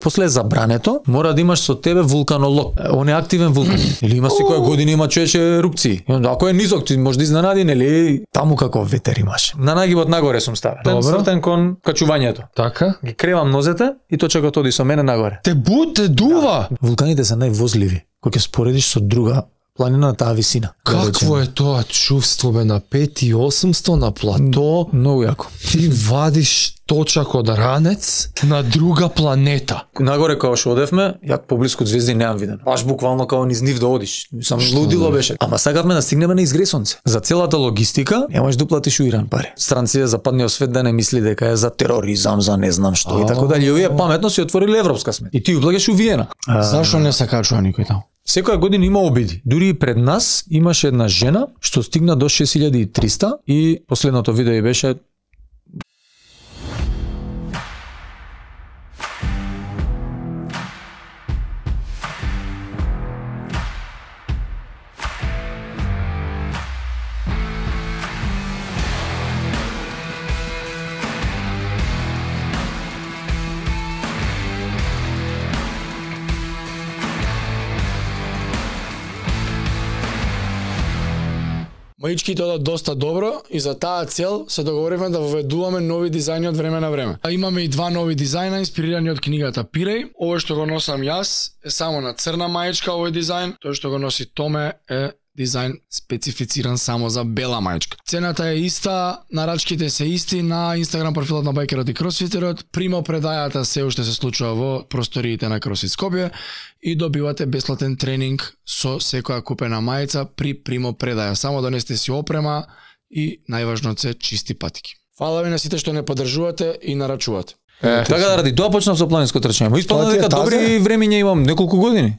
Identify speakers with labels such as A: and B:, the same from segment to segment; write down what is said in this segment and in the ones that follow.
A: После е забрането, мора да имаш со тебе вулканолог. Он е активен вулкан. Или има секоја година има човече ерупции. Ако е низок, ти може да изненади, нели? Таму како ветер имаш. На нагибот нагоре сум ставен. Свртен кон качувањето.
B: Така?
A: Ги кревам нозете и точакот оди со мене нагоре.
B: Те дува.
A: Вулканите се највозливи. Кога ќе споредиш со друга планина на таа висина.
B: Какво е тоа чувство бе на 5800 на плато?
A: Многу јако.
B: Ти вадиш точак од ранец на друга планета.
A: Нагоре кога што одевме, ја поблиску од звезди неам видено. Баш буквално како низ нив да одиш. Сам лудило беше. Ама сакавме да стигнеме на изгресонце. За целата логистика немаш да платиш уиран пари. Странците западниот свет да не мисли дека е за тероризам, за не знам што и така дали. Овие паметно си отвориле европска смет. И ти уплагаш у Виена.
B: Зашо не се качува никој таму?
A: Секоја година има обиди. Дури и пред нас имаше една жена што стигна до 6300 и последното видео и беше
C: Маичките одат доста добро и за таа цел се договоривме да воведуваме нови дизајни од време на време. А имаме и два нови дизајна инспирирани од книгата Пиреј. Овој што го носам јас е само на црна маичка овој дизајн, тој што го носи Томе е дизајн специфициран само за бела маичка. Цената е иста, нарачките се исти на Инстаграм профилот на Байкерот и Кросфитерот. Примо предајата се уште се случува во просториите на Кросфит Скопје и добивате бесплатен тренинг со секоја купена мајца при примо предаја. Само донесете си опрема и најважно се чисти патики. Фала ви на сите што не поддржувате и нарачувате.
A: Така да ради тоа почнав со планинско трчање. Испадна дека добри времиња имам неколку години.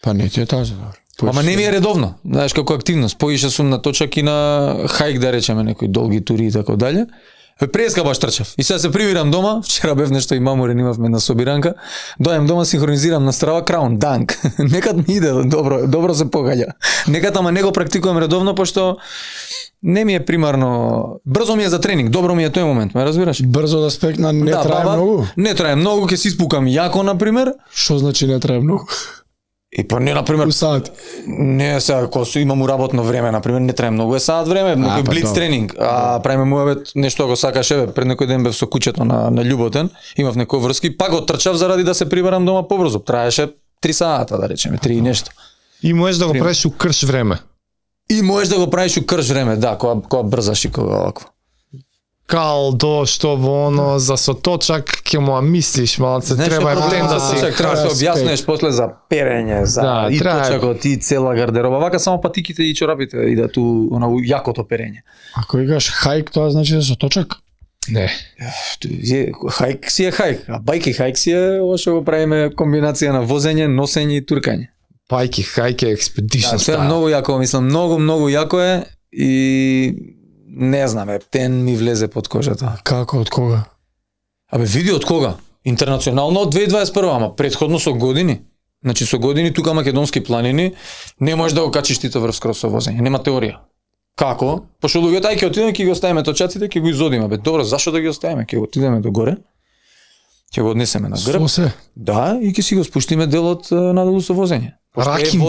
B: Па не ти е тази добро.
A: Ама не ми е редовно, знаеш како активност. Поише сум на точак и на хајк да речеме некои долги тури и така дале. Преска баш трчав. И сега се привирам дома, вчера бев нешто и мамурен имавме на собиранка. Дојам дома, синхронизирам на Strava Crown Dunk. Некад ми иде добро се погаѓа. Некад ама не го практикувам редовно пошто не ми е примарно. Брзо ми е за тренинг, добро ми е тој момент, ме разбираш?
C: Брзо да спекна, не трае многу.
A: Не трае многу, ќе се испукам јако на пример.
C: Што значи не трае многу?
A: И па не, например, не сега, кога имам работно време, например, не трае многу, е саат време, некој блиц тренинг, правиме муабет, нешто ако сакаш, пред некој ден бев со куќето на Љуботен, имав некој врски, пак го трчав заради да се приберам дома побрзо, траеше 3 сата, да речеме, 3 и нешто.
B: И можеш да го правиш у крш време.
A: И можеш да го правиш у крш време, да, кога брзаш и кога вакво.
B: Калдо, што во оно, за соточак ќе му мислиш, малце треба ден да си
A: треба да објаснеш после за перење, за и точакот и цела гардероба. Вака само патиките и чорапите идат у јакото перење.
C: Ако играш хајк, тоа значи да соточак?
B: Не.
A: Хајк си е хајк, а бајки хајк си е ова што го правиме комбинација на возење, носење и туркање.
B: Бајки хајк е експедишн
A: стайл. Тоа е многу јако, мислам, многу јако е и не знам, тен ми влезе под кожата.
C: Како, од кога?
A: Абе, види од кога? Интернационално од 2021, ама предходно со години. Значи со години тука македонски планини не можеш да го качиш тито врв скрос со возење, нема теорија. Како? Пошто луѓето ај ќе отидеме, ќе ги оставиме точаците, ќе го изодиме. Бе, добро, зашо да ги оставиме? Ќе го отидеме до горе. Ќе го однесеме на грб. Да, и ќе си го спуштиме делот надолу со возење.
B: Ракинг.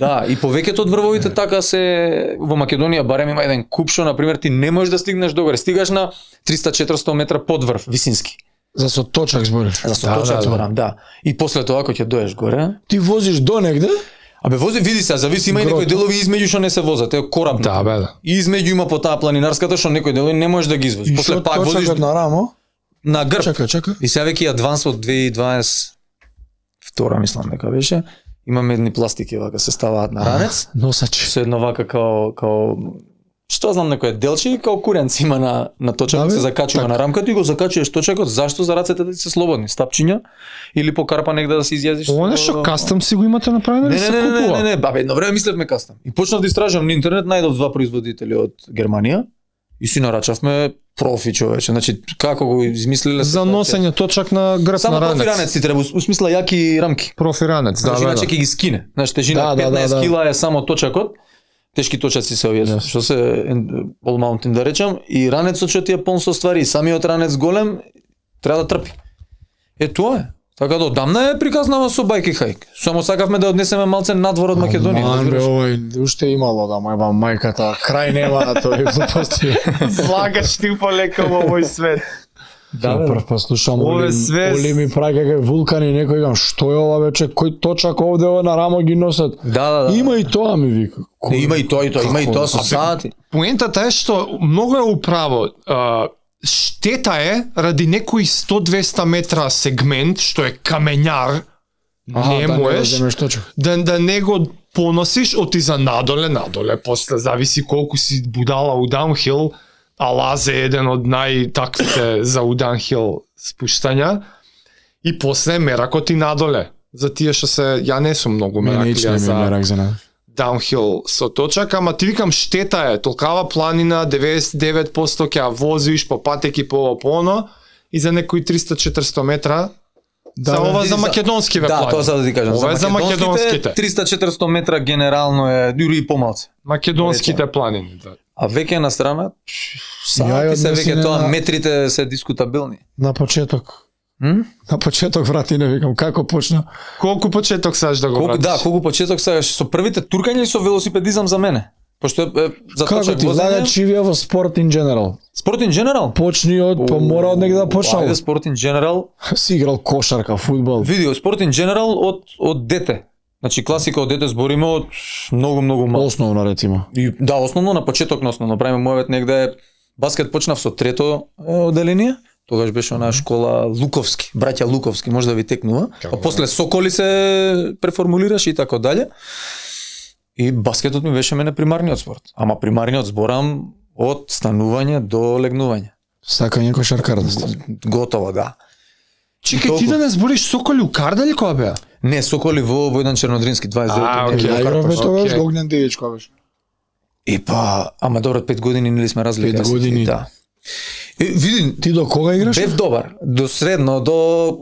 A: Да, и повеќето од врвовите така се во Македонија барем има еден куп што на пример ти не можеш да стигнеш догоре, стигаш на 300-400 метра под врв, висински.
C: За соточак збориш.
A: За соточак зборам, да. И после тоа кога ќе доеш горе,
C: ти возиш до негде?
A: Абе вози, види се, зависи има и некои делови измеѓу што не се возат, е кораб.
B: Да, бе, да.
A: И измеѓу има по таа планинарската што некои делови не можеш да ги извозиш. После пак возиш
C: на рамо,
A: на грб.
C: Чека.
A: И сега веќе адванс од 2022 мислам дека беше. Имаме едни пластики вака се ставаат на ранец.
C: Носачи.
A: Со едно вака као што знам некој делчи као куренц има на точакот, се закачува на рамката и го закачуваш точакот. Зашто? За рацете да се слободни, стапчиња или по карпа негде да се изјазиш.
B: Ова нешто кастом си го имате направено или се купува?
A: Не, бабе, едно време мислевме кастом. И почнав да истражувам на интернет, најдов 2 производители од Германија и си нарачавме профи, човече. Значи како го измислиле
B: за носење точак на грб на ранец.
A: Само профи ранец ти треба, усмисла јаки рамки.
B: Профи ранец, да,
A: иначе ќе ги скине. Значи тежина 15 кила е само точакот. Тешки точаци се овие, што се all mountain да речам, и ранецот што ти е полн со ствари, самиот ранец голем треба да трпи. Тоа е. Така да одамна е приказнава со бајки хајк. Само сакавме да однесеме малце надвор од Македонија.
C: Овој уште имало да мајба мајката, крај нема тој глупости.
B: Влагаш ти полека во овој свет.
C: Да, прв па слушам
B: Оли
C: ми праќа кај вулкани, некој гам, што е ова вече, кој точак овде на рамо ги носат.
A: Да.
C: Има и тоа ми вика.
A: Има и тоа, има и тоа со сати.
B: Поентата е што многу е управо. Штета е ради некој 100-200 метра сегмент што е камењар, не можеш да не го поносиш, оти за надоле, после зависи колку си будала у даунхил, а лазе еден од најтаквите за у даунхил спуштања, и после меракот и надоле. За тие што се, ја не сум многу мераклија за даунхил со точак, ама ти викам штета е, толкава планина, 99% ќе ја возиш по патеки по оно, и за некои 300-400 метра, за ова за македонскиве планини.
A: Да, тоа сад да ти кажам.
B: Ова е за македонските.
A: 300-400 метра генерално е, дури и помалце.
B: Македонските планини, да.
A: А веќе на страна, сати се веќе тоа, метрите се дискутабилни.
C: На почеток. На почеток врати не викам како почна.
B: Колку почеток сакаш да го вратиш?
A: Да, колку почеток сакаш со првите туркања или со велосипедизам за мене? Пошто за
C: како ти влага чивија во спорт in general?
A: Спорт in general?
C: Почни од, па мора од негде да почнал.
A: Ајде спорт in general.
C: Си играл кошарка, фудбал.
A: Видео спорт in general од дете. Значи класика од дете збориме од многу мал.
C: Основно рецимо.
A: И да, основно на почеток на основно. Правиме мојот негде баскет почнав со трето одделение. Тогаш беше онаа школа Луковски, браќа Луковски, може да ви текнува. А после Соколи се преформулираше и така дале. И баскетот ми беше мене примарниот спорт. Ама примарниот зборам од станување до легнување.
C: Сакање кошаркар да сте.
A: Готово, да.
B: Чекај, ти да не збориш Соколи у Карда ли која беа?
A: Не, Соколи во Војдан Чернодрински 29.
C: Ја игравме тогаш Огнен Девич која беше.
A: И па, ама добро, 5 години нели сме разлика.
C: 5 години.
A: Да. Види,
C: ти до кога играш?
A: Бев добар, до средно, до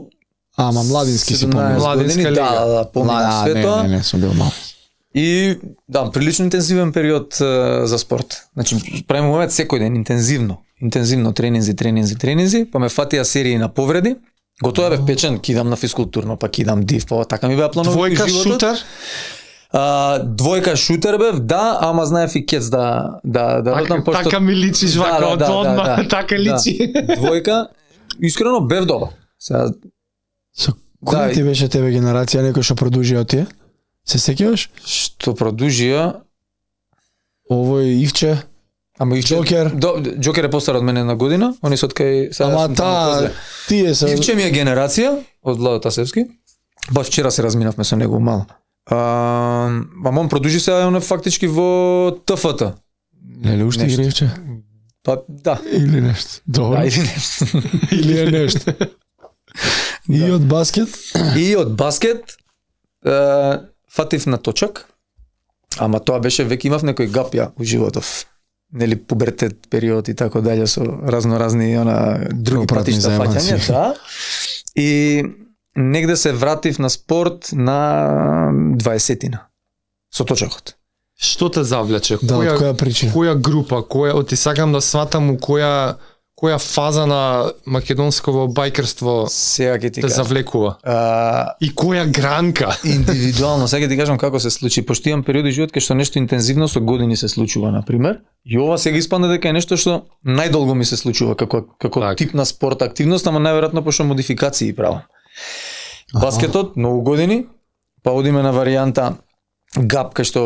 C: ама младински си помниш.
A: Младинска лига. Да, помнам све тоа.
C: Не, сум бил мал.
A: И да, прилично интензивен период за спорт. Значи, правиме момент секој ден интензивно тренинзи, па ме фатија серии на повреди. Готово бев печен, кидам на физкултурно, па кидам див, па така ми беа планови
B: животот. Двојка шутер?
A: Двојка шутер бев, да, ама знаев и кец да родам пошто
B: така ми личиш вака од одма, така личи.
A: Двојка, искрено бев добар. Сега
C: со која ти беше тебе генерација некој што продужија од тие? Се сеќаваш?
A: Што продужија?
C: Овој Ивче,
A: ама Ивче, Џокер е постар од мене на година, они се од кај сега.
C: Ама тие се.
A: Ивче ми е генерација од Владо Тасевски. Баш вчера се разминавме со него мало. Мамон продужи се он фактички во ТФТ.
C: Нели уште игра Ивче?
A: Па да.
C: Или нешто. Добро.
A: Да, или нешто.
C: Или е нешто. И од баскет?
A: И од баскет фатив на точак, ама тоа беше веќе имав некој гапја у животов. Нели пубертет период и така дале со разноразни други патишта фаќања, да. И негде се вратив на спорт на 20-тина. Со точакот.
B: Што те завлече?
C: Да, која причина?
B: Која група, ти сакам да сватам у која фаза на македонсково бајкерство те завлекува? И која гранка?
A: Индивидуално, сега ти кажам како се случи, пошто имам периоди живот кај што нешто интензивно со години се случува, на пример, и ова сега испадна дека е нешто што најдолго ми се случува како тип на спорт активност, ама најверојатно пошто модификации правам. Баскетот многу години, па одиме на варијанта гап кај што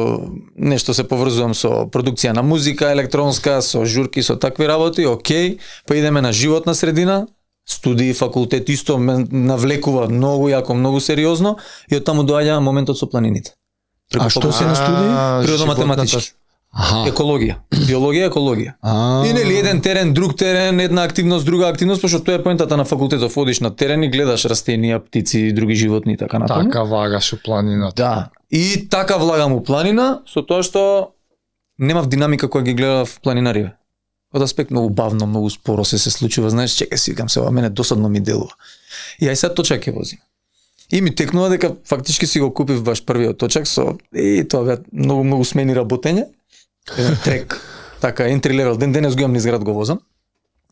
A: нешто се поврзувам со продукција на музика, електронска, со журки, со такви работи, окей, па идеме на животна средина, студии, факултет, исто ме навлекува многу јако, многу сериозно, и од таму доаѓа моментот со планините.
C: А што се на студии?
A: Природно-математички. Екологија, биологија, екологија. И нели еден терен, друг терен, една активност, друга активност, пошто тоа е поентата на факултетов, одиш на терен и гледаш растенија, птици, други животни и така натаму.
B: Така влагаш у планината.
A: Да. И така влагам у планина, со тоа што немав динамика која ги гледав планинариве. Од аспект многу бавно, многу споро се случува, знаеш, чекај си, викам се, ова мене досадно ми делува. И ај сега точак ќе возим. И ми текнува дека фактички си го купив баш првиот точак со тоа беа многу смени работење. Еден трек, така entry level, денес го имам низ град го возам.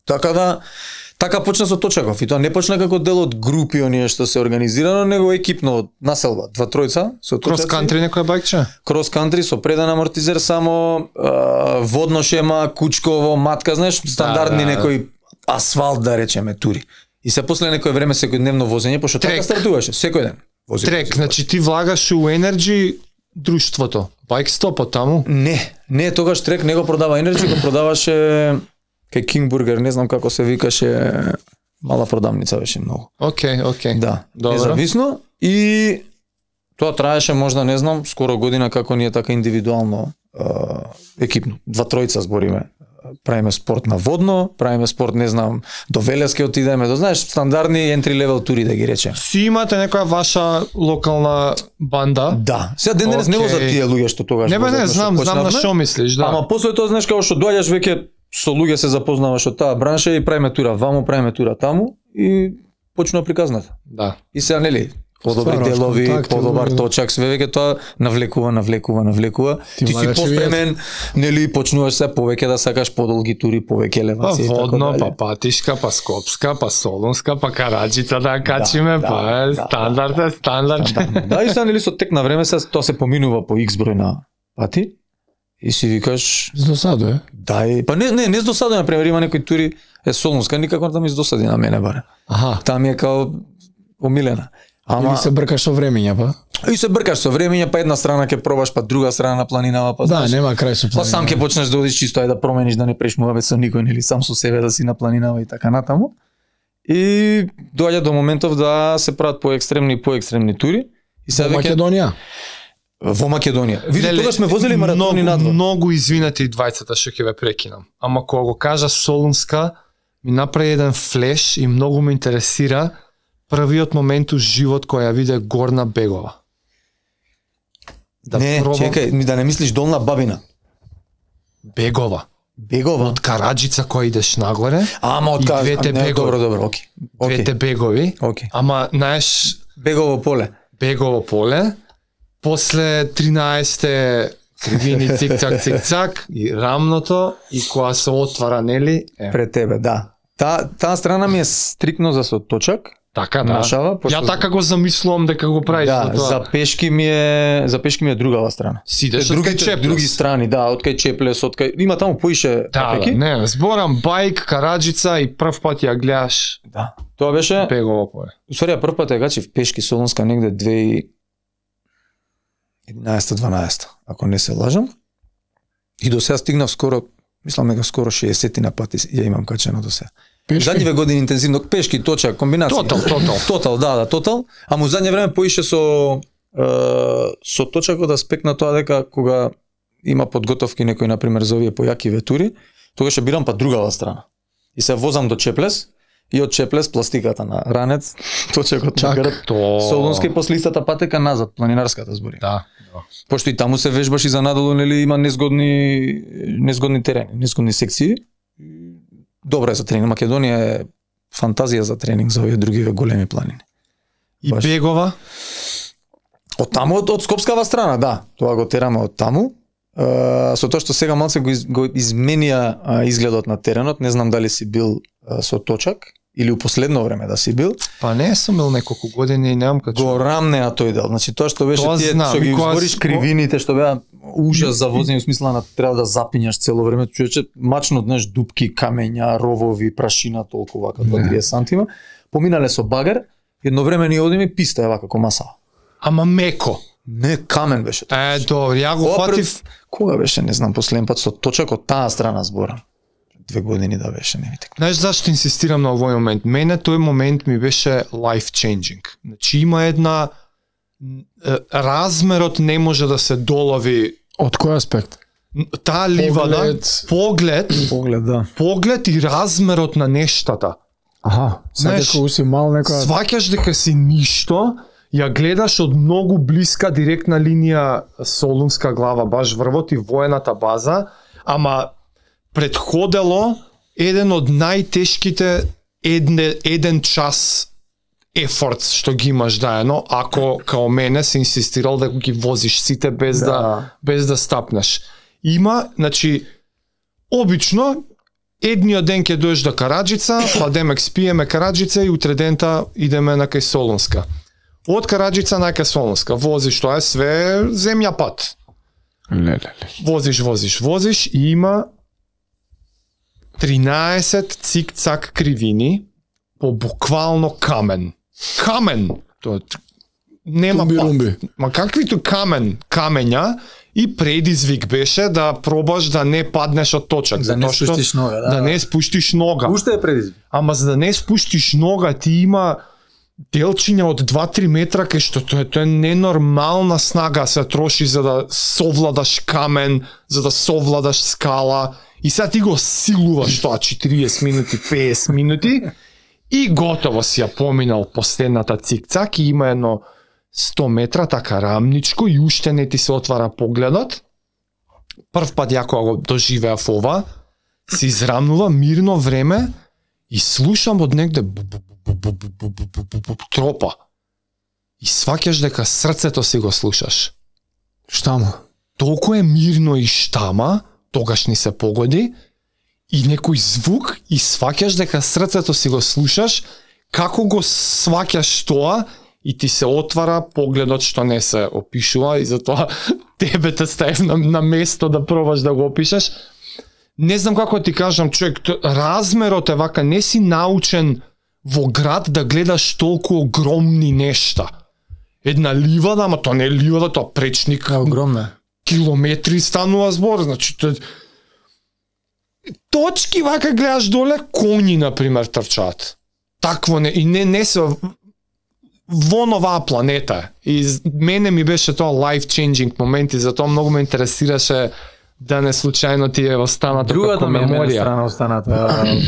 A: Така Така почна со Точаков и тоа не почна како дел од групи оние што се организирано, него екипно од населба, 2-3 со
B: Крос кантри некоја бајкче?
A: Крос кантри со преден амортизер само, водно шема, кучково, матка, знаеш, стандардни некои асфалт да речеме тури. И се после некое време секојдневно возење, пошто така стартуваше секој ден.
B: Трек, значи ти влагаш у Energy друштвото. Байк стопот таму?
A: Не, тогаш Трек не го продава Energy, го продаваше кај King Burger, не знам како се викаше, мала продавница беше многу.
B: Окей.
A: Да,
B: добро.
A: Независно и тоа траеше можда, не знам, скоро година како ние така индивидуално екипно. 2-3 збориме. Правиме спорт на водно, правиме спорт, не знам, до Велески отидеме, до знаеш, стандардни entry level тури да ги речеме.
B: Си имате некоја ваша локална банда?
A: Да. Сега ден денес не возат тие луѓе што тогаш
B: возат. Не, знам на што мислиш, да.
A: Ама после тоа знаеш како што доаѓаш веќе со луѓе се запознаваш од таа бранша и правиме тура ваму, правиме тура таму и почнува приказната.
B: Да.
A: И сега нели подобри делови, подобар точак, све веќе тоа навлекува. Ти си поспремен, нели почнуваш се повеќе да сакаш подолги тури, повеќе елевации.
B: Па водно, па Патишка, па Скопска, па Солунска, па Караџица да качиме, стандард.
A: Да, и сега нели со тек на време се тоа се поминува по X број на пати. И си викаш
C: здосадува.
A: Да, па не здосадува, на пример има некои тури Солунска никако да ми здосади на мене баре. Таа ми е као омилена.
C: Или се бркаш со времења, па?
A: И се бркаш со времења, па една страна ќе пробаш, па друга страна на планинава, па
C: да, нема крај со планинава.
A: Па сам ќе почнеш да одиш чисто да промениш, да не преш муабет со никој, нели сам со себе да си на планинава и така натаму. И доаѓа до моментов да се прават поекстремни тури. И се
C: во Македонија.
A: Во Македонија. Види, тогаш сме возели маратони надвор.
B: Многу извинете и двајцата што ќе ве прекинам. Ама кога го кажа Солунска, ми направи еден флеш и многу ме интересира првиот момент у живот кој ја виде Горна Бегова.
A: Чекај, да не мислиш Долна Бабина.
B: Бегова. Од Караџица кој идеш нагоре.
A: Ама од
B: двете бегови.
A: Добро, окей.
B: Двете бегови. Ама знаеш
A: Бегово
B: поле. После 13-те кривини цик-цак и рамното и кога се отвара нели
A: пред тебе, да. Таа страна ми е стрикно за со точак.
B: Така, да. Ја така го замислувам дека го правиш
A: за тоа. За пешки ми е другава страна.
B: Сидеш од кај Чеплес.
A: Други страни, да, од кај Чеплес, од кај има таму поише
B: пеки. Не, зборам бајк, Караџица и прв пат ја гледаш.
A: Да. Тоа беше
B: Бегово поле.
A: Усвари прв пат ја гачив пешки Солунска негде 2011-12, ако не се лажам. И до сега стигнав скоро, мислам дека скоро 60 на пати ја имам качено до сега. Задниве години интензивно пешки, точак, комбинација. Тотал. Ама во задње време поише со точакот аспект на тоа дека кога има подготовки некој на пример за овие појаки ветури, тогаш ќе бирам па другава страна. И се возам до Чеплес и од Чеплес пластиката на Ранец, точакот на грб, Солунска и после истата патека назад, планинарската збори.
B: Да.
A: Пошто и таму се вежбаш и за надолу, нели има незгодни терени, незгодни секции. Добро е за тренинг. Македонија е фантазија за тренинг за овие други големи планини.
B: И баш. Бегова?
A: Од таму, од Скопскава страна, да. Тоа го тераме од таму. Со тоа што сега малце го изменија изгледот на теренот, не знам дали си бил со точак или у последно време да си бил.
B: Па не сум бил неколку години и немам качу.
A: Го рамнеа тој дел. Значи тоа што беше тие што ги избориш кривините што беа ужас за возење, во смисла на треба да запињаш цело време, човече, мачно знаеш дупки, камења, ровови, прашина толку вака 2-3 сантима. Поминале со багер, едно време ни одиме писта е вака комаса.
B: Ама меко.
A: Не, камен беше.
B: Добро, ја го фатив.
A: Кога беше, не знам, последен пат со точак од таа страна зборам. 2 години да беше, не видите.
B: Знаеш зашто инсистирам на овој момент? Мене тој момент ми беше life changing. Значи има една размерот не може да се долови.
C: Од кој аспект?
B: Таа ливада, поглед,
A: да.
B: Поглед и размерот на нештата.
C: Знаеш, кога си мал некоја
B: сваќаш дека си ништо, ја гледаш од многу блиска директна линија Солунска глава, баш врвот и воената база, ама предходело еден од најтешките еден час ефорт што ги имаш заедно, ако као мене се инсистирал да ги возиш сите без да стапнеш. Има, значи, обично едниот ден ќе доеш до Караџица, па демек спиеме Караџица и утре дента идеме на кај Солунска. Од Караџица на кај Солунска, возиш, тоа е све земја пат. Возиш и има 13 цик-цак кривини по буквално камен. Камен! Тоа нема пат. Ма каквито камења и предизвик беше да пробаш да не паднеш од точак.
A: Да не спуштиш нога.
B: Да не спуштиш нога.
A: Уште е предизвик.
B: Ама за да не спуштиш нога, ти има делчиња од 2-3 метра, кај што тоа е ненормална снага се троши за да совладаш камен, за да совладаш скала, и сега ти го силуваш тоа 40 минути, 50 минути, и готово си ја поминал последната цик-цак, и има едно 100 метра, така рамничко, и уште не ти се отвара погледот. Прв пат ја кога го доживеав ова, се израмнува мирно време, и слушам од негде тропа. И сваќаш дека срцето си го слушаш.
C: Штама.
B: Толку е мирно и штама, тогаш ни се погоди, и некој звук, и сваќаш дека срцето си го слушаш, како го сваќаш тоа, и ти се отвара погледот што не се опишува, и затоа тебе те ставив на место да пробаш да го опишеш. Не знам како ти кажам, човек, размерот е вака, не си научен во град да гледаш толку огромни нешта. Една ливада, ама тоа не е ливада, тоа пречник.
C: Огромна.
B: Километри станува збор, значи точки вака гледаш доле, коњи например трчаат. Такво не, и не се во новаа планета. И мене ми беше тоа life changing моменти, затоа многу ме интересираше да не случајно ти е останато како меморија.
A: Другата ми е страна останата,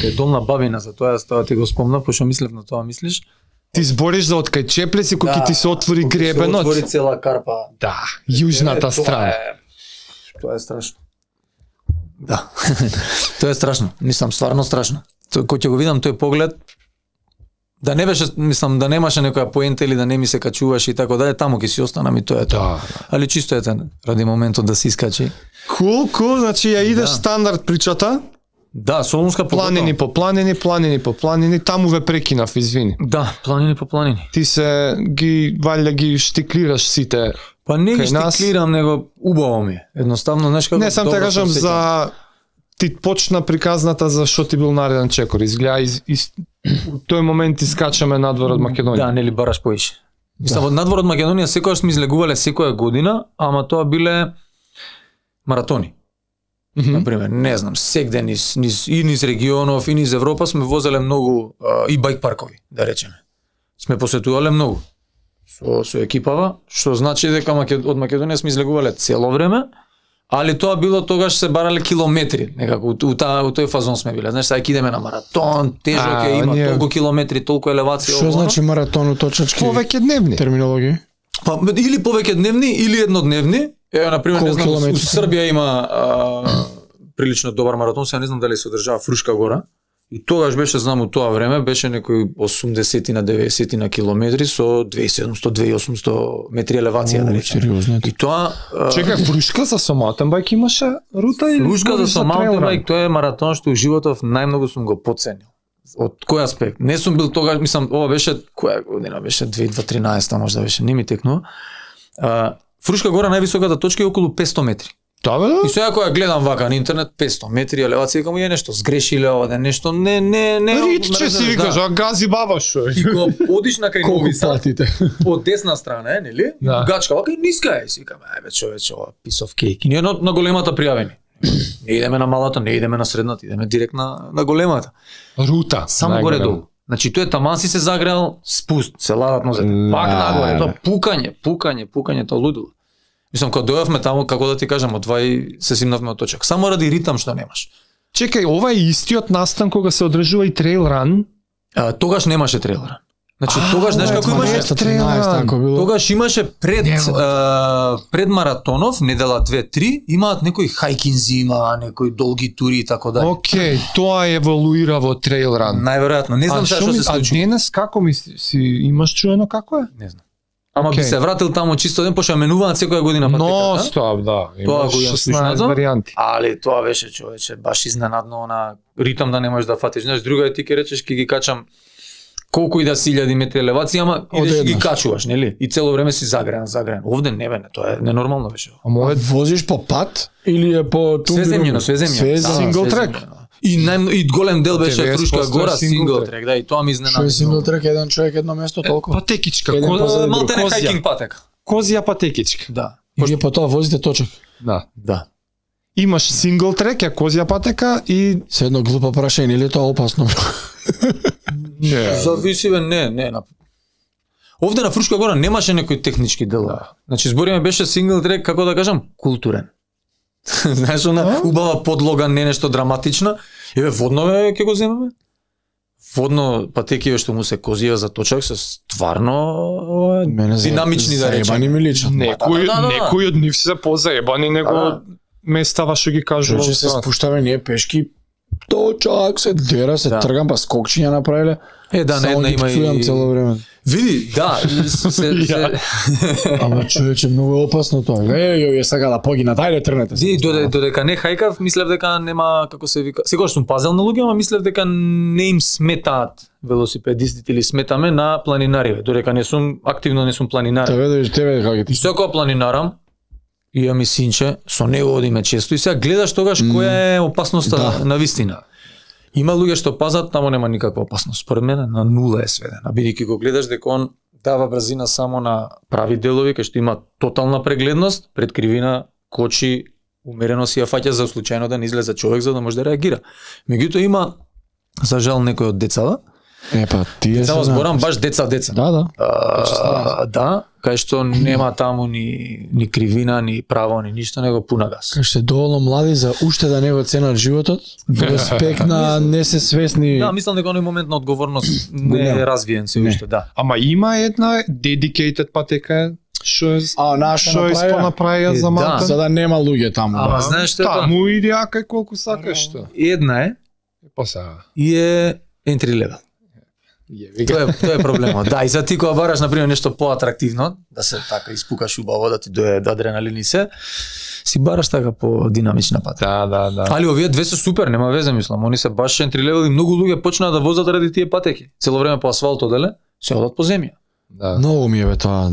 A: кај долна бабина, за тоа ти го спомнав, пошто мислев на тоа мислиш.
B: Ти збориш за од кај Чеплеци, кој ќе ти се отвори гребенот.
A: Се отвори цела карпа.
B: Да, јужната страна.
A: Тоа е страшно. Да. Тоа е страшно. Мислам, стварно страшно. Кој ќе го видам тој поглед, да не беше, мислам, да немаше некоја поента или да не ми се качуваш и така дале, таму ќе си останам и тоа е тоа. Али чисто ете ради моментот да се искачи.
B: Кул, значи ја идеш стандард причата.
A: Да, Солунска
B: планини по планини, таму ве прекинав, извини.
A: Да, планини по планини.
B: Ти се валја ги штиклираш сите.
A: Па не ги штиклирам, него убаво ми. Едноставно, знаеш како.
B: Не, сам те кажам за ти почна приказната за што ти бил нареден чекор. Изгледа у тој момент искачаме надвор од Македонија.
A: Да, нели бараш поише. Мислам, од надвор од Македонија секогаш сме излегувале секоја година, ама тоа биле маратони. Например, не знам, секде низ регионов и низ Европа сме возеле многу и бајк паркови, да речеме. Сме посетувале многу со екипава, што значи дека од Македонија сме излегувале цело време, али тоа било тогаш се барале километри, некако у тој фазон сме биле. Знаеш, сега ќе идеме на маратон, тежок е, има толку километри, толку елевација.
C: Што значи маратон уточачки?
B: Повеќе дневни
C: терминологија.
A: Па или повеќе дневни или еднодневни. Ево, например, не знам, у Србија има прилично добар маратон, сега не знам дали се одржава Фрушка гора. И тогаш беше, знам, у тоа време беше некој 80 на 90 на километри со 2700-2800 метри елевација, да речем. И тоа
B: чекај, Фрушка за маутенбајк имаше рута или
A: Фрушка за маутенбајк, тоа е маратон што у животов најмногу сум го потценил. Од кој аспект? Не сум бил тогаш, мислам, ова беше која година беше 2013 можда беше, не ми текнува. Фрушка гора највисоката точка е околу 500 метри.
B: Да, бе?
A: И сега кога гледам вака на интернет 500 метри елевација, каму е нешто сгрешиле ова, нешто не.
B: Ритче си викаш, а гази баба шо.
A: И кога одиш на кај Нови Сад, од десна страна е, нели? Гачка вака и ниска е, си викам, ајбе човече, ова piece of cake. И ние на големата пријавени. Не идеме на малата, не идеме на средната, идеме директ на големата.
B: Рута.
A: Само горе долу. Значи тој таман си се загрел, спуст, се ладат нозете. Пак нагоре, тоа пукање, тоа лудило. Мислам, кога дојавме таму, како да ти кажам, одвај се симнавме од точак. Само ради ритам што немаш.
B: Чекај, ова е истиот настан кога се одржува и трейл ран?
A: Тогаш немаше трейл ран. Значи тогаш знаеш како имаше
B: трейл ран.
A: Тогаш имаше пред маратонов, недела 2-3, имаат некои хајкинзи, некои долги тури и така дали.
B: Океј, тоа еволуира во трейл ран.
A: Најверојатно, не знам што се случи.
B: А денес како си имаш чуено како е?
A: Не знам. Ама би се вратил таму чисто ден, пошто менуваат секоја година патеката.
B: Но стоп, да.
A: Тоа го
B: 16 варијанти.
A: Али тоа беше, човече, баш изненадно на ритам да не можеш да фатиш. Знаеш, друга е ти ке речеш ќе ги качам колку и да си 1000 метри елевација, ама идеш ги качуваш, нели? И цело време си загрен. Овде не бе, тоа е ненормално беше.
C: А возиш по пат или е по
A: свеземјено?
B: Сингл трек.
A: И голем дел беше Фрушка гора, сингл трек, да, и тоа ми изненади.
C: Што е сингл трек, еден човек, едно место, толку?
B: Патекичка,
A: малте не хайкинг патека.
B: Козија патекичка.
A: Да.
C: И вие по тоа возите точак.
A: Да.
B: Имаш сингл трек, ја козија патека и
C: се едно глупо прашање, или тоа опасно?
A: Зависи бе, не. Овде на Фрушка гора немаше некои технички делови. Значи збориме беше сингл трек, како да кажам, културен. Знаеш, она убава подлога, не нешто драматична. Еве водно ќе го земеме. Водно патекиве што му се козија за точак се стварно динамични да речеме.
C: Заебани ми личат.
B: Некои од нив се позаебани него местава што ги кажува.
C: Че се спуштаме ние пешки, точак се дера, се тргам, па скокчиња направиле.
A: Да, на една има и
C: цело време.
A: Види, да,
C: Ама човече, многу е опасно тоа. Ја сака да погина, дај да тргнете.
A: Додека не хајкав, мислев дека нема, како се вика, секогаш сум пазел на луѓе, ама мислев дека не им сметаат велосипедистите или сметаме на планинариве, додека активно не сум планинар.
C: Тебе како ти?
A: Секоја планинарам, и ми синче, со него одиме често и сега гледаш тогаш која е опасноста на вистина. Има луѓе што пазат, тамо нема никаква опасност. Според мене на нула е сведена. Бидејќи го гледаш дека он дава брзина само на прави делови, кај што има тотална прегледност, пред кривина, кочи, умерено си ја фаќа за случајно да не излезе човек за да може да реагира. Меѓутоа има за жал некој од децата.
C: Тие
A: се зборам баш деца.
C: Да.
A: Да, кај што нема таму ни кривина, ни право, ни ништо, него пуна газ.
C: Кај што доволно млади за уште да не го ценат животот, респект на не се свесни.
A: Да, мислам дека оној момент на одговорност не е развиен се уште, да.
B: Ама има една dedicated патека што е
C: направија
B: за малку.
C: За да нема луѓе таму.
A: Ама знаеш што?
B: Таму иди кај колку сакаш што.
A: Една е. И е entry level. Тоа е проблемот. Да, и за ти кога бараш на пример нешто поатрактивно, да се така испукаш убаво, да ти дое адреналин и се, си бараш така по динамична патека.
B: Да.
A: Али овие две се супер, нема везе мислам. Они се баш entry level и многу луѓе почнаа да возат ради тие патеки. Цело време по асфалт оделе, се одат по земја.
C: Да. Многу ми е бе тоа.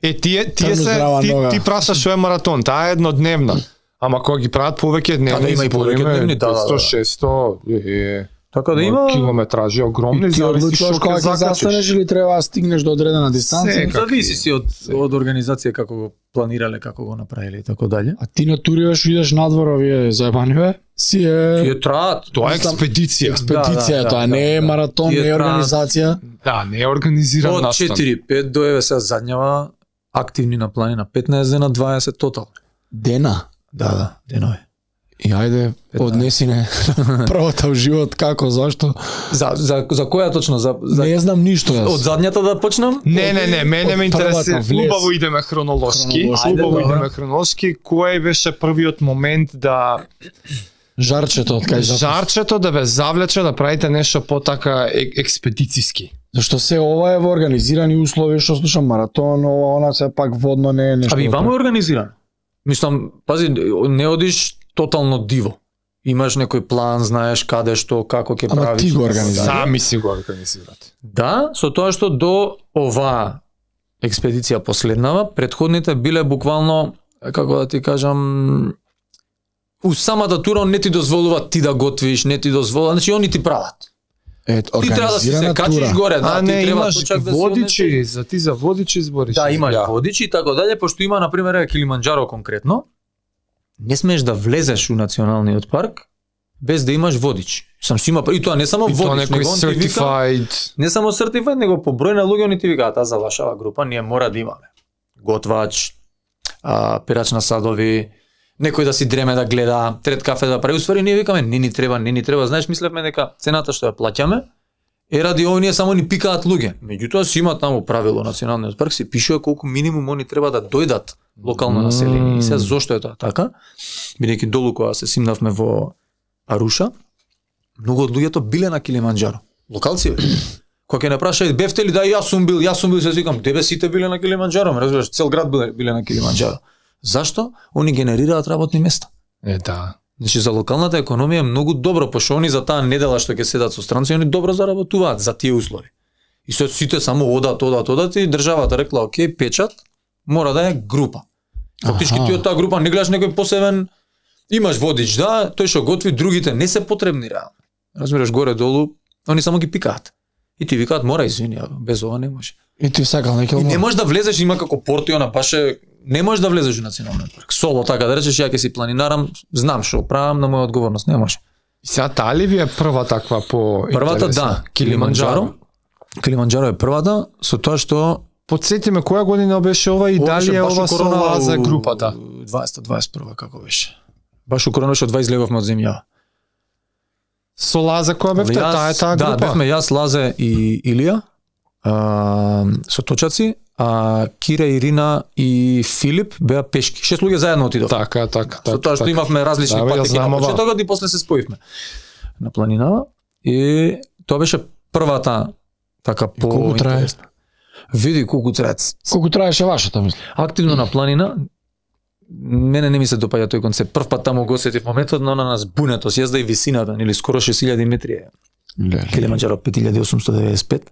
B: Ти прашаш што е маратон, таа е еднодневна. Ама кога ги прават повеќе дневни,
A: има и повеќе дневни,
B: 100-600.
A: Така да има
B: километражи огромни,
C: зависи што ќе застанеш или треба да стигнеш до одредена дистанција.
A: Зависи си од организација како го планирале, како го направиле и така дале.
C: А ти натуриваш, идеш надвор, овие заебани бе?
A: Тие траат.
B: Тоа е експедиција.
C: Експедиција, тоа не е маратон, не е организација.
B: Да, не е организиран настан.
A: Од 4-5 до еве сега задњава активни на планина 15 дена, 20 тотал.
C: Дена?
A: Да, денови.
C: И ајде, однеси не првата в живот, како, зашто?
A: За која точно?
C: Не знам ништо јас.
A: Од задњата да почнам?
B: Не, мене ме интересира. Убаво идеме хронолошки. Кој беше првиот момент да
C: жарчето
B: да ве завлече да правите нешто потака експедициски?
C: Зашто се ова е во организирани услови, што слушам маратон, она се пак водно не е нешто.
A: Аби вамо е организирано. Мислам, пази, не одиш тотално диво. Имаш некој план, знаеш каде што, како ќе правиш.
C: Ама ти го организираш.
B: Сами си го организирате.
A: Да, со тоа што до оваа експедиција последнава, предходните биле буквално, како да ти кажам, у самата тура не ти дозволува ти да готвиш, не ти дозволува, значи они ти прават. Ти треба да се качиш горе, да, ти треба
B: имаш водичи, за водичи збориш.
A: Да, имаш водичи и така дале, пошто има на пример Килиманџаро конкретно. Не смееш да влезеш у националниот парк без да имаш водич. Сам си има и тоа не само водич, него он ти вика, не само certified, него по број на луѓе они ти викаат, за вашава група ние мора да имаме готвач, перач на садови, некој да си дреме да гледа, трет кафе да прави. Уствари ние викаме не ни треба, знаеш, мислевме дека цената што ја плаќаме е ради овие само ни пикаат луѓе. Меѓутоа си има таму правило националниот парк, се пишува колку минимум они треба да дојдат локално население. И се зошто е тоа така? Бидејќи долу кога се симнавме во Аруша, многу од луѓето биле на Килиманџаро. Локалци бе. Кога ќе не праша бевте ли, да јас сум бил, се викам, дебе сите биле на Килиманџаро, ме разбираш, цел град биле на Килиманџаро. Зашто? Они генерираат работни места.
B: Да.
A: Значи за локалната економија е многу добро, пошто они за таа недела што ќе седат со странци, они добро заработуваат за тие услови. И сите само одат и државата рекла, окей, печат, мора да е група. Фактички ти од таа група не гледаш некој посебен, имаш водич, да, тој што готви, другите не се потребни реално. Разбираш, горе-долу, они само ги пикаат. И ти викаат, мора, извини, без ова не може.
C: И ти сакал некој.
A: И не можеш да влезеш, има како Портиона, баше, не можеш да влезеш во националниот парк. Соло, така да речеш, ја ќе си планинарам, знам што правам на моја одговорност, не може.
B: И сега таа ли ви е прва таква по
A: Првата, да, Килиманџаро е првата, со тоа што
B: подсети ме која година беше ова и дали е ова со Лаза групата?
A: 2021 како беше. Баш у корона што 20 излеговме од земја.
B: Со Лаза која бевте? Таа е таа група?
A: Да, бевме јас, Лазе и Илија, со точаци, а Кира, Ирина и Филип беа пешки. 6 луѓе заедно отидовме.
B: Така.
A: Со тоа што имавме различни патеки на почетокот и после се споивме на планинава. И тоа беше првата така по интересна. Види колку трае.
C: Колку траеше вашата, мислам?
A: Активно на планина, мене не ми се допаѓа тој концепт. Прв пат таму го осетив моментот на нас бунето, јазда и висината, нели скоро 6000 метри. Килиманџаро 5895.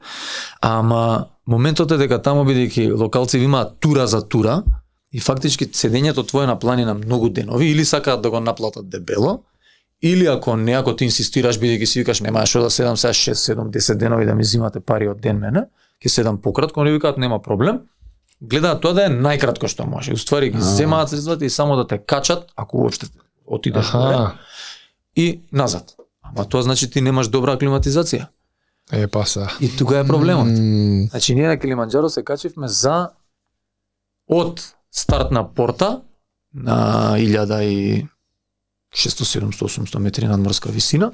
A: Ама моментот е дека таму бидејќи локалци имаат тура за тура и фактички седењето твое на планина многу денови или сакаат да го наплатат дебело, или ако не, ако ти инсистираш бидејќи си викаш нема што да седам сега 6, 7, 10 денови да ми зимате пари од ден мене, ќе седам пократко, они викаат нема проблем. Гледаат тоа да е најкратко што може. Уствари ги земаат средствата и само да те качат, ако уопште отидеш горе, и назад. Ама тоа значи ти немаш добра аклиматизација.
B: Паса.
A: И тука е проблемот. Значи ние на Килиманџаро се качивме за од стартна порта на 1600, 700, 800 метри надморска висина.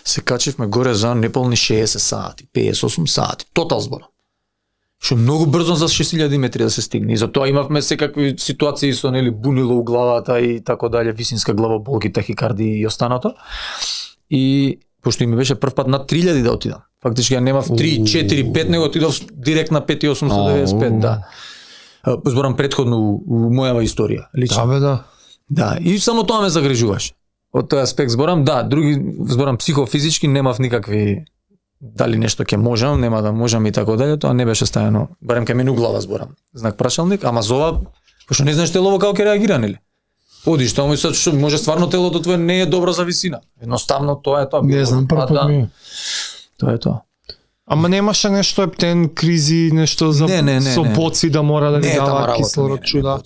A: Се качивме горе за неполни 60 сати, 58 сати, тотал зборам. Што многу брзо за 6000 метри да се стигне. И затоа имавме секакви ситуации со нели бунило у главата и тако дале, висинска главоболки, тахикардии и останато. И пошто ми беше прв пат на 3000 да отидам. Фактички ја немав 3, 4, 5, него отидов директ на 5895, да. Зборам претходно у мојава историја, лично.
B: Да.
A: Да, и само тоа ме загрижуваше. Од тој аспект зборам, да, други зборам психофизички немав никакви дали нешто ќе можам, нема да можам и тако дале, тоа не беше стајано, барем кај мене у глава зборам. Знак прашалник, ама за ова, пошто не знаеш телово како ќе реагира, нели? Одиш таму и се може стварно телото твое не е добро за висина. Едноставно тоа е тоа.
C: Не знам прв пат ми.
A: Тоа е тоа.
B: Ама немаше нешто ептен кризи, нешто за со боци да мора да ги дава кислород чуда.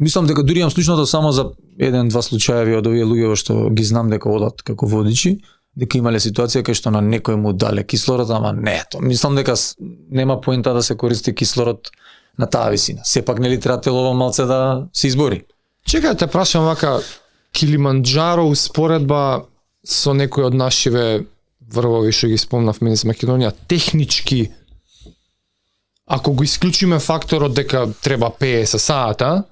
A: Мислам дека дури имам слушното само за 1-2 случаеви од овие луѓе што ги знам дека одат како водичи, дека имале ситуација кај што на некој му дале кислород, ама не, то мислам дека нема поента да се користи кислород на таа висина. Сепак нели треба телово малце да се избори.
B: Чекај те прашам вака, Килиманџаро успоредба со некој од нашиве врвови што ги спомнавме из Македонија, технички, ако го исклучиме факторот дека треба 50 сата,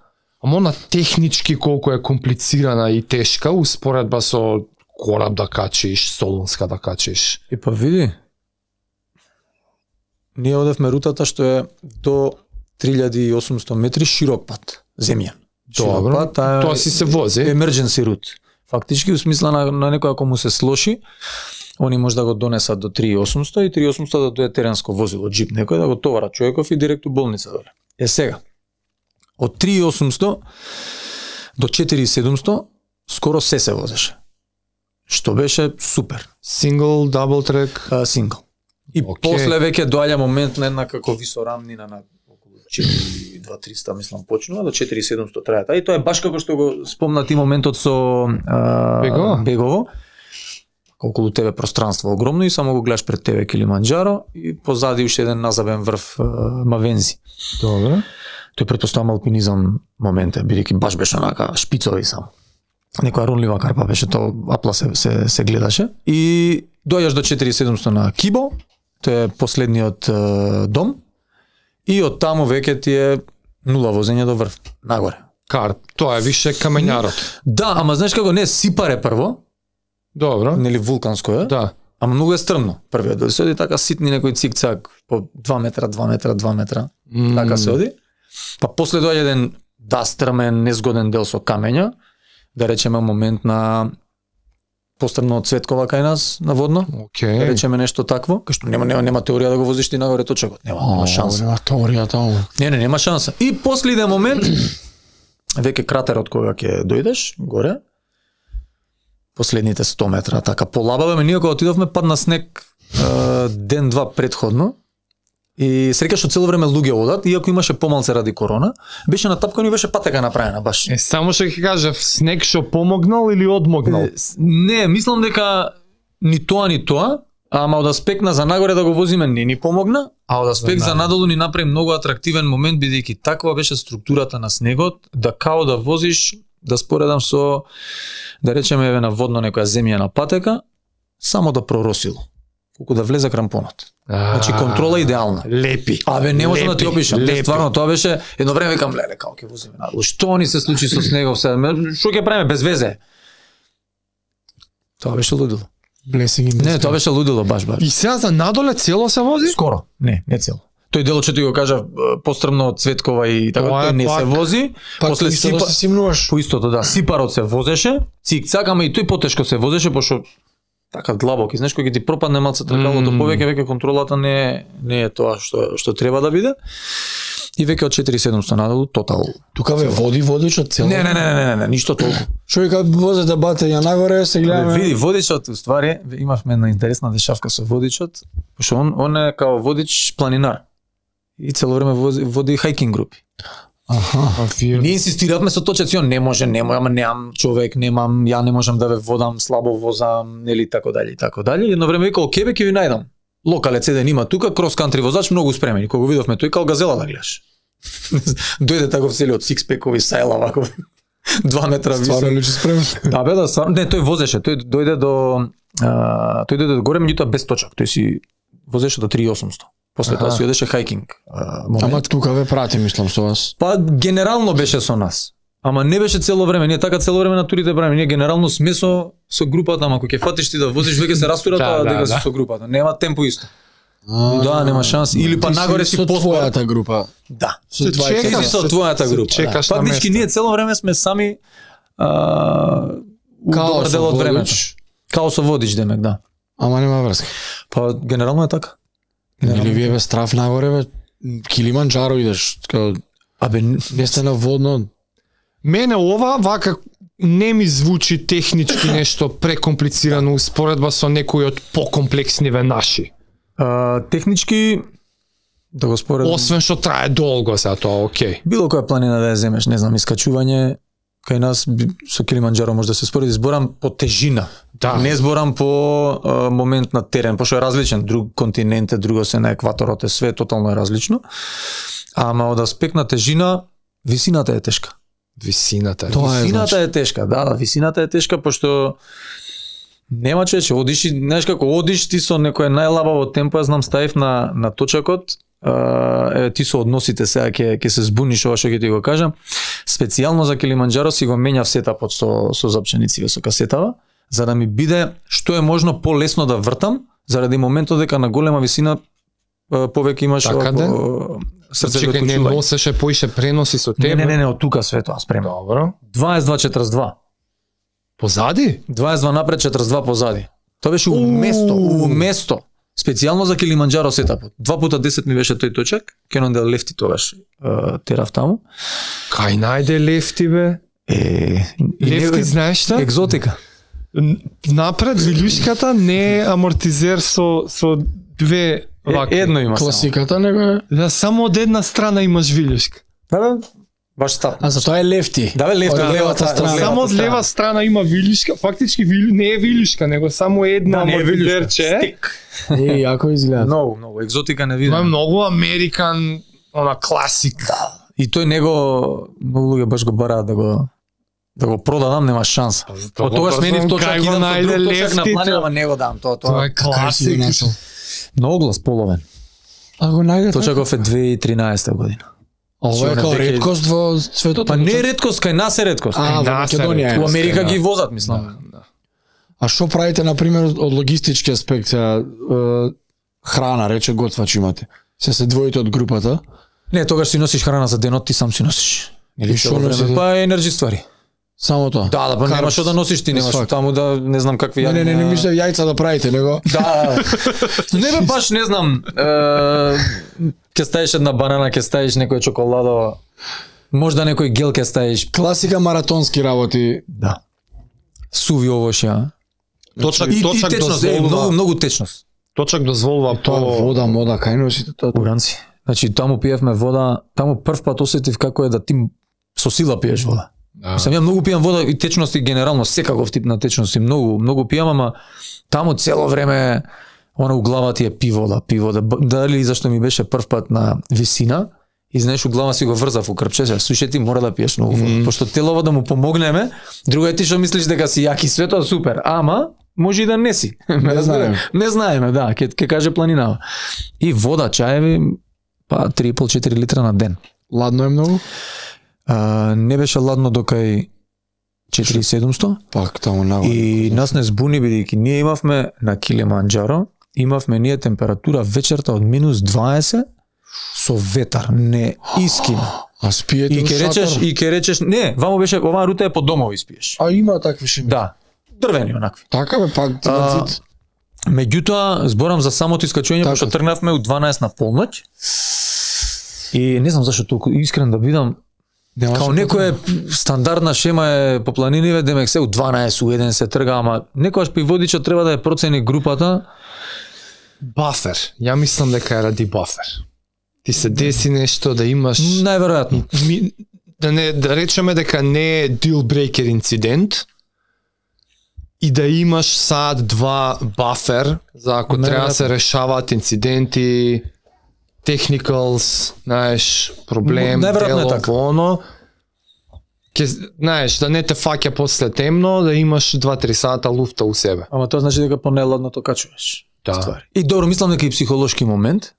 B: ама она технички колку е комплицирана и тешка успоредба со кораб да качиш, Солунска да качиш.
A: И па види, ние одевме рутата што е до 3800 метри широк пат, земја.
B: Добро, пат, тоа си се вози.
A: Emergency route. Фактички, у смисла на некој ако му се слоши, они може да го донесат до 3800 и 3800 да дое теренско возило, джип некој, да го товара човеков и директ у болница доле. Сега, од 3800 до 4700 скоро се возеше. Што беше супер.
B: Single, double track?
A: Single. И после веќе доаѓа момент на една како висорамнина на околу 4.2-300 мислам почнува, до 4.700 трајата. И тоа е баш како што го спомна ти моментот со Бегово. Околу тебе пространство огромно и само го гледаш пред тебе Килиманџаро и позади уште еден назабен врв Мавензи.
B: Добро.
A: Тој претпоставам алпинизам момент, бидејќи баш беше онака шпицови само. Некоја ронлива карпа беше, тоа апла се гледаше. И доаѓаш до 4700 на Кибо, тоа е последниот дом, и од таму веќе ти е нула возење до врв, нагоре.
B: Тоа е више камењарот.
A: Да, ама знаеш како, не, Сипаре прво.
B: Добро.
A: Нели вулканско е.
B: Да.
A: ама многу е стрмно. Првиот дел се оди така ситни некој цик-цак по 2 метра, 2 метра, 2 метра. Така се оди. Па после доаѓа еден стрмен, незгоден дел со камења, да речеме момент на пострмно од Цветкова кај нас на водно. Да речеме нешто такво, кај што нема теорија да го возиш ти нагоре точакот. Нема шанса.
C: Нема теорија таму.
A: Нема шанса. И после иден момент веќе кратерот кога ќе дојдеш горе, последните 100 метра, така полабаваме, ние кога отидовме падна снег ден-два предходно и среќа што цело време луѓе одат, иако имаше помалце ради корона, беше натапкано и беше патека направена баш.
B: Само што ќе кажав, снег што помогнал или одмогнал?
A: Не, мислам дека ни тоа, ама од аспект на за нагоре да го возиме не ни помогна, а од аспект за надолу ни направи многу атрактивен момент, бидејќи таква беше структурата на снегот, да као да возиш, да споредам со, да речеме еве на водно некоја земјана патека, само да проросило. Колку да влезе крампонот. Значи контрола идеална.
B: Лепи.
A: Абе не можам да ти опишам. Стварно тоа беше едно време викам леле како ќе возиме надолу. Што ни се случи со снегов сега? Што ќе правиме без везе? Тоа беше лудило. Не, тоа беше лудило баш.
B: И сега за надоле цело се вози?
A: Скоро. Не цело. Тој делот што ти го кажа пострмно од Цветкова и така тој не се вози. После по истото да, Сипарот се возеше, цик-цак, ама и тој потешко се возеше пошто така длабок, и знаеш кога ти пропадне малце тркалото повеќе, веќе контролата не е тоа што треба да биде. И веќе од 4700 надолу тотал.
C: Тука ве води водичот цело.
A: Не, ништо толку.
C: Што вика возе да батења нагоре, се гледаме.
A: Види водичот, уствари, имавме една интересна дешавка со водичот, пошто он е као водич планинар. И цело време води хайкинг групи. Ние инсистиравме со точеци, не може, ама немам човек, ја не можам да ве водам, слабо возам, нели така дали. Едно време вика, окей, ќе ви најдам. Локалец еден има тука, крос кантри возач, многу спремен. И кога го видовме тој као газела да гледаш. Дојде таков цели од сикспекови сајла вако 2 метра висок.
C: Стварно личи спремен.
A: Да, бе, да, стварно. Не, тој возеше, тој дојде до горе, меѓутоа без точак. Тој си возеше до 3800. После тоа си одеше хајкинг.
C: Ама тука ве прати, мислам, со вас.
A: Па генерално беше со нас. Ама не беше цело време, ние така цело време на турите правиме. Ние генерално сме со групата, ама кога ќе фатиш ти да возиш, веќе се растура тоа дека си со групата. Нема темпо исто. Да, нема шанси. Или па нагоре си
C: со твојата група.
A: Да. Со твојата група. Фактички ние цело време сме сами добар дел од времето. Као со водич демек, да.
C: Ама нема врска.
A: Па генерално е така.
C: Или вие бе страф нагоре, бе, Килиманџаро идеш, абе, не сте на водно.
B: Мене ова вака не ми звучи технички нешто прекомплицирано успоредба со некои од покомплексниве наши.
A: Технички да го споредам.
B: Освен што трае долго сега тоа, окей.
A: Било која планина да ја земеш, не знам, искачување кај нас со Килиманџаро може да се спореди, зборам по тежина.
B: Да.
A: Не зборам по момент на терен, пошто е различен, друг континент е, друго се на екваторот е, све тотално е различно. Ама од аспект на тежина, висината е тешка.
B: Висината
A: е тешка, да, висината е тешка, пошто нема човече, одиш и, знаеш како, одиш ти со некој најлабаво темпо, ја знам, ставив на точакот, ти со односите сега ќе се збуниш ова што ќе ти го кажам. Специјално за Килиманџаро си го менјав сетапот со запченици со касетава, за да ми биде што е можно полесно да вртам, заради моментот дека на голема висина повеќе имаш
B: срце го не носеше поише преноси со тебе.
A: Не, од тука све тоа спремно.
B: Добро.
A: 22-42.
B: Позади?
A: 22 напред, 42 позади. Тоа беше уместо. Специјално за Килиманџаро сетапот. 2 пута 10 ми беше тој точак, Кенондел лефти тогаш терав таму.
B: Кај најде лефти бе? Лефти знаеш што?
A: Екзотика.
B: Напред вилюшката не е амортизер со две вака.
A: Едно има
C: класиката, него е.
B: Да, само од една страна имаш вилюшка.
A: Да, баш стап.
C: А за тоа е лефти.
A: Да, бе, лефти, левата страна.
B: Само од лева страна има вилюшка, фактички не е вилюшка, него само една амортизерче.
C: Јако изгледа.
A: Многу, екзотика не видам.
B: Тоа е многу американ, она класик.
A: Да. И тој него многу луѓе баш го бараат да го продадам, нема шанса. Од тогаш менив точак идам со друг точак на планина, не го дам. Тоа
B: е класик.
A: Многу глас половен.
C: А го најде
A: точаков е 2013 година.
C: Ова е као редкост во светот?
A: Па не е редкост, кај нас е редкост.
C: Во Македонија.
A: Во Америка ги возат, мислам.
C: А што правите на пример од логистички аспект, храна, рече готвач имате. Се двоите од групата?
A: Не, тогаш си носиш храна за денот, ти сам си носиш.
C: Или што носите?
A: Па енерджи ствари.
C: Само тоа.
A: Да, па нема што да носиш, ти немаш таму да не знам какви
C: јаѓа. Не, мислам јајца да правите, него.
A: Да. Не бе баш не знам. Ќе ставиш една банана, ќе ставиш некој чоколадо. Можда некој гел ќе ставиш.
C: Класика маратонски работи.
A: Да. Суви овошја.
B: Точак
A: дозволува многу течност.
B: Точак дозволува
C: тоа вода, мода, кај носите тоа?
A: Уранци. Значи таму пиевме вода, таму прв пат осетив како е да ти со сила пиеш вода. Мислам, ја многу пијам вода и течности генерално, секаков тип на течности, многу пијам, ама таму цело време она у глава ти е пи вода. Дали зашто ми беше прв пат на висина, и знаеш у глава си го врзав у крпче, слушај ти мора да пиеш многу вода, пошто телово да му помогнеме, друго е ти што мислиш дека си јаки све тоа супер, ама може и да не си. Не знаеме, да, ќе каже планинава. И вода, чаеви, па 3,5-4 литра на ден.
C: Ладно е многу?
A: Не беше ладно докај 4700.
C: Пак таму нагоре.
A: И нас не збуни бидејќи ние имавме на Килиманџаро, имавме ние температура вечерта од -20 со ветар, не искина.
C: А спиете
A: и ќе речеш, не, вамо беше, оваа рута е по домови спиеш.
C: А има такви шими?
A: Да, дрвени онакви.
C: Така бе, пак цит.
A: Меѓутоа, зборам за самото искачување, пошто тргнавме у 12 на полноќ. И не знам зашто толку искрен да бидам. Као некоја стандардна шема е по планиниве, демек се у 12, у 1 се трга, ама некојаш при водичот треба да ја процени групата.
B: Бафер. Ја мислам дека е ради бафер. Ти се деси нешто да имаш...
A: Најверојатно.
B: Да речеме дека не е deal breaker инцидент и да имаш сад два бафер за ако треба да се решаваат инциденти, technicals, знаеш, проблем, дело, оно. Знаеш, да не те фаќа после темно, да имаш 2-3 сата луфта у себе.
A: Ама тоа значи дека понеладно то качуваш.
B: Да.
A: И добро, мислам дека и психолошки момент.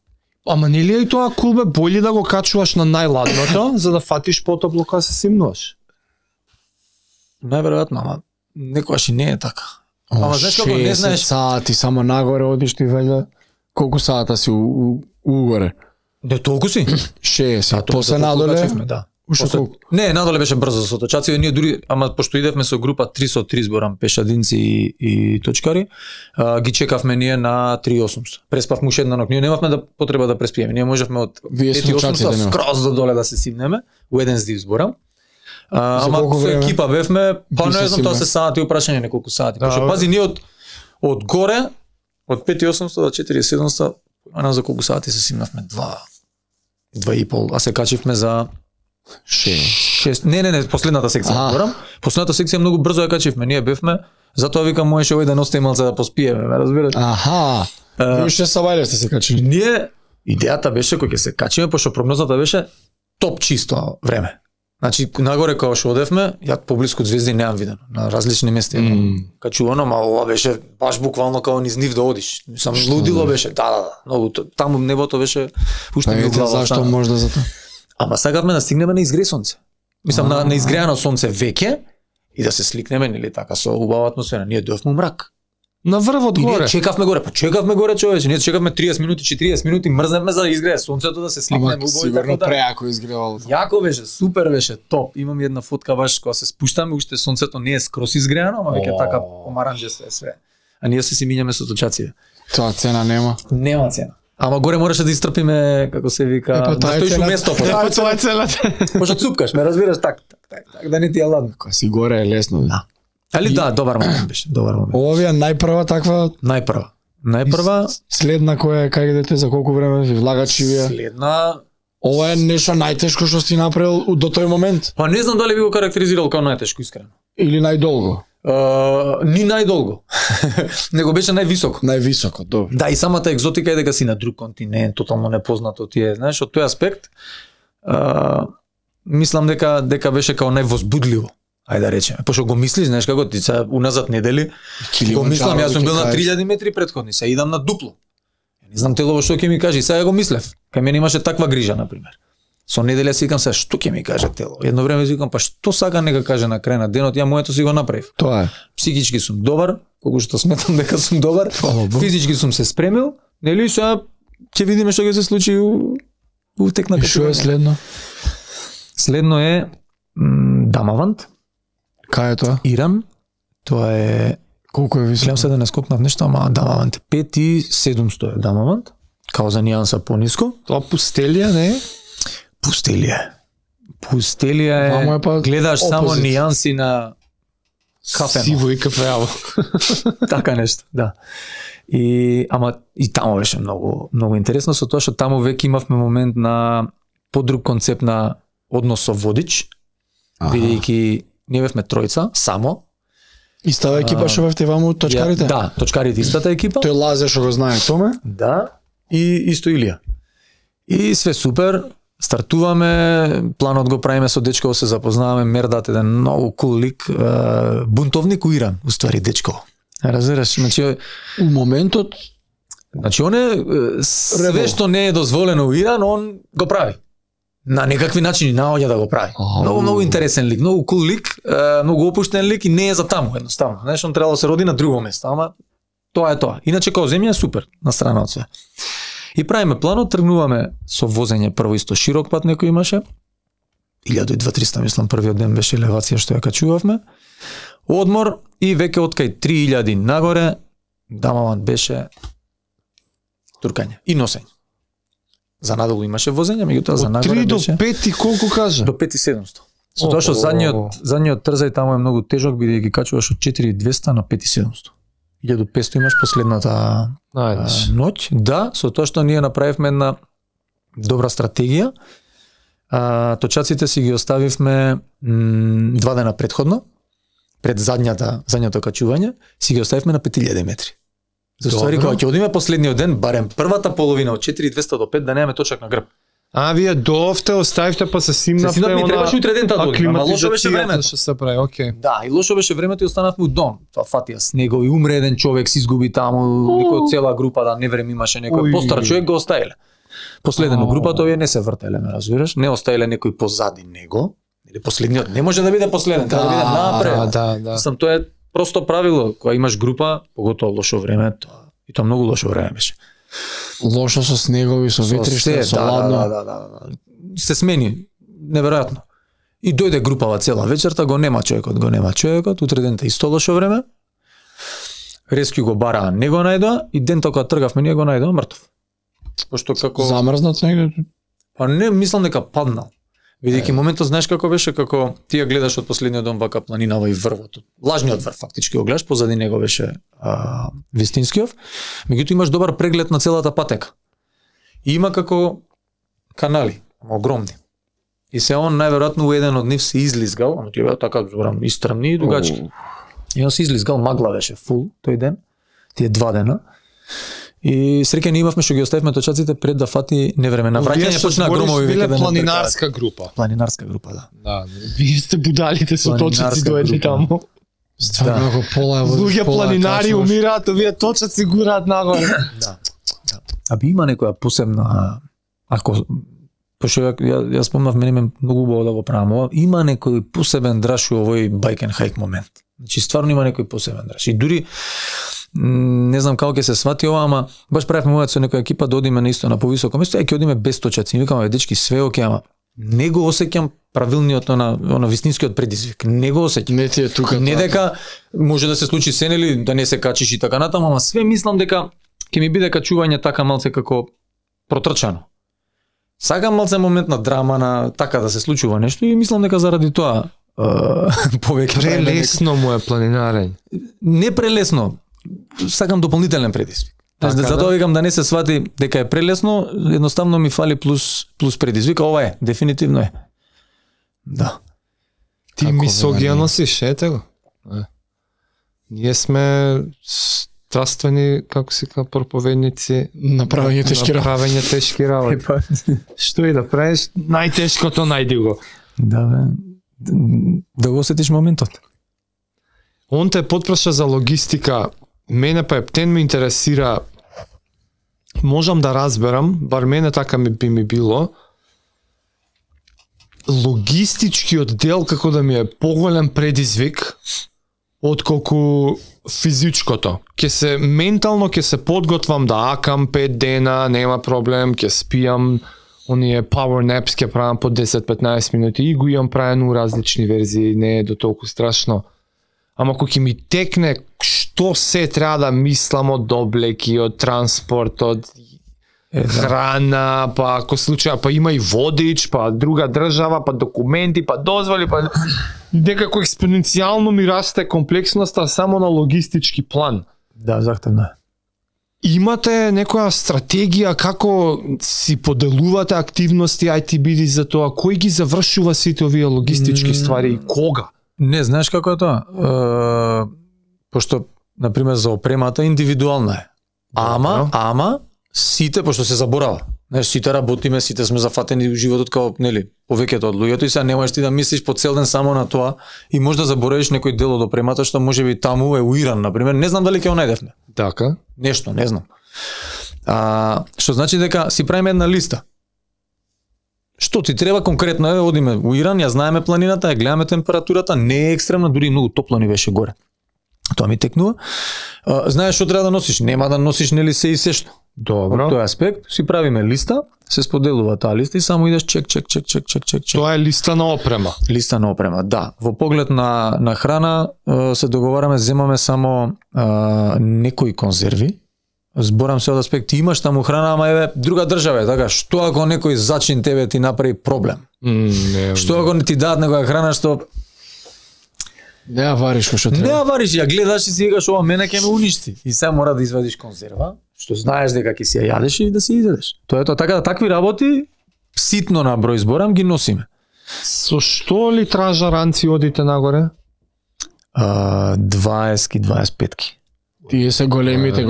B: Ама нели е и тоа кулбе боли да го качуваш на најладното, за да фатиш потопло кога се симнуваш?
A: Најверојатно, ама некојаш и не е така. Ама знаеш како не знаеш
C: сати само нагоре одиш ти веќе колку сата си угоре?
A: Не толку си?
C: 60. После надоле?
A: Да. Не, надоле беше брзо со точација, ние дури, ама пошто идевме со група 3 со 3 зборам, пешадинци и точкари, ги чекавме ние на 3800. Преспавме уште една ног. Ние немавме да потреба да преспиеме. Ние можевме од 5800 скроз до доле да се симнеме, у еден здив зборам. Ама со екипа бевме, па не знам, тоа се сати, прашање неколку сати. Пошто пази ние од горе, од 5800 до 4700, не за колку сати се симнавме, 2,5, а се качивме за 6. Не, последната секција зборам. Последната секција многу брзо ја качивме. Ние бевме, затоа викам можеше овој ден остаи малце да поспиеме, ме разбирате?
C: Аха. Вие уште са вајле сте се качили.
A: Ние идејата беше кога ќе се качиме, пошто прогнозата беше топ чисто време. Значи нагоре кога што одевме, ја поблиску од звезди немам видено, на различни места. Качувано, ама ова беше баш буквално како низ нив да одиш. Сам лудило беше. Да, многу таму небото беше уште ми глава.
C: Зашто можда за тоа?
A: Ама сакавме да стигнеме на изгрее сонце. Мислам на изгреано сонце веќе и да се сликнеме нели така со убава атмосфера. Ние дојавме мрак.
B: На врвот горе.
A: Ние чекавме горе, човече. Ние чекавме 30 минути, 40 минути, мрзневме за да изгрее сонцето да се сликнеме убаво.
C: Сигурно преако изгревало.
A: Јако беше, супер беше, топ. Имам една фотка баш кога се спуштаме, уште сонцето не е скрос изгреано, ама веќе така помаранџесто е све. А ние се си мињаме со точација.
C: Тоа цена нема.
A: Нема цена. Ама горе мораше да истрпиме, како се вика, да стоиш у место.
B: Тоа е целата.
A: Може цупкаш, ме разбираш так, да не ти е ладно.
C: Кога си горе е лесно.
A: Да. Али да, добар момент беше, добар момент.
C: Овие најпрва таква?
A: Најпрва.
C: Следна која е кај идете за колку време ви влагачи вие?
A: Следна.
C: Ова е нешто најтешко што си направил до тој момент?
A: Па не знам дали би го карактеризирал како најтешко, искрено.
C: Или најдолго?
A: Ни најдолго. Него беше највисоко.
C: Највисоко, добро.
A: Да, и самата екзотика е дека си на друг континент, тотално непознато ти е, знаеш, од тој аспект. Мислам дека беше како највозбудливо. Ајде да речеме. Пошто го мислиш, знаеш како ти се уназад недели. Го мислам, јас сум бил на 3000 метри претходни, се идам на дупло. Не знам телово што ќе ми каже, сега го мислев. Кај мене имаше таква грижа на пример. Со неделја си викам се што ќе ми каже тело. Едно време си викам па што сака нека каже на крај на денот, ја моето си го направив.
C: Тоа е.
A: Психички сум добар, колку што сметам дека сум добар. Физички сум се спремил, нели сега ќе видиме што ќе се случи у тек на качување.
C: Што е следно?
A: Следно е Дамавант.
C: Кај е тоа?
A: Иран. Тоа е
C: колку е високо?
A: Гледам се да не скокнав нешто, ама Дамавант е 5700 е Дамавант. Као за нијанса пониско.
B: Тоа пустелија не е?
A: Пустелија е, гледаш само нијанси на кафено.
B: Сиво и кафеаво.
A: Така нешто, да. Ама и таму беше многу интересно, со тоа што таму веќе имавме момент на подруг концепт на однос со водич, бидејќи ние бевме тројца, само.
C: Истава екипа што бевте ваму точкарите?
A: Да, точкарите истата екипа.
C: Тој Лазе што го знае Томе?
A: Да, и исто Илија. И све супер, стартуваме, планот го правиме со дечко, се запознаваме, Мердат еден многу кул лик, бунтовник у Иран, уствари дечко. Разбираш, значи
C: у моментот
A: он е све што не е дозволено у Иран, он го прави. На некакви начини наоѓа да го прави. Многу интересен лик, многу кул лик, многу опуштен лик и не е за таму едноставно. Знаеш, он требало да се роди на друго место, ама тоа е тоа. Иначе као земја е супер, на страна од све. И правиме планот, тргнуваме со возење прво исто широк пат некој имаше. 1200 мислам првиот ден беше елевација што ја качувавме. Одмор и веќе од кај 3000 нагоре Дамавант беше туркање и носење. За надолу имаше возење, меѓутоа за нагоре беше.
B: Од 3 до 5 и колку кажа?
A: До 5700. Со тоа што задниот трзај таму е многу тежок, бидејќи качуваш од 4200 на 5700. 1500 имаш последната ноќ. Да, со тоа што ние направивме една добра стратегија. Точаците си ги оставивме 2 дена претходно, пред задњото качување, си ги оставивме на 5000 метри. За ствари кога ќе одиме последниот ден, барем првата половина од 4200 до 5 да немаме точак на грб.
B: Вие доовте, оставивте па се симнавте,
A: ми требаше утре дента да одиме, ама лошо беше времето.
B: Што се прави, окей.
A: Да, и лошо беше времето и останавме у дом. Тоа фатија снегови, умре еден човек, се изгуби таму, некој цела група да не време имаше некој постар човек го оставиле. Последен групата овие не се вртеле, ме разбираш? Не оставиле некој позади него. Или последниот не може да биде последен, треба да биде напред.
B: Да.
A: Сам тоа е просто правило, кога имаш група, поготоа лошо време, и тоа многу лошо време беше.
C: Лошо со снегови, со ветриште, со ладно.
A: Да. Се смени, неверојатно. И дојде групава цела вечерта, го нема човекот, утре дента исто лошо време. Рескју го бараа, не го најдоа и дента кога тргавме ние го најдоа мртов. Пошто како
C: замрзнат негде?
A: Па не, мислам дека паднал. Бидејќи моментот знаеш како беше, како ти ја гледаш од последниот дом вака планинава и врвот. Лажниот врв фактички го гледаш, позади него беше Вистинскиов. Меѓутоа имаш добар преглед на целата патека. И има како канали, огромни. И се он најверојатно у еден од нив се излизгал, ама ти беа така зборам истрамни и дугачки. И он се излизгал, магла беше фул тој ден, тие 2 дена. И среќа имавме што ги оставивме точаците пред да фати невреме. На враќање почна громови веќе да
B: планинарска група.
A: Планинарска група, да.
B: Да, вие сте будалите со точаци дојдли таму.
C: Стварно како пола
B: луѓе планинари умираат, овие точаци гураат нагоре.
A: Да. Аби има некоја посебна, ако пошто ја спомнав, мене ме многу убаво да го правам, има некој посебен драж у овој байк and хайк момент. Значи стварно има некој посебен драж. И дури не знам како ќе се свати ова, ама баш правевме момент со некоја екипа да одиме на исто на повисоко место, ќе одиме без точаци. Викаме, дечки, све оке, ама не го осеќам правилниот на вистинскиот предизвик. Не го осеќам.
C: Не ти е тука.
A: Не дека може да се случи се нели да не се качиш и така натаму, ама све мислам дека ќе ми биде качување така малце како протрчано. Сакам малце момент на драма, на така да се случува нешто и мислам дека заради тоа повеќе
B: прелесно му е планинарење.
A: Не прелесно. Сакам дополнителен предизвик. Затоа викам да не се свати дека е прелесно, едноставно ми фали плюс предизвик, ова е, дефинитивно е. Да.
B: Ти мисогија носиш, ете го. Ние сме страствени, како се ка проповедници,
C: направење
B: тешки работи. Што и да правиш, најтешкото најди го.
A: Да, бе. Да го осетиш моментот.
B: Он те потпраша за логистика. Мене па ептен ме интересира, можам да разберам, бар мене така би ми било, логистичкиот дел како да ми е поголем предизвик отколку физичкото. Ке се ментално ке се подготвам да акам 5 дена, нема проблем, ке спијам оние power naps, ке правам по 10-15 минути и го имам правено у различни верзии, не е до толку страшно. Ама ако ќе ми текне што се треба да мислам од облеки, од транспорт, од храна, па ако случаја, па има и водич, па друга држава, па документи, па дозволи, па некако експоненцијално ми расте комплексноста само на логистички план.
A: Да, захтевно е.
B: Имате некоја стратегија како си поделувате активности ITBD за тоа, кој ги завршува сите овие логистички ствари и кога?
A: Не, знаеш како е тоа? Пошто, например, за опремата индивидуална е. Ама, сите, пошто се заборава. Знаеш, сите работиме, сите сме зафатени во животот као, нели, повеќето од луѓето и сега не можеш ти да мислиш по цел ден само на тоа и може да заборавиш некој дел од опремата што можеби таму е уиран, например. Не знам дали ќе го најдевме.
B: Така.
A: Нешто, не знам. Што значи дека си правиме една листа. Што ти треба конкретно е, одиме у Иран, ја знаеме планината, ја гледаме температурата, не е екстремна, дури многу топло ни беше горе. Тоа ми текнува. Знаеш што треба да носиш, нема да носиш нели се и се што.
B: Добро.
A: Од тој аспект си правиме листа, се споделува таа листа и само идеш чек.
B: Тоа е листа на опрема.
A: Листа на опрема, да. Во поглед на храна се договараме, земаме само некои конзерви. Зборам се од аспект, имаш таму храна, ама еве друга држава е, така, што ако некој зачин тебе ти направи проблем? Што ако не ти дадат некоја храна што
C: не ја вариш што треба.
A: Не ја вариш, ја гледаш и си викаш ова мене ќе ме уништи. И сега мора да извадиш конзерва, што знаеш дека ќе си ја јадеш и да си изедеш. Тоа е тоа, така да такви работи ситно на број зборам ги носиме.
B: Со што литража ранци одите нагоре?
A: 20-ки, 25-ки.
C: Тие се големите,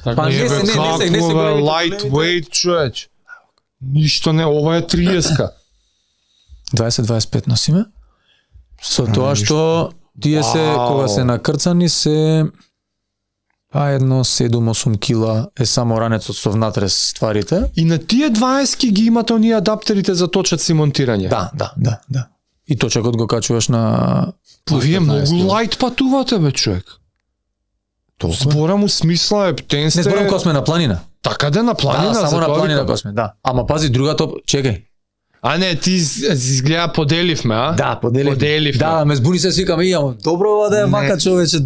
C: така.
A: Па не се големите.
B: Lightweight, човеч. Ништо не, ова е 30-ка.
A: 20-25 носиме. Со тоа што тие се, кога се накрцани се едно 7-8 кила е само ранецот со внатре стварите.
B: И на тие 20-ки ги имате оние адаптерите за точаци монтирање.
A: Да. И точакот го качуваш на
B: Па вие многу лајт патувате, бе, човек. Зборам у смисла ептен сте...
A: Не зборам кога сме на планина.
B: Така да на планина,
A: да, само на планина кога сме, да. Ама пази другата, чекај.
B: А не, ти изгледа поделивме, а?
A: Да, поделивме. Да, ме збуни се свикам, добро ова да е вака човече,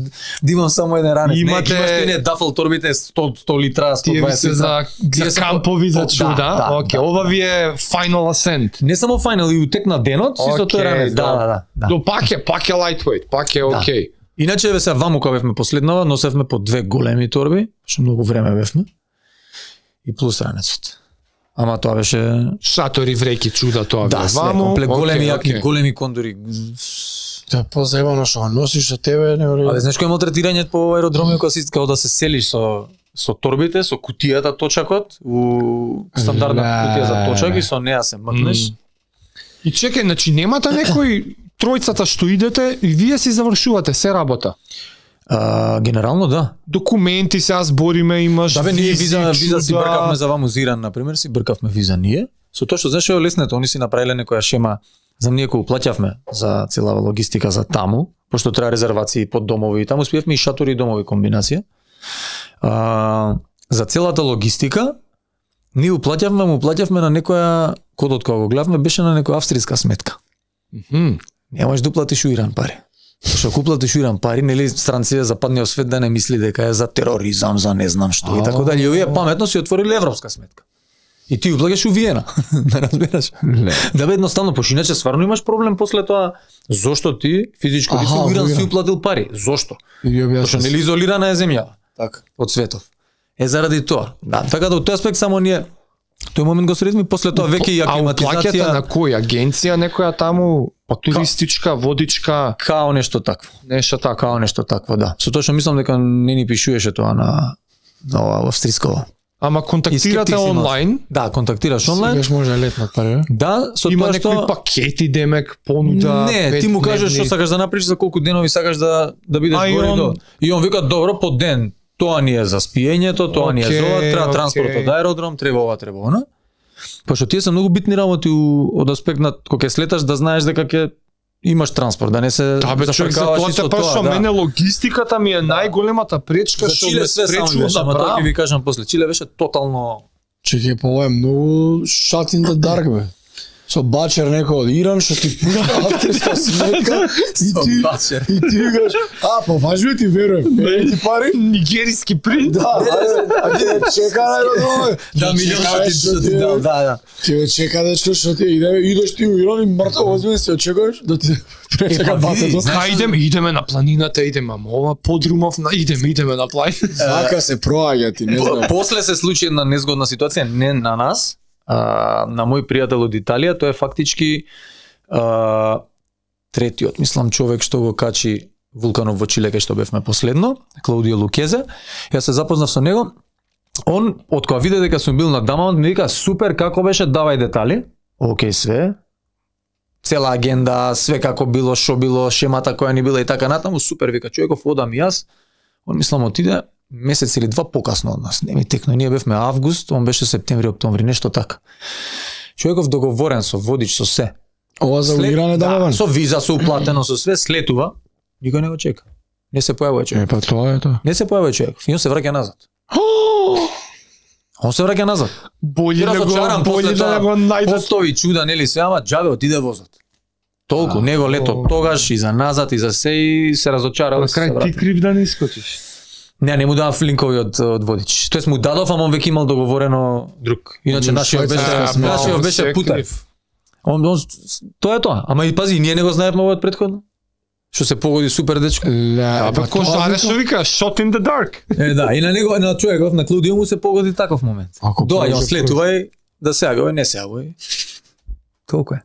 A: да имам само еден ранец.
B: Имате...
A: Имаш ти не дафл торбите 100 литра, 120
B: литра. Тие за кампови за чуда. Окей, ова ви е final ascent.
A: Не само final, и утек на денот, си со тој ранец. Да.
B: До пак е lightweight, пак е окей.
A: Иначе еве се ваму кога бевме последнава, носевме по 2 големи торби, што многу време бевме. И плюс ранецот. Ама тоа беше
B: шатори, вреки, чуда, тоа
A: да,
B: ваму.
A: Комплект големи јаки, големи кондори.
C: Да, позаебано што носиш со тебе, не вреди.
A: Але знаеш кој е малтретирање по аеродромиот кога си као да се селиш со торбите, со кутијата точакот, у стандардна кутија за точак и со неа се мкнеш.
B: И чекај, значи немате некој тројцата што идете и вие си завршувате се работа.
A: Генерално да.
B: Документи се збориме, имаш
A: да, бе, ние виза си бркавме за ваму Зиран, например, си бркавме виза ние. Со тоа што знаеш е леснето, они си направиле некоја шема за ние кој плаќавме за целава логистика за таму, пошто треба резервации под домови и таму спиевме и шатори и домови комбинација. За целата логистика ние уплаќавме на некоја, кодот кога го гледавме беше на некоја австријска сметка. Немаш да уплатиш у Иран пари. Што куплатиш у Иран пари, нели странците западниот свет да не мисли дека е за тероризам, за не знам што и така дали. Овие паметно си отвориле европска сметка. И ти уплаќаш у Виена, да разбераш. Да бе едноставно, пошто иначе стварно имаш проблем после тоа. Зошто ти физичко лице у Иран си уплатил пари? Зошто? Пошто нели изолирана е земјава од светов. Заради тоа. Да, така да од тој аспект само ние тој момент го средми, после тоа веќе и аклиматизација.
B: А на кој агенција некоја таму, туристичка, водичка,
A: као нешто такво. Нешто такво, да. Со тоа што мислам дека не ни пишуваше тоа на ова австриско.
B: Ама контактирате онлайн?
A: Да, контактираш онлайн.
C: Сегаш може летнат пари.
A: Да, со
B: има
A: тоа
B: некои
A: што
B: пакети демек понуда.
A: Не, ти му кажеш што сакаш да направиш, за колку денови сакаш да бидеш горе до. И он вика добро по ден. Тоа ни е за спиењето, тоа ни е за ова, треба транспорт од аеродром, треба ова, треба она. Пошто тие се многу битни работи од аспект на кога ќе слеташ да знаеш дека ќе имаш транспорт, да не се
B: зафркаваш исто тоа. Мене логистиката ми е најголемата пречка што ме спречува да правам.
A: Ќе ви кажам после, Чиле беше тотално...
C: Чекај, па ова е многу shot in the dark, бе. Со бачер некој од Иран што ти пука авторска сметка и ти викаш, па важно ти верувам, ти пари?
B: Нигериски принт?
C: Да, чека најдобро.
A: Да, милион што ти дал, да.
C: Ти чека дечко што ти идеш ти у Иран и мртво возиме се очекуваш да ти пречека батето.
B: Идеме на планината, идеме, ама ова подрумов, идеме на планината.
C: Вака се проаѓа ти, не знам.
A: После се случи една незгодна ситуација, не на нас, на мој пријател од Италија, тој е фактички третиот, мислам, човек што го качи вулканов во Чиле, кај што бевме последно, Клаудио Лукезе. Јас се запознав со него. Он, од кога виде дека сум бил на Дамаунт, ми вика, супер, како беше, давај детали. Океј, све. Цела агенда, све како било, шо било, шемата која ни била и така натаму, супер, вика, човеков, одам и јас. Он, мислам, отиде месец или два покасно од нас. Не ми текно, ние бевме август, он беше септември, октомври, нешто така. Човеков договорен со водич, со се.
C: Ова за улиране да,
A: со виза, со уплатено, со све, слетува, никој не го чека. Не се појавува човек.
C: Па тоа е тоа.
A: Не се појавува човек. И он се враќа назад. Он се враќа назад.
B: Болje да го најдат.
A: Постои чуда, нели се, ама џабе отиде возот. Толку него лето тогаш и за назад и за се и се разочарал.
B: На крај ти крив да не искочиш.
A: Не му давав линкови од водич. Тоест му дадов, ама он веќе имал договорено друг. Иначе нашиот беше Путаев. Тоа е тоа. Ама и пази, ние не го знаевме од претходно. Што се погоди супер дечко.
B: Па кој што вика shot in the dark.
A: Да, и на него на човеков на Клаудио му се погоди таков момент. Доаѓа он слетувај да се јавај, не се јавај. Толку е.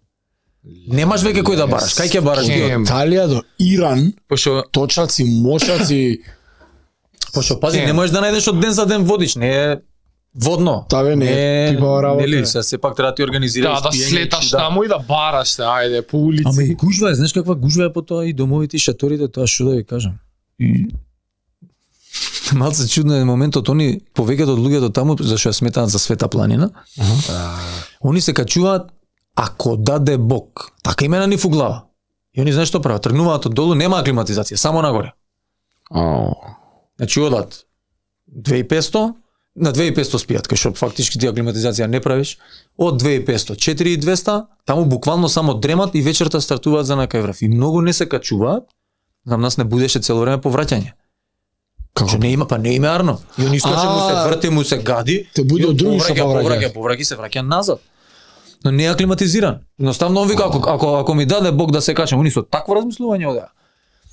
A: Немаш веќе кој да бараш. Кај ќе бараш?
C: Италија до Иран.
A: Пошо
C: точаци, мошаци.
A: Пошо пази, не можеш да најдеш од ден за ден водич, не е водно.
C: Таве не е типа работа.
A: Нели, се пак треба да ти организираш.
B: Да слеташ таму и да бараш се, ајде по улици.
A: Ама и гужва, знаеш каква гужва е по тоа и домовите и шаторите, тоа што да ви кажам. И малце чудно е моментот, они повеќето од луѓето таму зашто ја сметаат за Света планина. Они се качуваат ако даде Бог. Така имена ни фуглава. И они знаеш што прават? Тргнуваат од долу, нема аклиматизација, само нагоре. Значи одат 2500, на 2500 спијат, кај што фактички ти аклиматизација не правиш. Од 2500, 4200, таму буквално само дремат и вечерта стартуваат за на кај и многу не се качуваат. За нас не будеше цело време повраќање. Како не има, па не има арно. И они искаче му се врте, му се гади.
C: Те буде од други што
A: повраќа, се враќа назад. Но не е аклиматизиран. Едноставно он вика ако ми даде Бог да се качам, они со такво размислување одеа.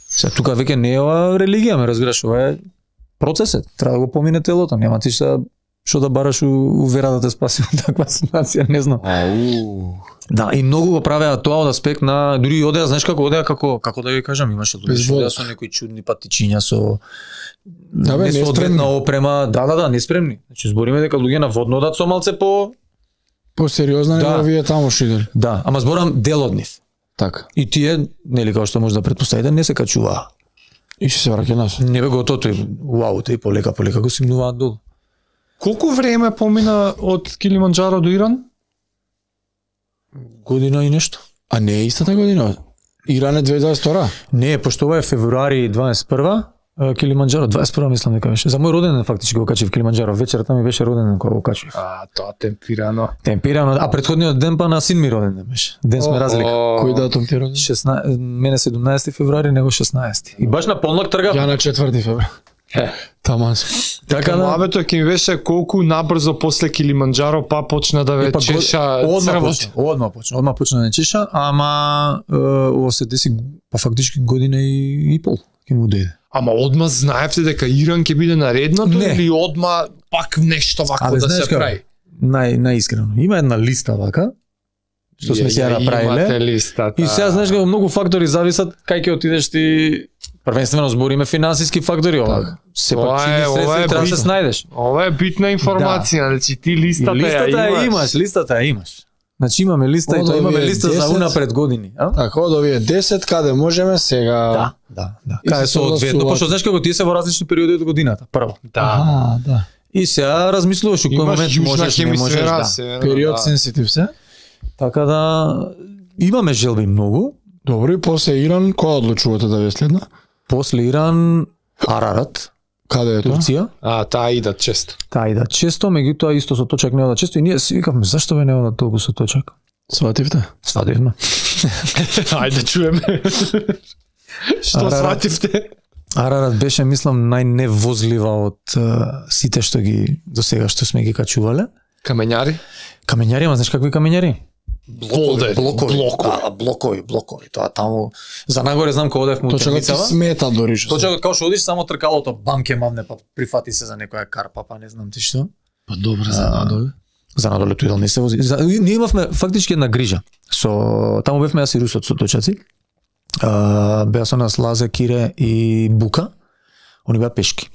A: Се тука веќе не е ова религија, ме разбираш, ова е процесот. Треба да го помине телото, нема ти што да бараш у вера да те спаси од таква ситуација, не знам. Да, и многу го правеа тоа од аспект на дури одеа, знаеш како одеа како да ви кажам, имаше луѓе со некои чудни патичиња со несоодветна опрема, да, неспремни. Значи збориме дека луѓе на водно одат со малце
C: посериозна него вие таму шидели.
A: Да, ама зборам дел од нив.
C: Така.
A: И тие, нели како што може да претпоставите, не се качуваа.
C: И се враќа нас.
A: Не бе готото и и полека го симнуваат долу.
B: Колку време помина од Килиманџаро до Иран?
A: Година и нешто.
C: А не е истата година? Иран е 2022?
A: Не, пошто ова е февруари 21, Килиманџаро 21 мислам дека беше. За мој роденден фактички го качив Килиманџаро. Вечерта ми беше роденден кога го качив.
B: Тоа темпирано.
A: Темпирано, а претходниот ден па на син ми роденден беше. Ден сме разлика.
C: Кој датум ти роден?
A: 16, мене 17 февруари, него 16. И баш на полнок тргав.
C: Ја на 4 февруари. Таман.
B: Така мабето ќе ми беше колку набрзо после Килиманџаро па почна да ве чеша црвот.
A: Одма почна да чеша, ама ова се деси па фактички година и пол ќе му дојде.
B: Ама одма знаевте дека Иран ќе биде наредното или одма пак нешто вако да се прави?
A: Најискрено. Има една листа вака, што сме ја направиле. И сега знаеш дека многу фактори зависат кај ќе отидеш ти. Првенствено збориме финансиски фактори ова. Сепак чини средства треба да се снајдеш.
B: Ова е битна информација, значи ти листата ја имаш.
A: Листата ја имаш. Значи имаме листа и тоа имаме листа за унапред години,
C: Така, од овие 10 каде можеме сега.
A: Да. Каде соодветно, пошто знаеш како тие се во различни периоди од годината, прво.
C: Да.
A: И сега размислуваш у кој момент можеш, не можеш,
C: Период сензитив се.
A: Така да имаме желби многу.
C: Добро, и после Иран, која одлучувате да ве следна?
A: После Иран, Арарат,
C: Каде е тоа?
A: Турција.
B: Таа идат често.
A: Таа идат често, меѓутоа исто со точак не одат често и ние си викавме зашто бе не одат толку со точак?
C: Свативте?
A: Свативме.
B: Ајде чуеме. Што свативте?
A: Арарат беше, мислам, најневозлива од сите што ги досега што сме ги качувале.
B: Камењари?
A: Камењари, ама знаеш какви камењари?
B: Блокови.
A: Тоа таму за нагоре знам кога одев му
C: Точакот смета дори што.
A: Точакот као што одиш само тркалото бамке мавне па прифати се за некоја карпа, па не знам ти што.
C: Па добро за надоле.
A: За надоле тој не се вози. Ние имавме фактички една грижа. Таму бевме јас и русот со точаци. Беа со нас Лазе, Кире и Бука. Они беа пешки.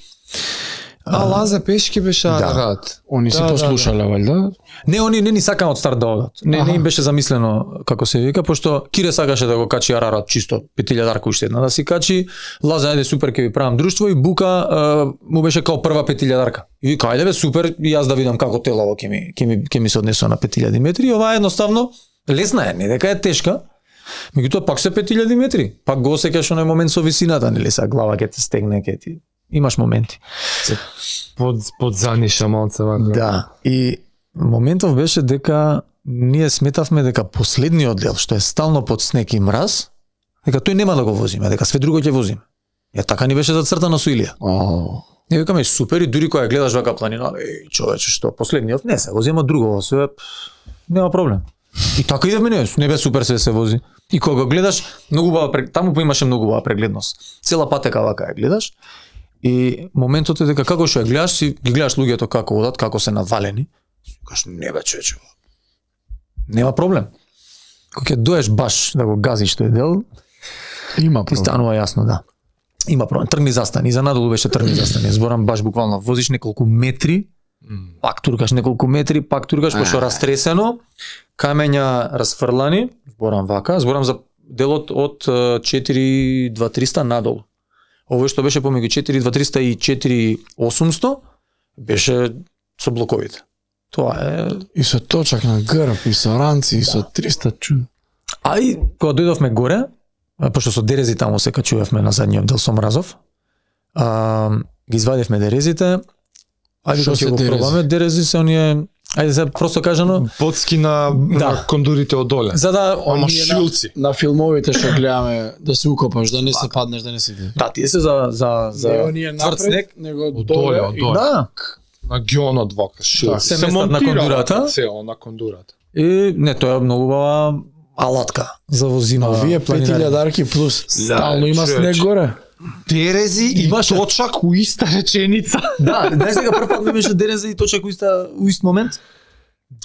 B: Лазе пешки беше Арарат.
C: Они се послушале, валјда?
A: Не, они не ни сакаа од старт да одат. Не им беше замислено како се вика, пошто Кире сакаше да го качи Арарат чисто 5000 уште една да си качи. Лазе, ајде супер ќе ви правам друштво и Бука му беше као прва 5000. И вика ајде бе супер и јас да видам како телово ќе ми се однесува на 5000 метри. Ова едноставно лесна е, не дека е тешка. Меѓутоа пак се 5000 метри. Пак го осеќаш оној момент со висината, нели са глава ќе те стегне, ќе ти имаш моменти.
B: Под заниша малце вака.
A: Да. И моментов беше дека ние сметавме дека последниот дел што е стално под снег и мраз, дека тој нема да го возиме, дека све друго ќе возиме. Ја така ни беше зацртано со Илија. Ние викаме супер и дури кога гледаш вака планина, човече што последниот не се го зема друго, све нема проблем. И така идевме не бе супер се вози. И кога гледаш многу убава таму имаше многу убава прегледност. Цела патека вака ја гледаш. И моментот е дека како што ја гледаш, ги гледаш луѓето како одат, како се навалени. Кажеш не бе човече. Нема проблем. Кога ќе доеш баш да го газиш тој дел,
C: има
A: проблем. Ти станува јасно, да. Има проблем. Тргни застани, за надолу беше тргни застани. Зборам баш буквално возиш неколку метри, пак туркаш неколку метри, пак туркаш пошто растресено, камења расфрлани, зборам за делот од 4200 надолу. Овој што беше помеѓу 4200 и 4800 беше со блоковите. Тоа е
C: и со точак на грб, и со ранци, и со 300 чуд.
A: А и кога дојдовме горе, пошто со дерези таму се качувавме на задниот дел со мразов, ги извадивме дерезите. Ајде што ќе го пробаме, дерези се оние, ајде се просто кажано,
B: подски на кондурите од доле.
A: За да
B: шилци.
C: На филмовите што гледаме да се укопаш, да не се паднеш, да не се.
A: Да, тие се за тврд снег,
C: него доле.
A: Да.
B: На гионот вака шилци.
A: Се местат на кондурата.
B: На кондурата.
A: И не, тоа е многу убава алатка за возима.
C: Вие 5000 плюс стално има снег горе.
B: Дерези и точак у иста реченица.
A: Да, знаеш дека прв пат ми беше дерези и точак у ист момент.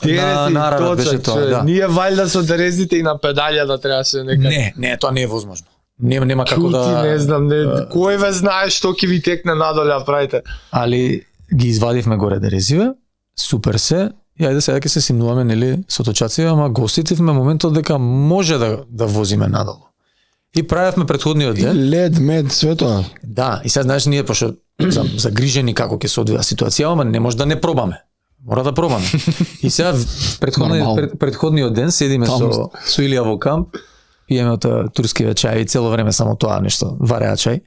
B: Дерези и точак, да. Ние валјда со дерезите и на педалја да требаше нека.
A: Не, тоа не е возможно. Нема како да.
B: Не знам, кој ве знае што ќе ви текне надоле правите.
A: Али ги извадивме горе дерезиве, супер се. И ајде сега ќе се симнуваме нели со точаци, ама го осетивме моментот дека може да возиме надолу. И правевме претходниот ден.
C: И лед, мед, све тоа.
A: Да, и сега знаеш ние пошто загрижени како ќе се одвива ситуација, ама не може да не пробаме. Мора да пробаме. И сега претходниот ден седиме со Илија во камп, пиеме турски чај и цело време само тоа нешто, вареа чај.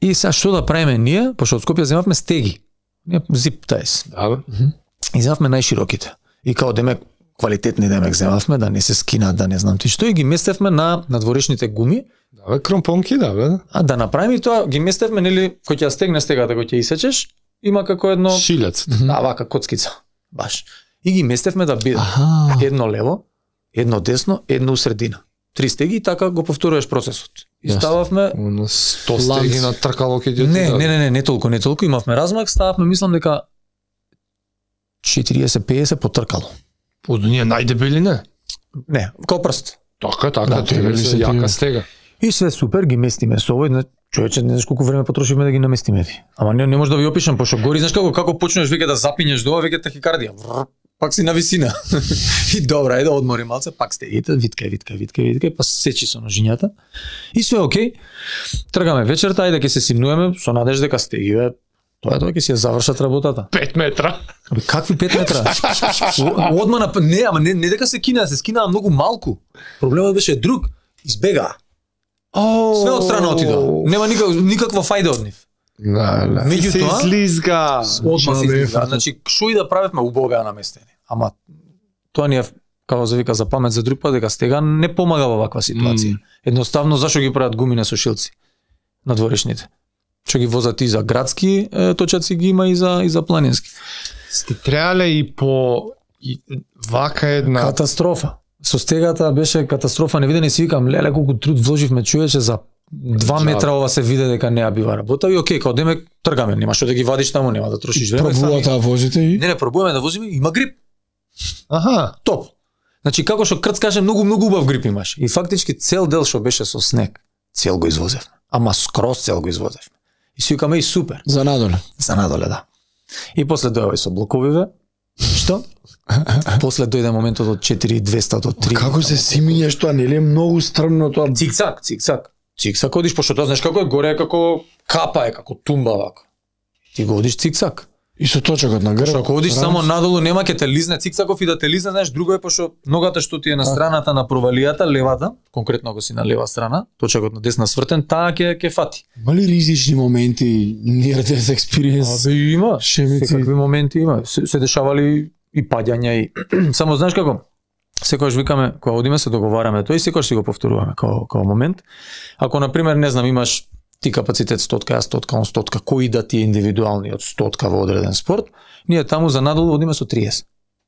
A: И сега што да правиме ние, пошто од Скопје земавме стеги. Зип тајс.
B: Да.
A: И земавме најшироките. И као демек квалитетни демек земавме, да не се скинат, да не знам ти што, и ги местевме на надворешните гуми.
B: Да, бе, кромпонки, да, бе.
A: А да направиме тоа, ги местевме, нели, кој ќе стегне стегата, кој ќе исечеш, има како едно
B: шилец.
A: Да, вака коцкица. Баш. И ги местевме да биде едно лево, едно десно, едно усредина. 3 стеги и така го повторуваш процесот. И стававме
B: 100 стеги на тркало ќе
A: ќе не толку, имавме размак, стававме, мислам дека 40-50 по тркало.
B: Од ние најдебели не?
A: Не, као прст.
B: Така, се јака стега.
A: И све супер, ги местиме со овој, човече, не знаеш колку време потрошивме да ги наместиме. Ама не може да ви опишам, пошто гори, знаеш како почнеш веќе да запињеш до ова, веќе тахикардија. Пак си на висина. И добра, да одмори малце, пак стегите, виткај, па сечи со ножињата. И све окей. Тргаме вечерта, ајде ќе се симнуваме со надеж дека стегиве. Тоа ќе си ја завршат работата.
B: 5 метра.
A: Какви 5 метра? Одма на не дека се кинаа многу малку. Проблемот беше друг. Избегаа. Све од страна отидоа. Нема никаква фајда од нив.
C: Да.
B: Меѓутоа, излизга.
A: Одма се излизга. Значи, шо и да правевме, убаво беа наместени. Ама тоа ни е, како се вика, за памет за друг пат, дека стега не помага во ваква ситуација. Едноставно, зашо ги прават гумине сушилци на дворешните? Што ги возат и за градски точаци ги има и за планински.
B: Сте требале и по вака една
A: катастрофа. Со стегата беше катастрофа, не видени си викам, леле колку труд вложивме, човече, за 2 метра ова се виде дека не ја бива работа и окей, као деме тргаме, нема што да ги вадиш таму, нема да трошиш време.
C: Пробувате да возите и?
A: Не, пробуваме да возиме, има грип.
B: Аха,
A: топ. Значи како што крцкаше, многу убав грип имаш. И фактички цел дел што беше со снег, цел го извозевме. Ама скроз цел го извозевме. И си викаме и супер.
C: За надоле.
A: За надоле, да. И после дојава и со блоковиве. Што? После дојде моментот од 4200 до 3.
C: Како се симињаш тоа, нели е многу стрмно тоа?
A: Цикцак. Цикцак одиш, пошто тоа знаеш како е, горе е како капа е, како тумба вака. Ти го одиш цикцак.
C: И со точакот на грб.
A: Што ако одиш само надолу, нема ќе те лизне цикцаков и да те лизне, знаеш, друго е пошто ногата што ти е на страната на провалијата, левата, конкретно ако си на лева страна, точакот на десна свртен, таа ќе фати.
C: Има ли ризични моменти near death experience?
A: Има.
C: Шемици.
A: Секакви моменти има. Се дешавали и паѓања и само знаеш како? Секогаш викаме, кога одиме се договараме тоа и секогаш си го повторуваме како момент. Ако на пример не знам имаш ти капацитет 100, јас 100, он 100, кој да ти е индивидуалниот 100 во одреден спорт, ние таму за надолу одиме со 30.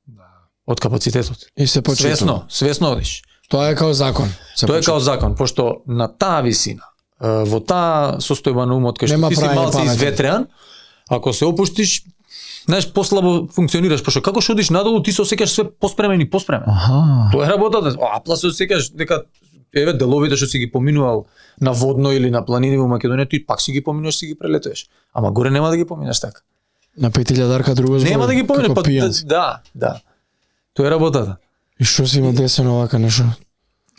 A: Да. Од капацитетот.
C: И се почитува.
A: Свесно одиш.
C: Тоа е као закон.
A: Тоа е као закон, пошто на таа висина, во таа состојба на умот кај што ти си малце изветреан, ако се опуштиш, знаеш, послабо функционираш, пошто како што одиш надолу, ти се осеќаш све поспремен и поспремен. Тоа е работата. Апла се осеќаш дека еве деловите што си ги поминувал на водно или на планини во Македонија, ти пак си ги поминуваш, си ги прелетуваш. Ама горе нема да ги поминеш така.
C: На 5000 друго збор.
A: Нема да ги поминеш, па да. Тоа е работата.
C: И што си има десено вака нешто?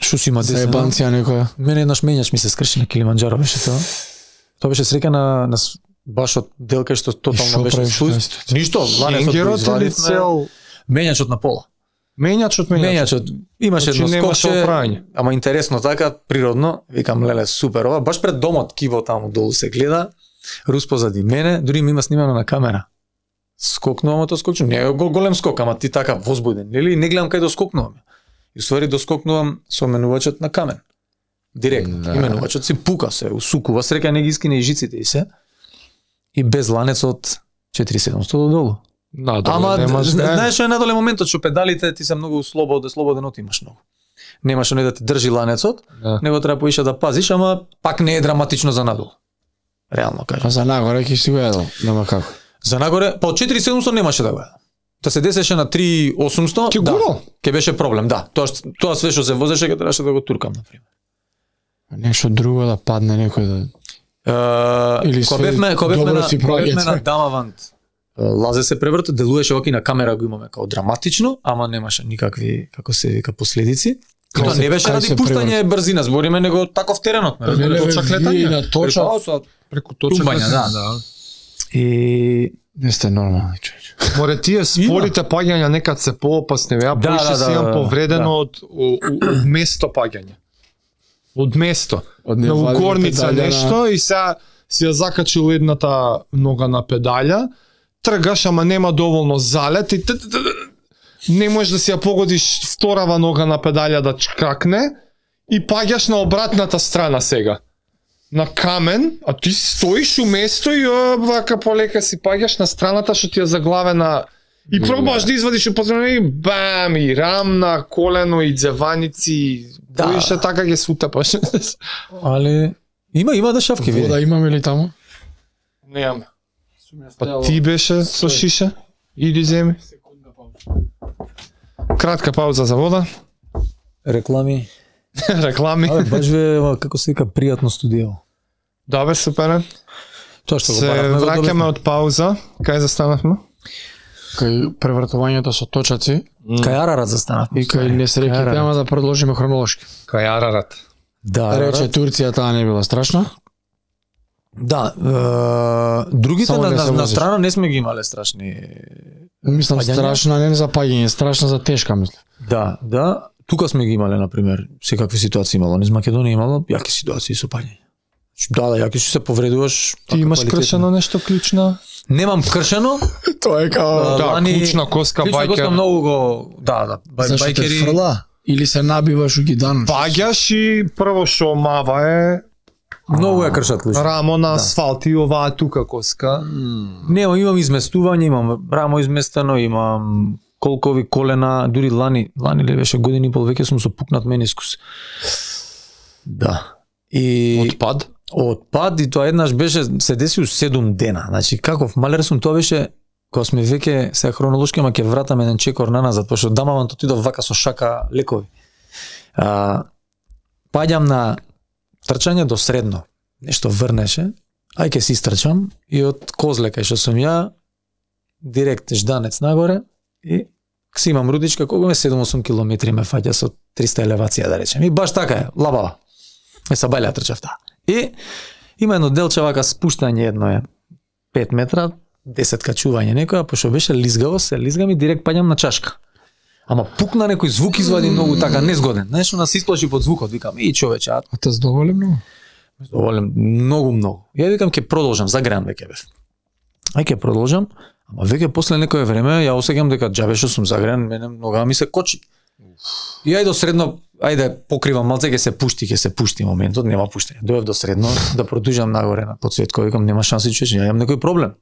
A: Што си има десено?
C: Заебанција некоја.
A: Мене еднаш менјач ми се скрши на Килиманџаро беше тоа. Тоа беше среќа на баш од дел кај што тотално беше спуст. Ништо, ланецот го извадивме. Менјачот на пола. Менјачот имаше едно скокче, ама интересно така, природно, викам леле супер ова, баш пред домот кибо таму долу се гледа, Рус позади мене, дури ми има снимано на камера. Скокнувам тоа скокче, не е голем скок, ама ти така возбуден, нели? Не гледам кај доскокнувам. И ствари доскокнувам со менувачот на камен. Директно. Да. И менувачот си пука се, усукува, среќа не ги искине и жиците и се. И без ланец од 4700 до долу. Ама знаеш што е надоле моментот што педалите ти се многу слободен отимаш многу. Немаш оне да ти држи ланецот, него треба поише да пазиш, ама пак не е драматично за надолу. Реално кажам.
C: А за нагоре ќе си го едал, нема како.
A: За нагоре, па од 4700 немаше да го едам. Да се десеше на 3800, да, ќе беше проблем, да. Тоа све што се возеше ќе требаше да го туркам на пример.
C: Нешто друго да падне некој да
A: кога бевме на Дамавант, лазе се превртот, делуваше оки на камера го имаме као драматично, ама немаше никакви, како се вика, последици. Тоа не беше ради пуштање брзина, збориме него таков теренот,
C: точак летање,
B: преку точак летање, да.
A: И
C: не сте нормални човече.
B: Море тие спорите паѓања некад се поопасни, ја поише си имам повредено од место паѓање. Од место. На угорница нешто и сега си ја закачил едната нога на педалја, тргаш, ама нема доволно залет и не можеш да си ја погодиш вторава нога на педалја да чкакне и паѓаш на обратната страна сега. На камен, а ти стоиш у место и вака полека си паѓаш на страната што ти е заглавена и пробаш да извадиш у позорно и бам, и рамна, колено, и дзеваници, поише така ќе се утапаш.
A: Але има да шавки види.
C: Вода имаме ли таму?
B: Немаме. Па ти беше со шиша? Иди земи. Кратка пауза за вода.
A: Реклами.
B: Реклами.
A: Баш ве, како се вика, пријатно студио.
B: Да бе, супер.
A: Тоа што го
B: се враќаме од пауза. Кај застанавме?
C: Кај превртувањето со точаци.
A: Кај Арарат застанавме.
C: И кај несреќите, ама да продолжиме хронолошки.
B: Кај Арарат.
A: Да.
C: Рече Турција таа не била страшна.
A: Да, другите на страна не сме ги имале страшни.
C: Мислам страшна не за паѓање, страшна за тешка мислам.
A: Да. тука сме ги имале на пример, секакви ситуации имало, низ Македонија имало јаки ситуации со паѓање. Да, јаки си се повредуваш.
B: Ти имаш кршено нешто клучна?
A: Немам кршено.
C: Тоа е као
B: клучна коска,
A: клучна
B: бајкер.
A: коска многу го,
C: Зашто те
A: бајкери.
C: фрла или се набиваш у гидан.
B: Паѓаш и прво што мава е
A: Многу ја кршат клучна.
B: рамо на асфалт и оваа тука коска.
A: Имам изместување, имам рамо изместено, имам колкови колена, дури лани ли беше години и пол веќе сум со пукнат менискус. Да. И од пад и тоа еднаш беше се деси у 7 дена. Значи каков малер сум, тоа беше кога сме веќе се хронолошки, ама ќе вратам еден чекор наназад, пошто дамаван отидов вака со шака лекови. Паѓам на трчање до средно. Нешто врнеше, ај ќе си истрчам и од Козле кај што сум ја директ жданец нагоре и си имам рудичка, колку ме 7-8 километри ме фаќа со 300 елевација да речем. И баш така е, лабава. Са бајле трчав таа. И има едно делче вака спуштање, едно е 5 метра, 10 качување некоја, пошто беше лизгаво, се лизгам и директ паѓам на чашка. Ама пукна некој звук извади многу така незгоден. Знаеш, она се исплаши под звукот, викам, и човече,
C: А те задоволен многу?
A: Доволен многу. Ја викам ќе продолжам, загреан веќе бев. Ај ќе продолжам, ама веќе после некое време ја осеќам дека џабе што сум загреан, мене нога ми се кочи. И ај до средно, ајде покривам малце, ќе се пушти моментот, нема пуштање. Дојдов до средно да продолжам нагоре на подсветко, викам нема шанси човече, ја имам некој проблем.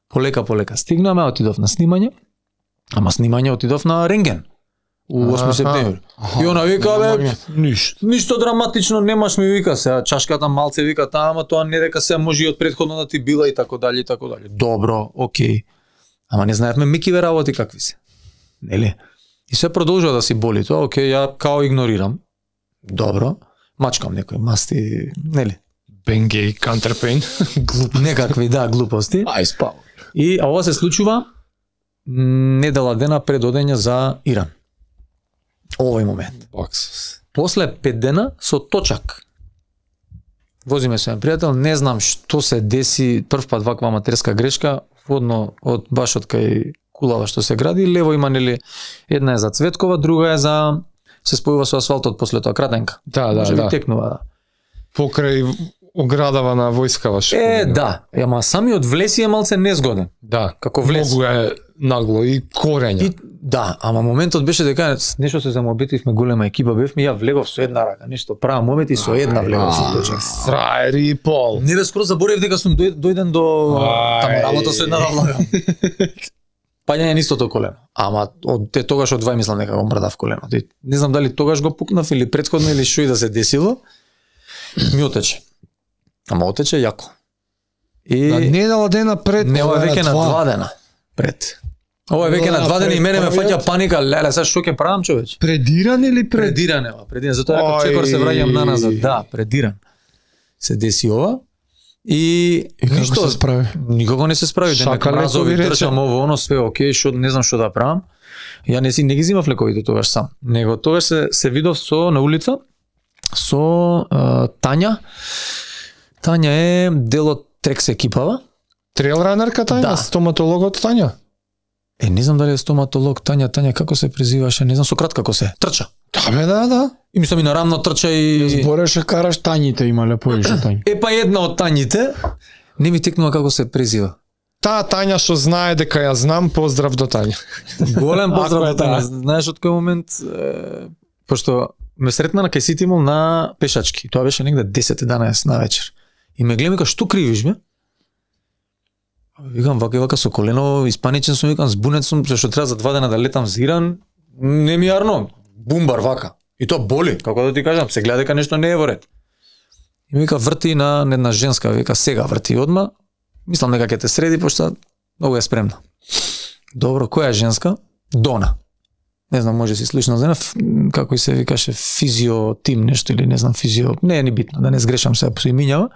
A: Полека стигнаме, отидов на снимање, ама снимање отидов на рентген. У 8 септември. И она вика, бе, ништо драматично немаш, ми вика се, чашката малце вика таа, ама тоа не дека се може и од претходно да ти била и така дали. Добро, окей. Ама не знаевме микиве работи какви се. Нели? И се продолжува да си боли тоа, окей, ја као игнорирам. Добро. Мачкам некои масти, нели?
B: Бенгей, Counterpain.
A: Некакви, да, глупости.
C: Ај спав.
A: И ова се случува недела дена пред одење за Иран. Овој момент. После 5 дена со точак. Возиме со еден пријател, не знам што се деси, прв пат ваква аматерска грешка, водно од баш од кај кулава што се гради, лево има нели една е за Цветкова, друга е за се спојува со асфалтот после тоа кратенка.
B: Да.
A: Текнува, да.
B: Покрај оградава на војскава што.
A: Да, ама самиот влез е малце незгоден.
B: Да,
A: како влез.
B: Многу е нагло и корења.
A: Да, ама моментот беше дека нешто се замотивме, голема екипа бевме, ја влегов со една рака, нешто правам момент и со една влегов со точак.
B: Фраери и пол.
A: Не бе, скоро заборев дека сум дојден до таму работа со една влага. Паѓање на истото колено. Ама од тогаш од 2 мислам дека го мрдав колено. Не знам дали тогаш го пукнав или претходно или што и да се десило. Ми отече. Ама отече јако. И
B: на недела дена пред.
A: Не, ова веќе на 2 дена пред. Ова е веќе на 2 дена и мене ме фаќа паника, леле, сега што ќе правам, човече?
B: Предиран или
A: предиран? Предиран, затоа како чекор се враќам наназад. Да, предиран. Се деси ова. И ништо
C: се справи?
A: Никако не се справи, дека мразови држам ово, оно све окей, што не знам што да правам. Ја не ги зимав лековите тогаш сам, него тогаш се видов со на улица со Тања. Тања е дел од Трекс екипава.
B: Трейл ранерка Тања,
A: да.
B: Стоматологот Тања.
A: Не знам дали е стоматолог Тања како се презиваше, не знам, со кратка како се. Трча.
B: Да бе, да.
A: И мислам и нарамно трча и
C: збореше караш Тањите, имале повеќе Тањи.
A: Па една од Тањите не ми текнува како се презива.
B: Таа Тања што знае дека ја знам, поздрав до Тања.
A: Голем поздрав до Тања. Знаеш од кој момент пошто ме сретна на кај Ситимол на пешачки. Тоа беше негде 10-11 на вечер. И ме гледа, што кривиш бе? Викам вака со колено, испаничен сум, викам збунет сум, зашто треба за 2 дена да летам за Иран. Не ми арно, бумбар вака. И тоа боли, како да ти кажам, се гледа дека нешто не е во ред. И ми вика врти на една женска, вика сега врти одма. Мислам дека ќе те среди, пошто многу е спремна. Добро, која е женска? Дона. Не знам, може си слушнал за како и се викаше физиотим нешто или не знам физио, не е ни битно, да не сгрешам се по имињава.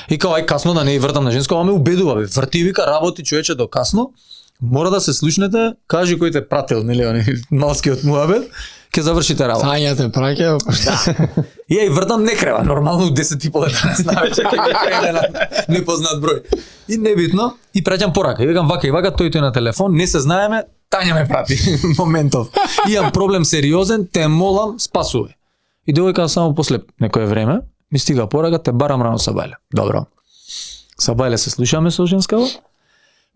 A: И као ај касно да не вртам на женско, ама ме убедува бе, врти вика работи човече до касно. Мора да се слушнете, кажи кој те пратил, нели, они малскиот муабет, ќе завршите работа.
C: Тања те праќа.
A: Да. И ја вртам не крева, нормално 10:30 на вечер ќе крене на непознат број. И небитно, и праќам порака. И викам вака и вака, тој на телефон, не се знаеме, Тања ме прати моментов. Имам проблем сериозен, те молам, спасувај. И девојка само после некое време ми стига порака, те барам рано Сабајле. Добро. Сабајле се слушаме со женскава.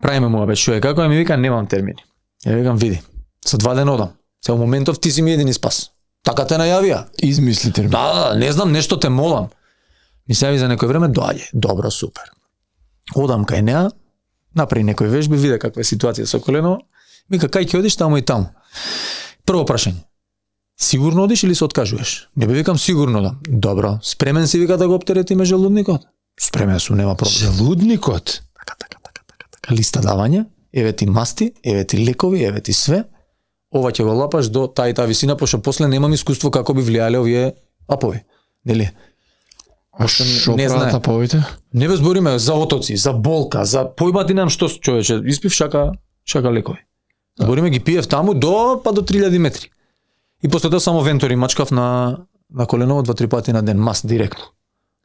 A: Правиме му абе што е како ми вика немам термини. Ја викам види, за 2 дена одам. Се во моментов ти си ми едини спас. Така те најавија.
C: Измисли термин.
A: Да, не знам, нешто те молам. Ми се јави за некој време, доаѓе. Добро, супер. Одам кај неа, направи некои вежби, виде каква е ситуација со колено. Мика, кај ќе одиш таму и таму. Прво прашање. Сигурно одиш или се откажуваш? Не бе викам сигурно да. Добро. Спремен си вика да го оптеретиме желудникот? Спремен сум, нема проблем.
B: Желудникот?
A: Така. Листа давање, еве ти масти, еве ти лекови, еве ти све. Ова ќе го лапаш до таа и таа висина, пошто после немам искуство како би влијале овие апови. Нели?
C: А што прават аповите?
A: Не бе збориме за отоци, за болка, за појбати нам што човече, испив шака лекови. Збориме ги пиев таму до 3000 метри. И после тоа само вентори мачкав на коленово 2-3 пати на ден, маст директно.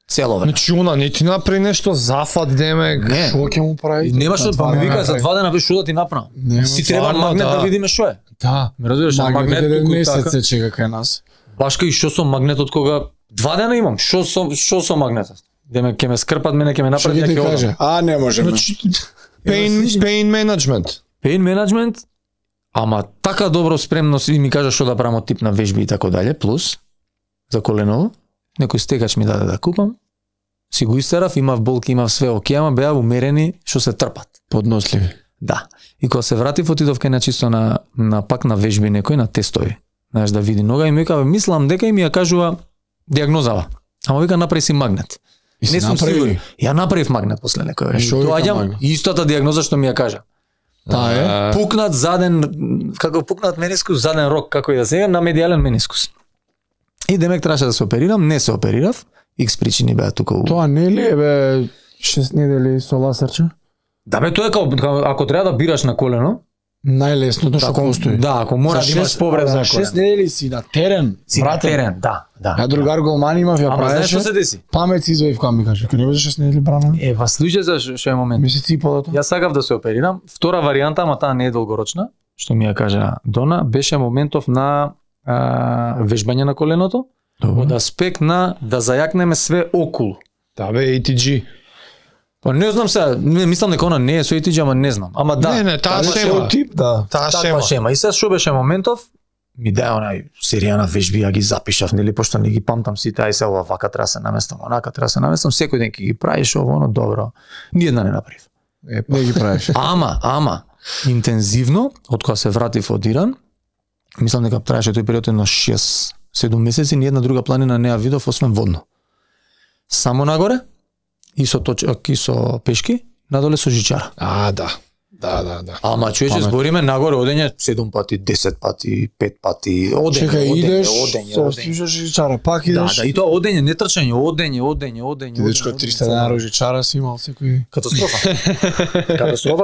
A: Цело време.
B: Значи она не ти направи нешто зафат демек,
C: Што ќе му прави?
A: Немаш па ми вика за 2 дена бе што да ти направам. Си треба магнет да видиме што е.
C: Да.
A: Ме разбираш,
C: Магнет
A: туку
C: месец
A: така.
C: се чека кај нас.
A: Баш кај што со магнетот кога 2 дена имам, што со магнетот? Демек ќе ме скрпат мене, ќе ме
C: Што
A: направат
C: ќе ти
A: ќе
C: каже? А не можеме.
B: Pain management.
A: Pain management, ама така добро спремност и ми кажа што да правам од тип на вежби и така дале, плюс за коленово, некој стекач ми даде да купам, си го истерав, имав болки, имав све окей, ама беа умерени што се трпат.
C: Подносливи.
A: Да. И кога се вратив, отидов кај чисто на пак на вежби некој, на тестови. Знаеш, да види нога и ми вика, мислам дека и ми ја кажува диагнозава. Ама вика, направи си магнет. Не сум сигурен. Ја направив магнет после некој време. Доаѓам, истата диагноза што ми ја кажа.
C: Таа е?
A: Пукнат заден, како пукнат менискус, заден рок, како и да се на медијален менискус. И демек требаше да се оперирам, не се оперирав. Икс причини беа тука.
C: Тоа не ли е бе 6 недели со ласерче?
A: Да бе, тоа е како ако треба да бираш на колено,
C: Најлесното што постои.
A: да, ако мора да имаш повреда
C: за
A: на колено.
C: 6 недели си на терен.
A: Си на терен, да.
C: Ја другар голман имав, ја
A: Ама знаеш
C: правеше.
A: што се деси?
C: Памет си изваив кога ми каже, не беше 6 недели брана.
A: Па слушај за што е момент.
C: Ми се ципало тоа.
A: Јас сакав да се оперирам. Втора варијанта, ама таа не е долгорочна, што ми ја кажа Дона, беше моментов на вежбање на коленото, од аспект на да зајакнеме све околу.
B: Да бе, ATG.
A: Па не знам сега, не мислам дека она не е со ATG, ама не знам. Ама да.
B: Не, таа
A: таква
B: шема.
C: Тип, да.
B: Таа
A: Таква шема. И сега што беше моментов? Ми дај онај серија на вежби, ја ги запишав, нели, пошто не ги памтам сите, ај се ова вака треба се наместам, онака треба се наместам, секој ден ќе ги правиш ово, оно добро. Ни една не направив.
C: Не ги правиш.
A: Ама интензивно, од кога се вратив од Иран, мислам дека траеше тој период на 6-7 месеци, ни една друга планина не ја видов освен водно. Само нагоре и со точак и со пешки, надоле со жичара.
B: Да.
A: Ама човече збориме нагоре одење 7 пати, 10 пати, 5 пати,
C: Чекај, идеш, со
A: одење.
C: стижаш жичара, пак
A: Да,
C: идеш.
A: да, и тоа одење, не трчање, одење.
C: Ти дечко 300 денари жичара си имал секој.
A: Катастрофа. Катастрофа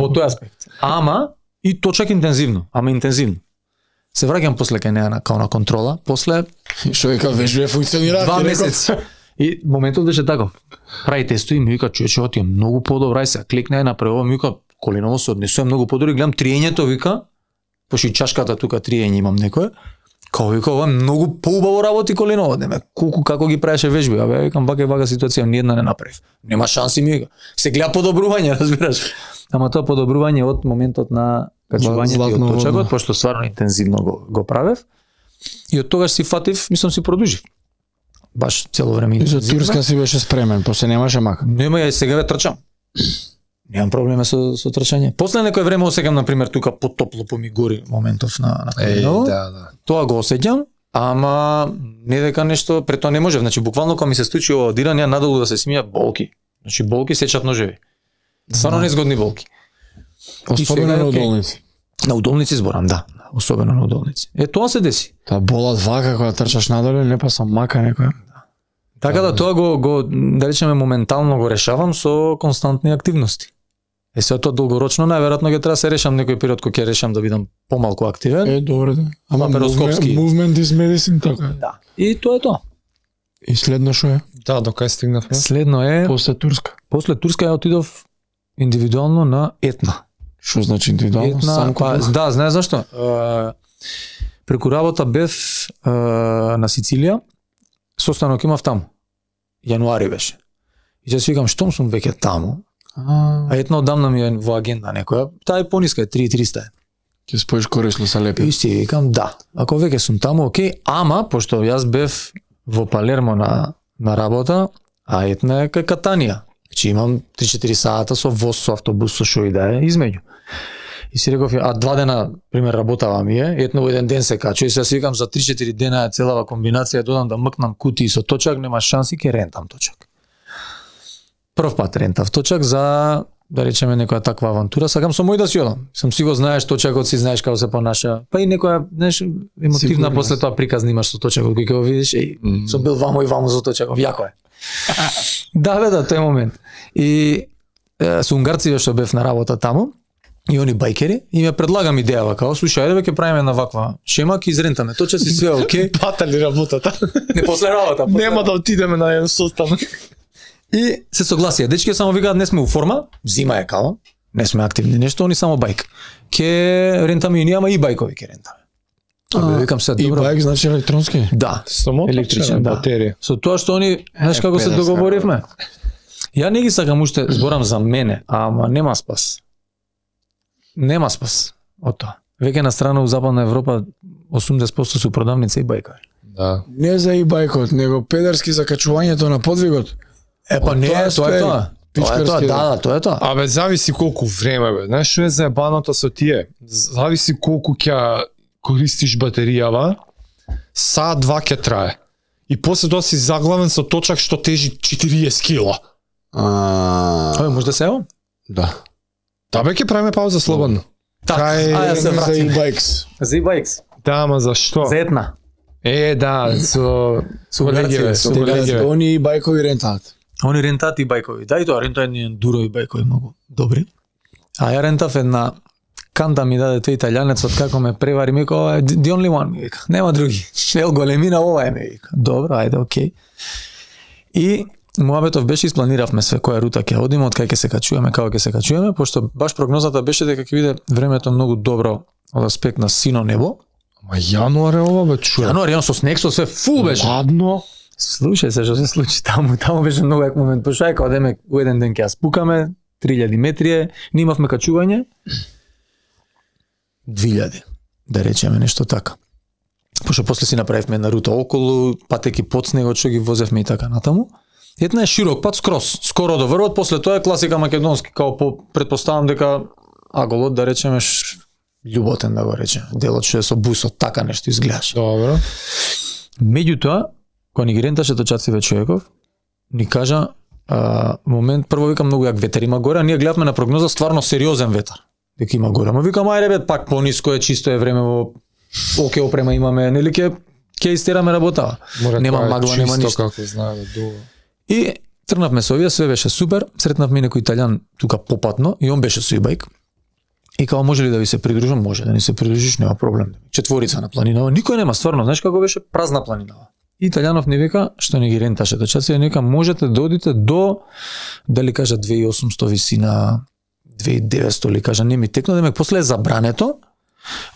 A: од тој аспект. Ама и точак интензивно, Се враќам после кај неа као на контрола, после
C: Што вика вежбе функционира
A: 2 месеци. И моментот беше таков. Прави тестови и ми вика, човече, ова ти е многу подобро, ај се кликне направи ова, ми вика, коленово се однесува многу подобро, гледам триењето, вика, пошто и чашката тука триење имам некое, као вика, ова многу поубаво работи коленово, деме, колку како ги правеше вежби, абе, викам, вака и вака ситуација, ни една не направив. Нема шанси, ми вика. Се гледа подобрување, разбираш. Ама тоа подобрување од моментот на качувањето и од точакот, пошто стварно интензивно го правев. И од тогаш си фатив, мислам си продужив. Баш цело време
C: И за
A: интензивно.
C: Турска си беше спремен, после немаше мака.
A: Нема, ја сега ве трчам. Немам проблеми со трчање. После некој време осеќам на пример тука потопло по ми гори моментов на коленово.
B: Да.
A: Тоа го осеќам, ама не дека нешто пред тоа не може. Значи буквално кога ми се случи ова одиран, ја надолу да се смијат болки. Значи болки сечат ножеви. Стварно незгодни болки.
C: Особено на удолници.
A: На удолници зборам, да. Особено на удолници. Тоа се деси.
C: Та болат вака кога трчаш надоле, не па сам мака некоја.
A: Така да тоа го да речеме моментално го решавам со константни активности. Се тоа долгорочно најверојатно ќе треба да се решам некој период кога ќе решам да бидам помалку активен.
C: Добре да. Ама
A: Лапароскопски.
C: Movement is medicine, така.
A: Да. И тоа е тоа.
C: И следно што е?
B: Да, до кај стигнавме?
A: Следно е
C: После Турска.
A: после Турска ја отидов индивидуално на Етна.
C: Што значи индивидуално? Сам
A: да, знаеш зашто? Преку работа бев на Сицилија, состанок имав таму. Јануари беше. И ја си викам, штом сум веќе таму, а етна одамна ми е во агенда некоја, таа е пониска, 3300.
C: Ќе споиш корисно са лепи.
A: И си викам, да, ако веќе сум таму, окей, ама, пошто јас бев во Палермо на работа, а етна е кај Катанија. Значи имам 3-4 сата со воз, со автобус, со шо и да е, измеѓу. И си реков, а 2 дена, пример, работава ми е, етно во еден ден се качу, и се си викам, за 3-4 дена е целава комбинација, додам да мкнам кутии со точак, нема шанси, ке рентам точак. Прв пат рентав точак за, да речеме, некоја таква авантура, сакам со мој да си одам. Сам си го знаеш точакот, си знаеш како се понаша, па и некоја, знаеш, емотивна после тоа приказна имаш со точакот, кој ќе го видиш, со бил вамо и вамо со точакот, јако е. Да, бе, да, тој момент. И со унгарци што бев на работа таму, и они байкери, и ме предлагам идејава, као, слушај, ајде бе, ќе правиме на ваква шема, ќе изрентаме точа си све окей.
B: Патали работата.
A: Не после работа.
B: Нема да отидеме на еден состанок.
A: И се согласија. Дечки само викаат, не сме у форма, зима е као, не сме активни нешто, они само байк. Ке рентаме и ние, ама и байкови ке рентаме. Викам се, добро.
C: И байк значи електронски?
A: Да,
B: само
A: електричен, да.
B: Батерија.
A: Со тоа што они, знаеш како се договоривме? Ја не ги сакам уште, зборам за мене, ама нема спас. Нема спас од тоа. Веќе на страна у Западна Европа 80% су продавници и байкови.
B: Да.
C: Не за и байкот, него педерски за качувањето на подвигот.
A: Па не, тоа е тоа. Тоа е тоа.
B: Абе, зависи колку време, бе. Знаеш што е заебаното со тие? Зависи колку ќе користиш батеријава, саат 2 ќе трае. И после тоа си заглавен со точак што тежи 40 кила.
A: Може да се ево?
C: Да.
B: Да, бе, ќе правиме пауза слободно.
A: Ја се
C: за
A: вратим.
C: e-bikes.
A: За e-bikes.
B: Да, ама зашто?
A: За една.
B: Да, со
A: колегиве,
B: со колегиве.
C: Они байкови рентаат.
A: Они рентаат и байкови. Да, и тоа рентаат едни ендурови байкови многу добри. А ја рентав една канта ми даде тој италијанецот како ме превари, ми вика, the only one, ми вика. Нема други. Ел големина ова е, ми вика. Добро, ајде, окей. И муабетов беше, испланиравме све која рута ќе одиме, од кај ќе се качуваме, како ќе се качуваме, пошто баш прогнозата беше дека ќе биде времето многу добро од аспект на сино небо.
B: Ма јануар е ова, бе, чуе.
A: Јануар, со снег, со све фул беше.
B: Ладно.
A: Слушај се што се случи таму, таму беше многу як момент. Пошто е као одеме у еден ден ќе ја спукаме, 3000 метри, не имавме качување. 2000, да речеме нешто така. Пошто после си направивме една рута околу, патеки под снегот што ги возевме и така натаму. Една е широк пат скоро до врвот, после тоа е класика македонски, као предпоставам дека аголот, да речеме, љуботен да го речеме, делот што е со бусот, така нешто изгледаш.
B: Добро.
A: Меѓутоа, кога ни ги ренташе точациве човеков, ни кажа, момент, прво викам многу як ветер има горе, а ние гледавме на прогноза стварно сериозен ветер, дека има горе. Ама викам, ајде бе, пак пониско е, чисто е време, во оке опрема имаме, нели ќе истераме работава. Нема магла, нема ништо.
B: Како знае, дуго.
A: И тргнавме со овие, све беше супер, сретнавме некој италијан тука попатно и он беше со e-bike. И као, може ли да ви се придружам? Може да ни се придружиш, нема проблем. Четворица на планинава, никој нема, стварно, знаеш како беше празна планинава. Италијанов ни вика, што ни ги ренташе точаци, ни вика, можете да одите до, дали кажа 2800 висина, 2900 ли кажа, не ми текно, демек после е забрането,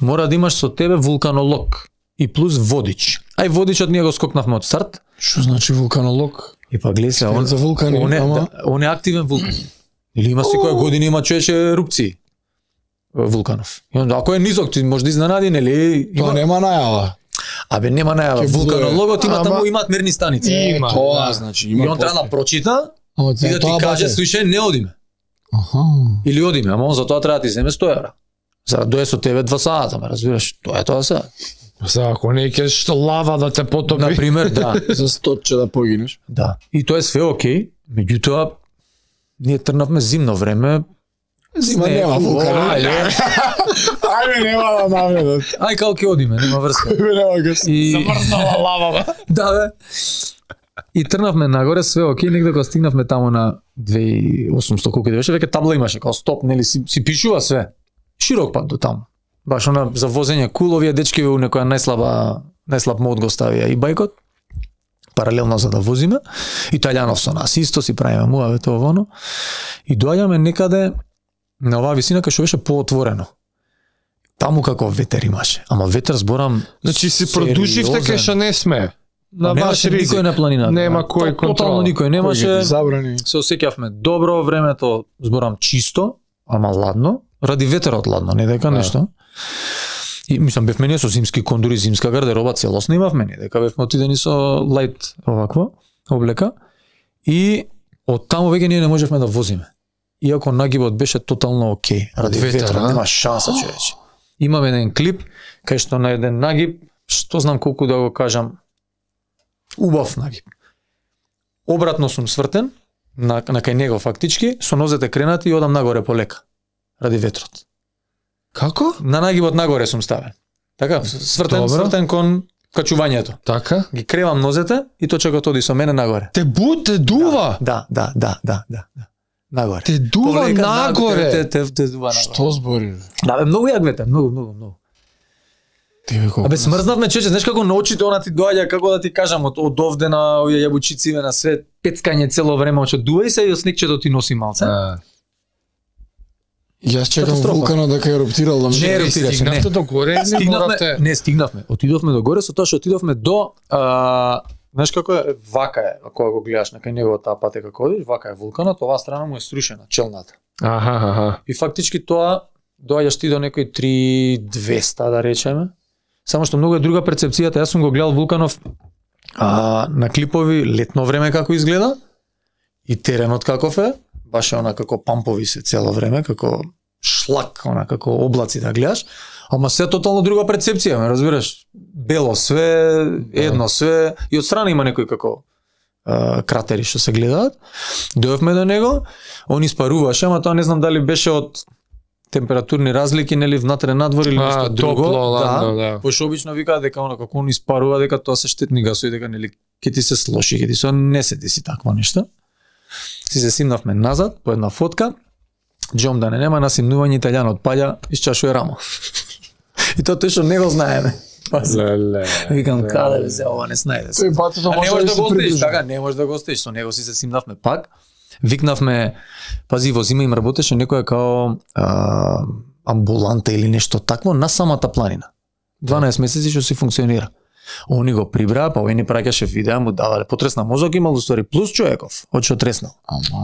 A: мора да имаш со тебе вулканолог и плюс водич. Ај водичот ние го скокнавме од старт.
C: Што значи вулканолог?
A: И па гледа се,
C: он за вулкани,
A: он е активен вулкан. Или има секоја година има човече ерупции вулканов. И onda ако е низок, ти може да изненади, нели?
C: Тоа нема најава.
A: Абе нема најава. Вулканологот има таму имаат мерни станици.
C: Има, тоа значи има.
A: И он треба да прочита и да ти каже, слушај, не одиме.
C: Аха.
A: Или одиме, ама он за тоа треба да ти земе 100 евра. За да дое со тебе 2 сата, ме разбираш? Тоа е тоа се.
B: За ако не ќе лава да те потопи.
A: На пример, да.
C: За 100 да погинеш.
A: Да. И тоа е све окей, меѓутоа ние тргнавме зимно време.
C: Зима нема вулкан. Ајде нема да наведат.
A: Ај као ќе одиме, нема врска.
C: Нема гас.
B: Замрзнала лава, бе.
A: Да, бе. И тргнавме нагоре, све окей, негде кога стигнавме таму на 2800 колку беше, веќе табла имаше, као стоп, нели си пишува све. Широк пат до таму. Баш она за возење кул, овие дечки у некоја најслаб мод го ставија и бајкот, паралелно за да возиме. Италијанов со нас исто си правиме муавето ово. И доаѓаме некаде на оваа висина кај што беше поотворено. Таму како ветер имаше, ама ветер зборам.
B: Значи си продуживте кај што не сме. На
A: немаше никој на планината.
B: Нема кој контрол.
A: Тотално никој немаше.
C: Забрани.
A: Се осеќавме добро, времето зборам чисто, ама ладно, ради ветерот ладно, не дека нешто. И мислам бевме ние со зимски кондури, зимска гардероба целосно имавме, не дека бевме отидени со лајт оваква облека и од таму веќе ние не можевме да возиме. Иако нагибот беше тотално окей, ради ветерот нема шанса, човече. Имаме еден клип кај што на еден нагиб, што знам колку да го кажам, убав нагиб. Обратно сум свртен на кај него фактички, со нозете кренати и одам нагоре полека ради ветрот.
B: Како?
A: На нагибот нагоре сум ставен. Така, свртен кон качувањето.
B: Така?
A: Ги кревам нозете и точекот оди со мене нагоре.
B: Те дува.
A: Да. Нагоре.
B: Те дува
A: полека,
B: нагоре.
A: Те дува нагоре.
C: Што збори?
A: Да, бе, многу јак ветер, многу.
C: Тебе колку?
A: Абе смрзнавме, чече, знаеш како на очите она ти доаѓа, како да ти кажам, од овде на овие јабучициве на свет, пецкање цело време, оче дувај се и снегчето ти носи малце.
C: Јас чекам вулканот дека еруптирал да
A: Не еруптираше, не.
B: Стигнавте до горе,
A: Не стигнавме. Отидовме до горе, со тоа што отидовме до знаеш како е, вака е, ако го гледаш на кај неговата патека како одиш, вака е вулканот, оваа страна му е срушена, челната.
B: Аха.
A: И фактички тоа доаѓаш ти до некои 3200 да речеме. Само што многу е друга перцепцијата. Јас сум го гледал вулканов на клипови летно време како изгледа и теренот каков е, баш е она како пампови се цело време, како шлак, она како облаци да гледаш, ама се тотално друга перцепција, ме разбираш? Бело све, едно све, и од страна има некои како кратери што се гледаат. Дојавме до него, он испаруваше, ама тоа не знам дали беше од температурни разлики, нели внатре надвор или нешто друго.
B: Топло, ладно, да.
A: Пошто обично викаат дека она како он испарува, дека тоа се штетни гасови, дека нели ќе ти се слоши, ќе ти се не се деси таква нешто. Си се симнавме назад по една фотка. Джом да не нема на симнување италијанот паѓа, исчашува рамо. И тоа тој што не го знаеме.
B: Леле.
A: Викам каде се ова не снајде.
C: Тој батото
A: Не
C: може
A: можеш
C: да
A: да го
C: се
A: остиш,
C: придружи.
A: така, не можеш да го остиш. Со него си се симнавме пак. Викнавме, пази, во зима им работеше некоја као амбуланта или нешто такво на самата планина. 12 месеци што си функционира. Они го прибраа, па овој ни праќаше видеа, му давале потресна мозок имал устори плюс човеков, од што треснал.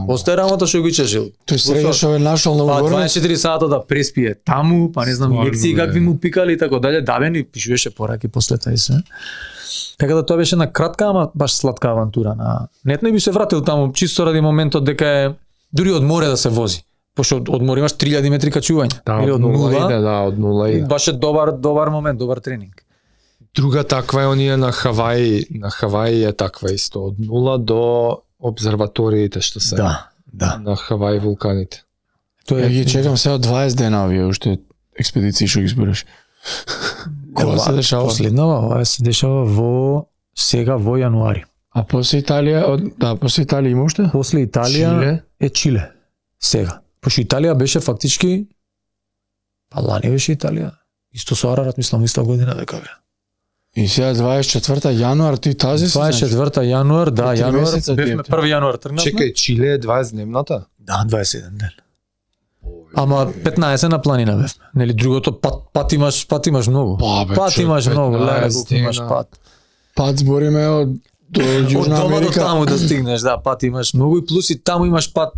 A: Остај работа што го чежил.
C: Тој среќаш овој нашол на
A: Па
C: угорност.
A: 24 сата да преспие таму, па не знам лекции какви му пикали и така дале, давен и пишуваше пораки после тај се. Така да тоа беше една кратка, ама баш сладка авантура на нетно и би се вратил таму чисто ради моментот дека е дури од море да се вози. Пошто од море имаш 3000 метри качување.
B: Да,
A: Или
B: од нула, од нула
A: И
B: иде.
A: баш е добар момент, добар тренинг.
B: Друга таква е оние на Хаваи. На Хаваи е таква исто. Од нула до обсерваториите што се.
A: Да.
B: На Хаваи вулканите.
C: Тоа ги чекам сега 20 дена овие уште експедиции што ги збориш. Кога се дешава?
A: Последнава, ова се дешава сега во јануари.
C: А после Италија, после Италија има уште?
A: После Италија
B: Чиле?
A: е Чиле. Сега. Пошто Италија беше фактички па лани беше Италија. Исто со Арарат, мислам, иста година дека бе.
C: И сега 24 јануар ти тази си?
A: 24 јануар, да,
C: Три
A: јануар,
C: месеца
A: бевме
C: диета.
A: 1 јануар тргнавме.
B: Чекај, Чиле е 20-дневната?
A: Да, 21 ден. Ама 15 на планина бевме. Нели другото пат имаш многу.
C: Па, бе,
A: Пат
C: човек,
A: имаш многу,
B: 15
A: леле, колку имаш
B: дена.
A: пат.
C: Пат збориме од до
A: Од
C: Јужна
A: дома до
C: Америка.
A: таму да стигнеш, да, пат имаш многу и плюс и таму имаш пат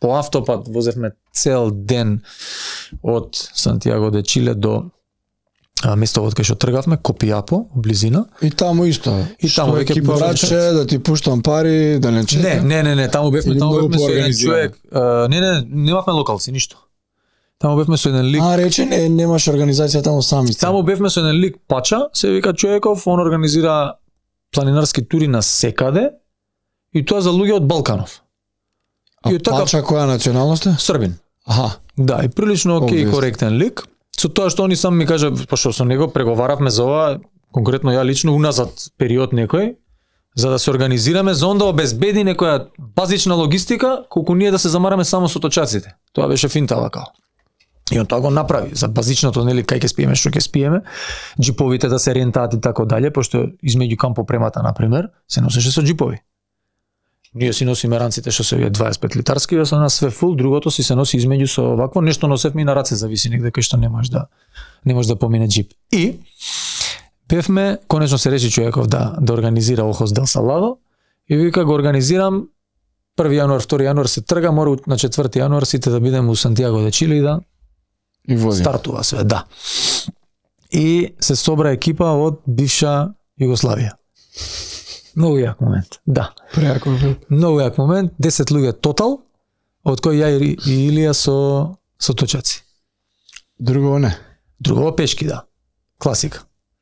A: по автопат возевме цел ден од Сантиаго де Чиле до местото од кај што тргавме, Копиапо, близина.
C: И таму исто.
A: И таму
C: Што
A: веќе
C: екипа браче, да ти пуштам пари, да не чекам.
A: Не, таму бевме,
C: Или многу
A: со еден
C: поорганизирано?
A: човек. Немавме локалци ништо. Таму бевме со еден лик.
C: А, рече, немаш организација таму сами сте.
A: Таму бевме со еден лик Пача, се вика човеков, он организира планинарски тури на секаде и тоа за луѓе од Балканов.
C: А
A: и така-
C: Пача која националност е?
A: Србин.
C: Аха.
A: Да, и прилично окей,
C: Obvious.
A: коректен лик. Со тоа што они сам ми кажа, пошто со него преговаравме за ова, конкретно ја лично уназад период некој, за да се организираме, за онда обезбеди некоја базична логистика, колку ние да се замараме само со точаците. Тоа беше финта вака. И он тоа го направи за базичното, нели, кај ќе спиеме, што ќе спиеме, џиповите да се рентаат и така дале, пошто измеѓу кампопремата, например, се носеше со џипови. Ние си носиме ранците што се 25 литарски, со нас све фул, другото си се носи измеѓу со овакво, нешто носевме и на раце, зависи негде кај што не можеш да помине джип. И бевме, конечно се реши човеков да организира Охос дел Саладо и вика го организирам 1 јануар, 2 јануар се трга, мора на 4 јануар сите да бидеме у Сантиаго де Чиле и да стартува све, да. И се собра екипа од бивша Југославија. Многу јак момент, да.
C: Прејак момент.
A: Многу јак момент, 10 луѓе тотал, од кои ја и Илија со точаци.
C: Друго не.
A: Друго пешки, да. Класика.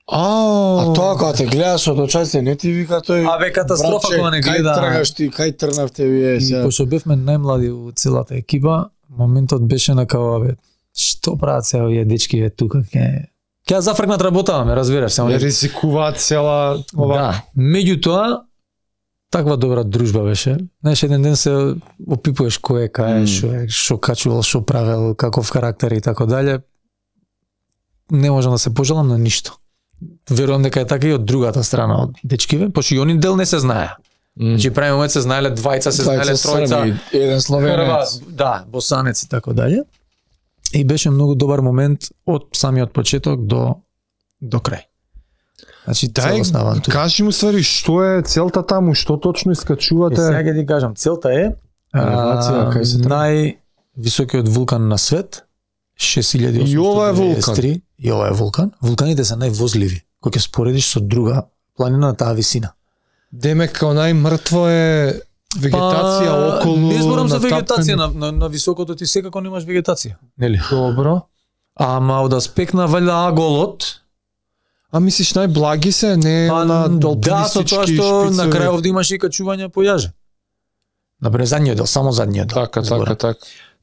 C: А тоа кога те гледа со точаци, не ти вика тој.
A: Абе катастрофа кога не гледа.
C: Кај тргаш ти, кај тргнавте вие се.
A: Пошто бевме најмлади у целата екипа, моментот беше на као бе, што прават се овие дечки бе тука ќе зафркнат работаваме, разбираш, само
B: ризикуваат цела ова.
A: Да. Меѓутоа таква добра дружба беше. Знаеш, еден ден се опипуваш кој е кај, што качувал, што правел, каков карактер и така дале. Не можам да се пожалам на ништо. Верувам дека е така и од другата страна од дечкиве, пошто и они дел не се знае. Значи прави момент се знаеле двајца, се знаеле тројца,
C: еден словенец,
A: да, босанец и така дале. И беше многу добар момент од самиот почеток до крај. Значи целосна авантура.
B: Кажи му ствари што е целта таму, што точно искачувате?
A: Сега ќе ти кажам, целта е највисокиот вулкан на свет, 6893.
B: И ова е вулкан.
A: И ова е вулкан. Вулканите се највозливи, кога ќе споредиш со друга планина на таа висина.
B: Демек као најмртво е вегетација околу.
A: Не зборам за вегетација, на високото ти секако немаш вегетација, нели?
B: Добро.
A: Ама од аспект на валја аголот,
B: а мислиш најблаги се, не на алпинистички
A: да, со тоа што на крај овде имаш и качување по јаже. Например, задниот дел, само задниот дел.
B: Така.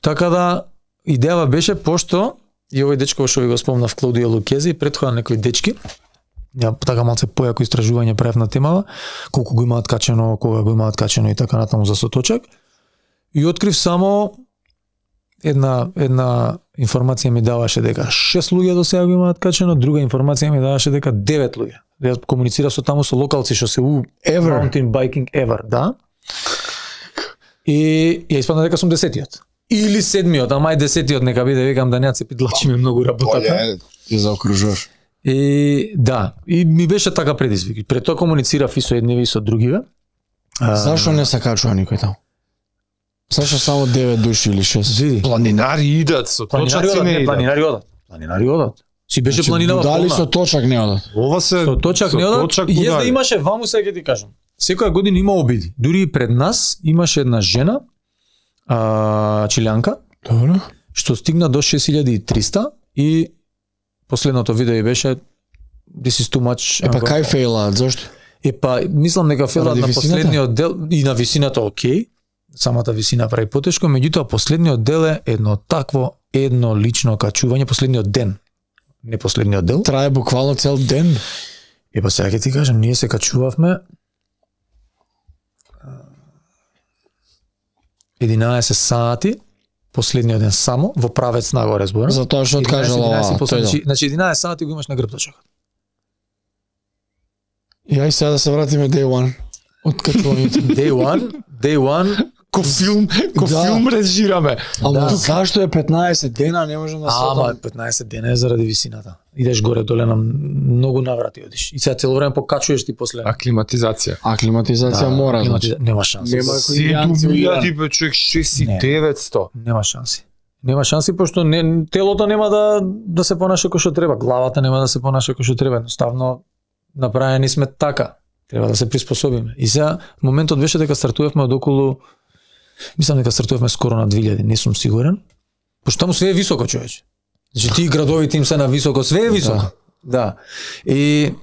A: Така да, идејава беше, пошто, и овој дечко што ви го спомнав, Клаудио Лукези, претходно некои дечки, ја така малце појако истражување правев на темава, колку го имаат качено, кога го имаат качено и така натаму за соточак. И открив само една информација ми даваше дека 6 луѓе до сега го имаат качено, друга информација ми даваше дека 9 луѓе. Јас комуницирав со таму со локалци што се у Mountain Biking Ever, да. И ја испадна дека сум 10-тиот. Или 7-тиот, ама и 10-тиот нека биде, викам да не се пидлачиме многу работата.
C: Ја заокружуваш.
A: И да, и ми беше така предизвик. Пред тоа комуницирав и со едниве и со другиве.
C: Зашо не се качува никој таму? Зашо само 9 души или 6?
A: Види.
B: Планинари идат, со точаци не идат.
A: Планинари одат. Си беше планинава полна.
C: Дали со точак не одат?
B: Ова се
A: со точак не одат. Јас да имаше ваму сега ќе ти кажам. Секоја година има обиди. Дури и пред нас имаше една жена, чилјанка,
C: добро,
A: што стигна до 6300 и последното видео беше this is too much.
C: Епа кај фейлаат, зашто?
A: Епа мислам дека фейлаат на последниот дел и на висината окей. Самата висина прави потешко, меѓутоа последниот дел е едно лично качување, последниот ден. Не последниот дел.
C: Трае буквално цел ден.
A: Епа сега ќе ти кажам, ние се качувавме 11 сати, последниот ден само, во правец нагоре зборам.
C: Затоа што откажала ова.
A: Значи 11 сати го имаш на грбточокот.
C: Ја и сега да се вратиме day one. Од качувањето.
A: Day one,
B: ко филм режираме.
C: Ама зашто е 15 дена, не можам да се
A: Ама 15 дена е заради висината. Идеш горе доле на многу наврати одиш. И сега цело време покачуваш ти после.
B: Аклиматизација.
C: Аклиматизација мора, значи.
A: Нема шанси.
C: Нема
B: 7.000 бе човек 6.900.
A: Нема шанси. Нема шанси пошто телото нема да се понаша како што треба, главата нема да се понаша како што треба. Едноставно направени сме така. Треба да се приспособиме. И сега моментот беше дека стартувавме од околу, мислам дека стартувавме скоро на 2000, не сум сигурен. Пошто таму све е високо, човече. Значи ти градовите им се на високо, све е високо. Да. И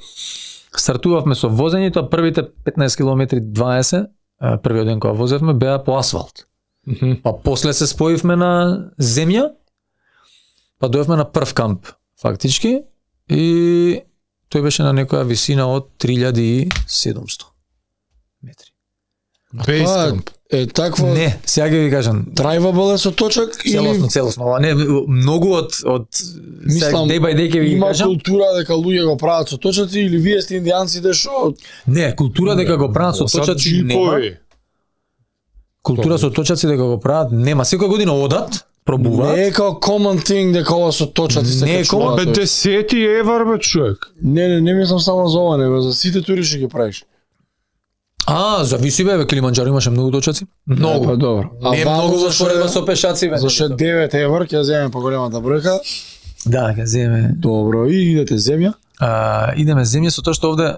A: стартувавме со возењето, првите 15 километри 20, првиот ден кога возевме беа по асфалт. Па после се споивме на земја, па дојавме на прв камп фактички и тој беше на некоја висина од 3700 метри.
B: Бейскамп.
C: Е такво.
A: Не, сега ќе ви кажам.
C: Drivable е со точак или
A: Целосно. Ова не многу од
C: мислам
A: day by day ќе ви
C: има
A: кажам.
C: култура дека луѓе го прават со точаци или вие сте индијанците што
A: Не, култура дека го прават со точаци нема. култура со точаци дека го прават, нема. Секоја година одат, пробуваат.
C: Не е како common thing дека ова со точаци се
A: Не е
C: качуваат.
B: Бе 10 евар бе човек.
C: Не мислам само за ова, него за сите тури што ги правиш.
A: Зависи бе, Килиманџаро имаше многу точаци. Многу.
C: Па добро.
A: Не многу во споредба со пешаци бе.
C: Зашто 9 евар ќе земеме поголемата бројка.
A: Да, ќе земе.
C: Добро, и идете земја.
A: Идеме земја со тоа што овде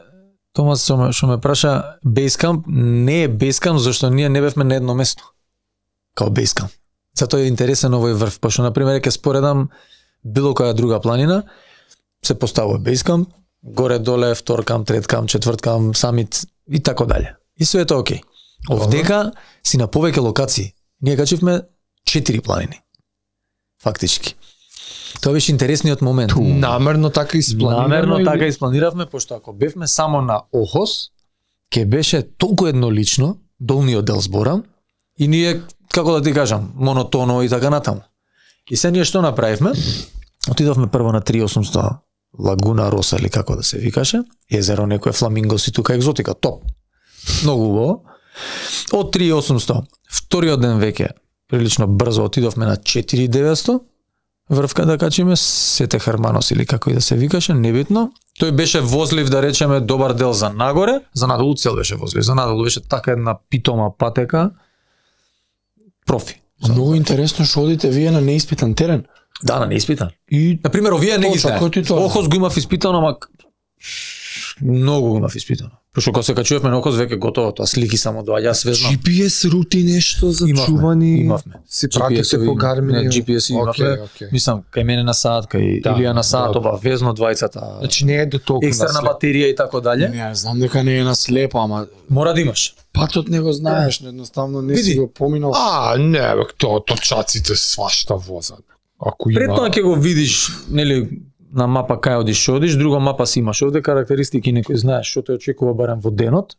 A: Томас што ме праша Basecamp не е Basecamp зашто ние не бевме на едно место. Као Basecamp. Затоа е интересен овој врв, пошто на пример ќе споредам било која друга планина се поставува Basecamp, горе доле втор камп, трет камп, четврт камп, самит и така дале. И све е тоа окей. Овдека си на повеќе локации. Ние качивме 4 планини. Фактички. Тоа беше интересниот момент.
B: Намерно така
A: испланиравме, пошто ако бевме само на Охос, ќе беше толку еднолично, долниот дел зборам, и ние, како да ти кажам, монотоно и така натаму. И се ние што направивме? Отидовме прво на 3800 Лагуна Роса или како да се викаше, езеро некое фламингоси тука екзотика, топ. Многу убаво. Од 3800, вториот ден веќе прилично брзо отидовме на 4900. Врвка да качиме Сете Херманос или како и да се викаше, небитно. Тој беше возлив, да речеме, добар дел за нагоре, за надолу цел беше возлив. За надолу беше така една питома патека. Профи.
C: Многу интересно што одите вие на неиспитан терен.
A: Да, на неиспитан. И на пример овие не ги знае. Охос го имав испитано, ама многу го имав испитано. Пошто кога се качувавме на Охос веќе готово, тоа слики само доаѓа свежно.
B: GPS рути нешто за чување.
A: Имавме.
B: Се пратите по Гармин.
A: GPS имавме. Мислам, кај мене на саат, кај Илија на саат, обавезно двајцата.
B: Значи не е до толку
A: екстерна батерија и така дале.
C: Не, знам дека не е на слепо, ама
A: мора да имаш.
C: Патот не го знаеш, едноставно не си го поминал.
B: Не, бе, тоа точаците свашта возат. Ако има.
A: Преттоа ќе го видиш, нели, на мапа кај одиш, друга мапа си имаш овде карактеристики некој знаеш што те очекува барем во денот.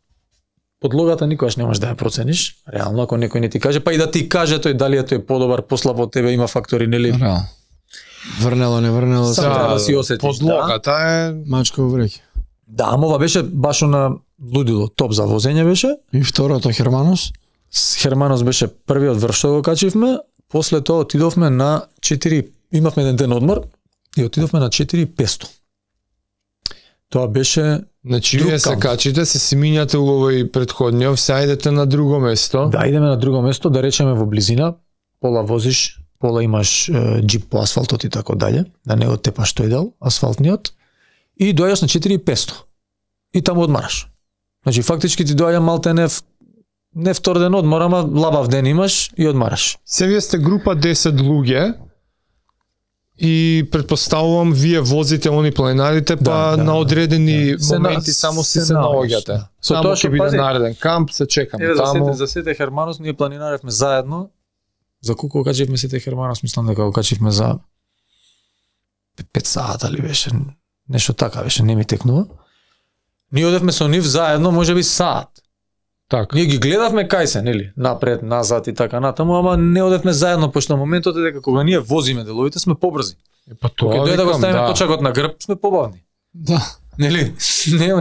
A: Подлогата никогаш не можеш да ја процениш, реално ако некој не ти каже, па и да ти каже тој дали е тој подобар, послаб од тебе, има фактори, нели?
C: Реално. Врнело, не врнело,
A: Само треба да си осетиш.
B: Подлогата е
C: мачка во вреќа.
A: Да, ама ова беше баш на лудило, топ за возење беше.
C: И второто Херманос?
A: Херманос беше првиот врв што го качивме, после тоа отидовме на 4, имавме еден ден одмор и отидовме на 4500. Тоа беше
B: Значи вие се качите, се симињате у овој предходниот, се ајдете на друго место.
A: Да, идеме на друго место, да речеме во близина, пола возиш, пола имаш джип по асфалтот и така дале, да не оттепаш тој дел, асфалтниот, и доаѓаш на 4500. И таму одмараш. Значи фактички ти доаѓа малте не втор ден одмор, ама лабав ден имаш и одмараш.
B: Се вие сте група 10 луѓе и предпоставувам вие возите они планинарите, па на одредени моменти само се наоѓате.
A: Со
B: тоа ќе биде нареден камп, се чекаме таму.
A: За Сете Херманос ние планинаревме заедно. За колку качивме Сете Херманос, мислам дека го качивме за 5 сата ли беше, нешто така беше, не ми текнува. Ние одевме со нив заедно, можеби саат.
B: Така.
A: Ние ги гледавме кај се, нели, напред, назад и така натаму, ама не одевме заедно, пошто моментот е дека кога ние возиме деловите сме побрзи.
B: Па
A: тоа кога дојде да го ставиме точакот на грб, сме побавни.
C: Да.
A: Нели?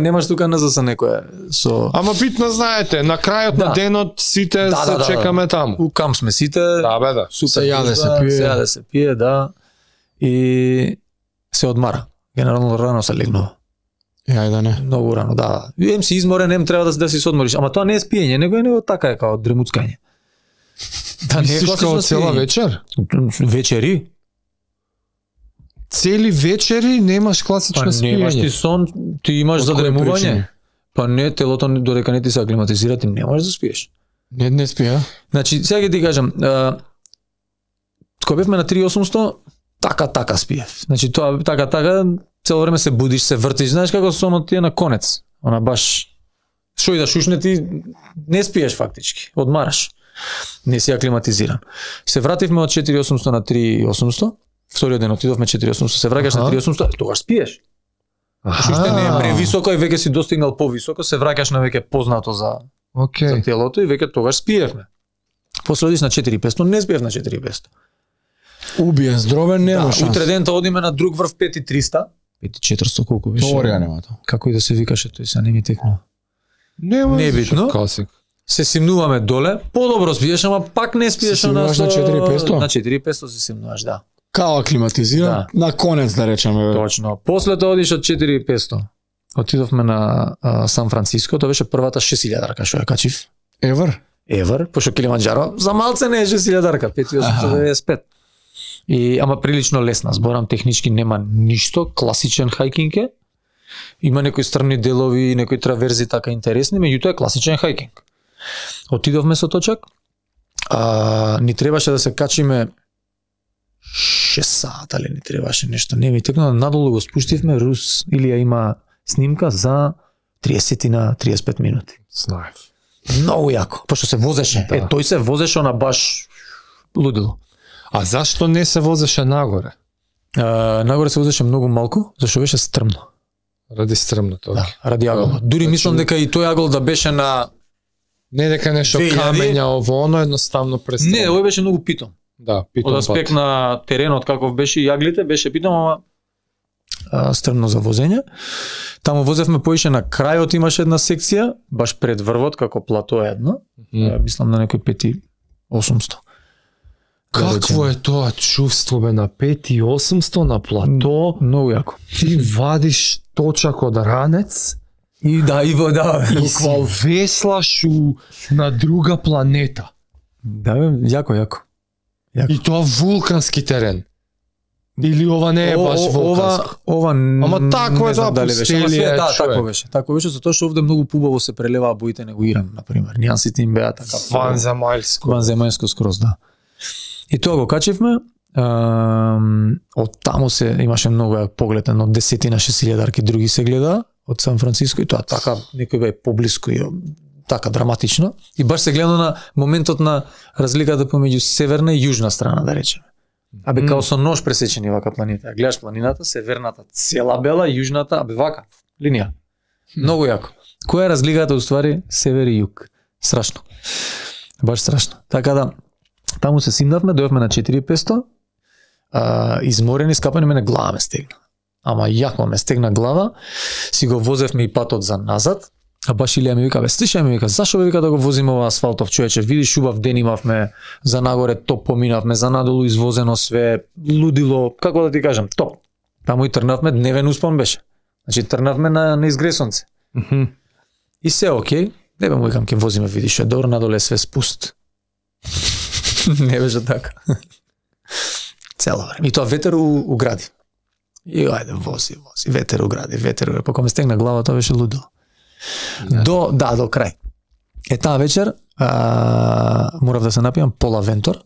A: Немаш тука назад со некоја со.
B: Ама битно знаете, на крајот на денот сите се чекаме таму.
A: У камп сме сите.
B: Да, бе, да.
A: Супер.
C: Се јаде, се пие.
A: Се јаде, се пие, да. И се одмара. Генерално рано се легнува.
C: Ајде не.
A: Многу рано, да. Ем си изморен, ем треба да си се одмориш, ама тоа не е спиење, него така е као дремуцкање.
B: Да, не е како цела вечер?
A: Вечери.
B: Цели вечери немаш класично спиење.
A: Немаш ти сон, ти имаш задремување. Па не, телото додека не ти се аклиматизира, ти не можеш да спиеш.
C: Не спија.
A: Значи, сега ќе ти кажам, кога бевме на 3800, така спиев. Значи тоа така цело време се будиш, се вртиш, знаеш како сонот ти е на конец. Она баш што и да шушне ти не спиеш фактички, одмараш. Не си аклиматизиран. Се вративме од 4800 на 3800. Вториот ден отидовме 4800, се враќаш на 3800, тогаш спиеш. Уште не е превисоко и веќе си достигнал повисоко, се враќаш на веќе познато за телото и веќе тогаш спиевме. После одиш на 4500, не спиев на 4500.
C: Убиен, здровен, нема шанс.
A: Утре дента одиме на друг врв 5300. 5400 колку беше?
C: Теорија нема тоа.
A: Како и да се викаше тој, се не ми текнува.
B: Не
A: битно. се симнуваме доле, подобро спиеш, ама пак не спиеш
C: на 4500.
A: На 4500 се симнуваш, да.
C: Као аклиматизиран, на конец да речеме.
A: Точно. После тоа одиш од 4500. Отидовме на Сан Франциско, тоа беше првата 6000-дарка што ја качив. Евер, пошто Килиманџаро за малце не е 6000-дарка, 5895. Ама прилично лесна, зборам технички нема ништо, класичен хајкинг е. Има некои страни делови, некои траверзи така интересни, меѓутоа е класичен хајкинг. Отидовме со точак, ни требаше да се качиме 6 сата, ли ни требаше нешто, не ми текна, надолу го спуштивме, Рус Илија има снимка за 30 на 35 минути.
B: Знаев.
A: Многу јако, пошто се возеше. Да. Тој се возеше на баш лудило.
B: А зашто не се возеше нагоре?
A: Нагоре се возеше многу малку, зашто беше стрмно.
B: Ради стрмното.
A: Да, ради аголот. Дури мислам дека и тој агол да беше на
B: не дека нешто камења ово, оно едноставно престрмно.
A: Не, овој беше многу питом.
B: Да, питом.
A: Од аспект на теренот каков беше и јаглите, беше питом, ама стрмно за возење. Таму возевме поише на крајот, имаше една секција, баш пред врвот, како плато едно. Мислам на некој 5800.
B: Какво е тоа чувство бе на 5800 на плато?
A: Многу јако.
B: Ти вадиш точак од ранец
A: и да,
B: и си веслаш на друга планета.
A: Да, јако.
B: И тоа вулкански терен. Или ова не е баш вулкански?
A: Ова
B: ама тако е тоа пустелија.
A: Да, тако беше. Тако беше, затоа што овде многу пубаво се прелеваа боите него Иран, например. Нијансите им беа така. Ванземајско скроз, да. И тоа го качивме, од таму се имаше многу јак поглед, едно 10 на 6000-дарки други се гледа од Сан Франциско и тоа така некој бе поблиску и така драматично. И баш се гледа на моментот на разликата помеѓу северна и јужна страна, да речеме. Абе као со нож пресечени вака планината. Гледаш планината, северната цела бела, јужната, абе вака, линија. Многу јако. Која е разликата уствари север и југ? Страшно. Баш страшно. Така да, таму се симнавме, дојавме на 4500, изморени, скапани, мене глава ме стегна. Ама јако ме стегна глава, си го возевме и патот за назад, а баш Илија ми вика, бе, слушај ми вика, зашо бе вика да го возиме ова асфалтов, човече, видиш убав ден имавме, за нагоре топ поминавме, за надолу извозено све, лудило, како да ти кажам, топ. Таму и трнавме, дневен успон беше. Значи трнавме на изгресонце. И се окей, не бе му викам, ке возиме, видиш, добро, надоле све спуст. Не беше така. Цело време. И тоа ветер у гради. И ајде, вози, ветер у гради, па кога ме стегна глава, тоа беше лудило. До крај. Таа вечер морав да се напијам пола вентор,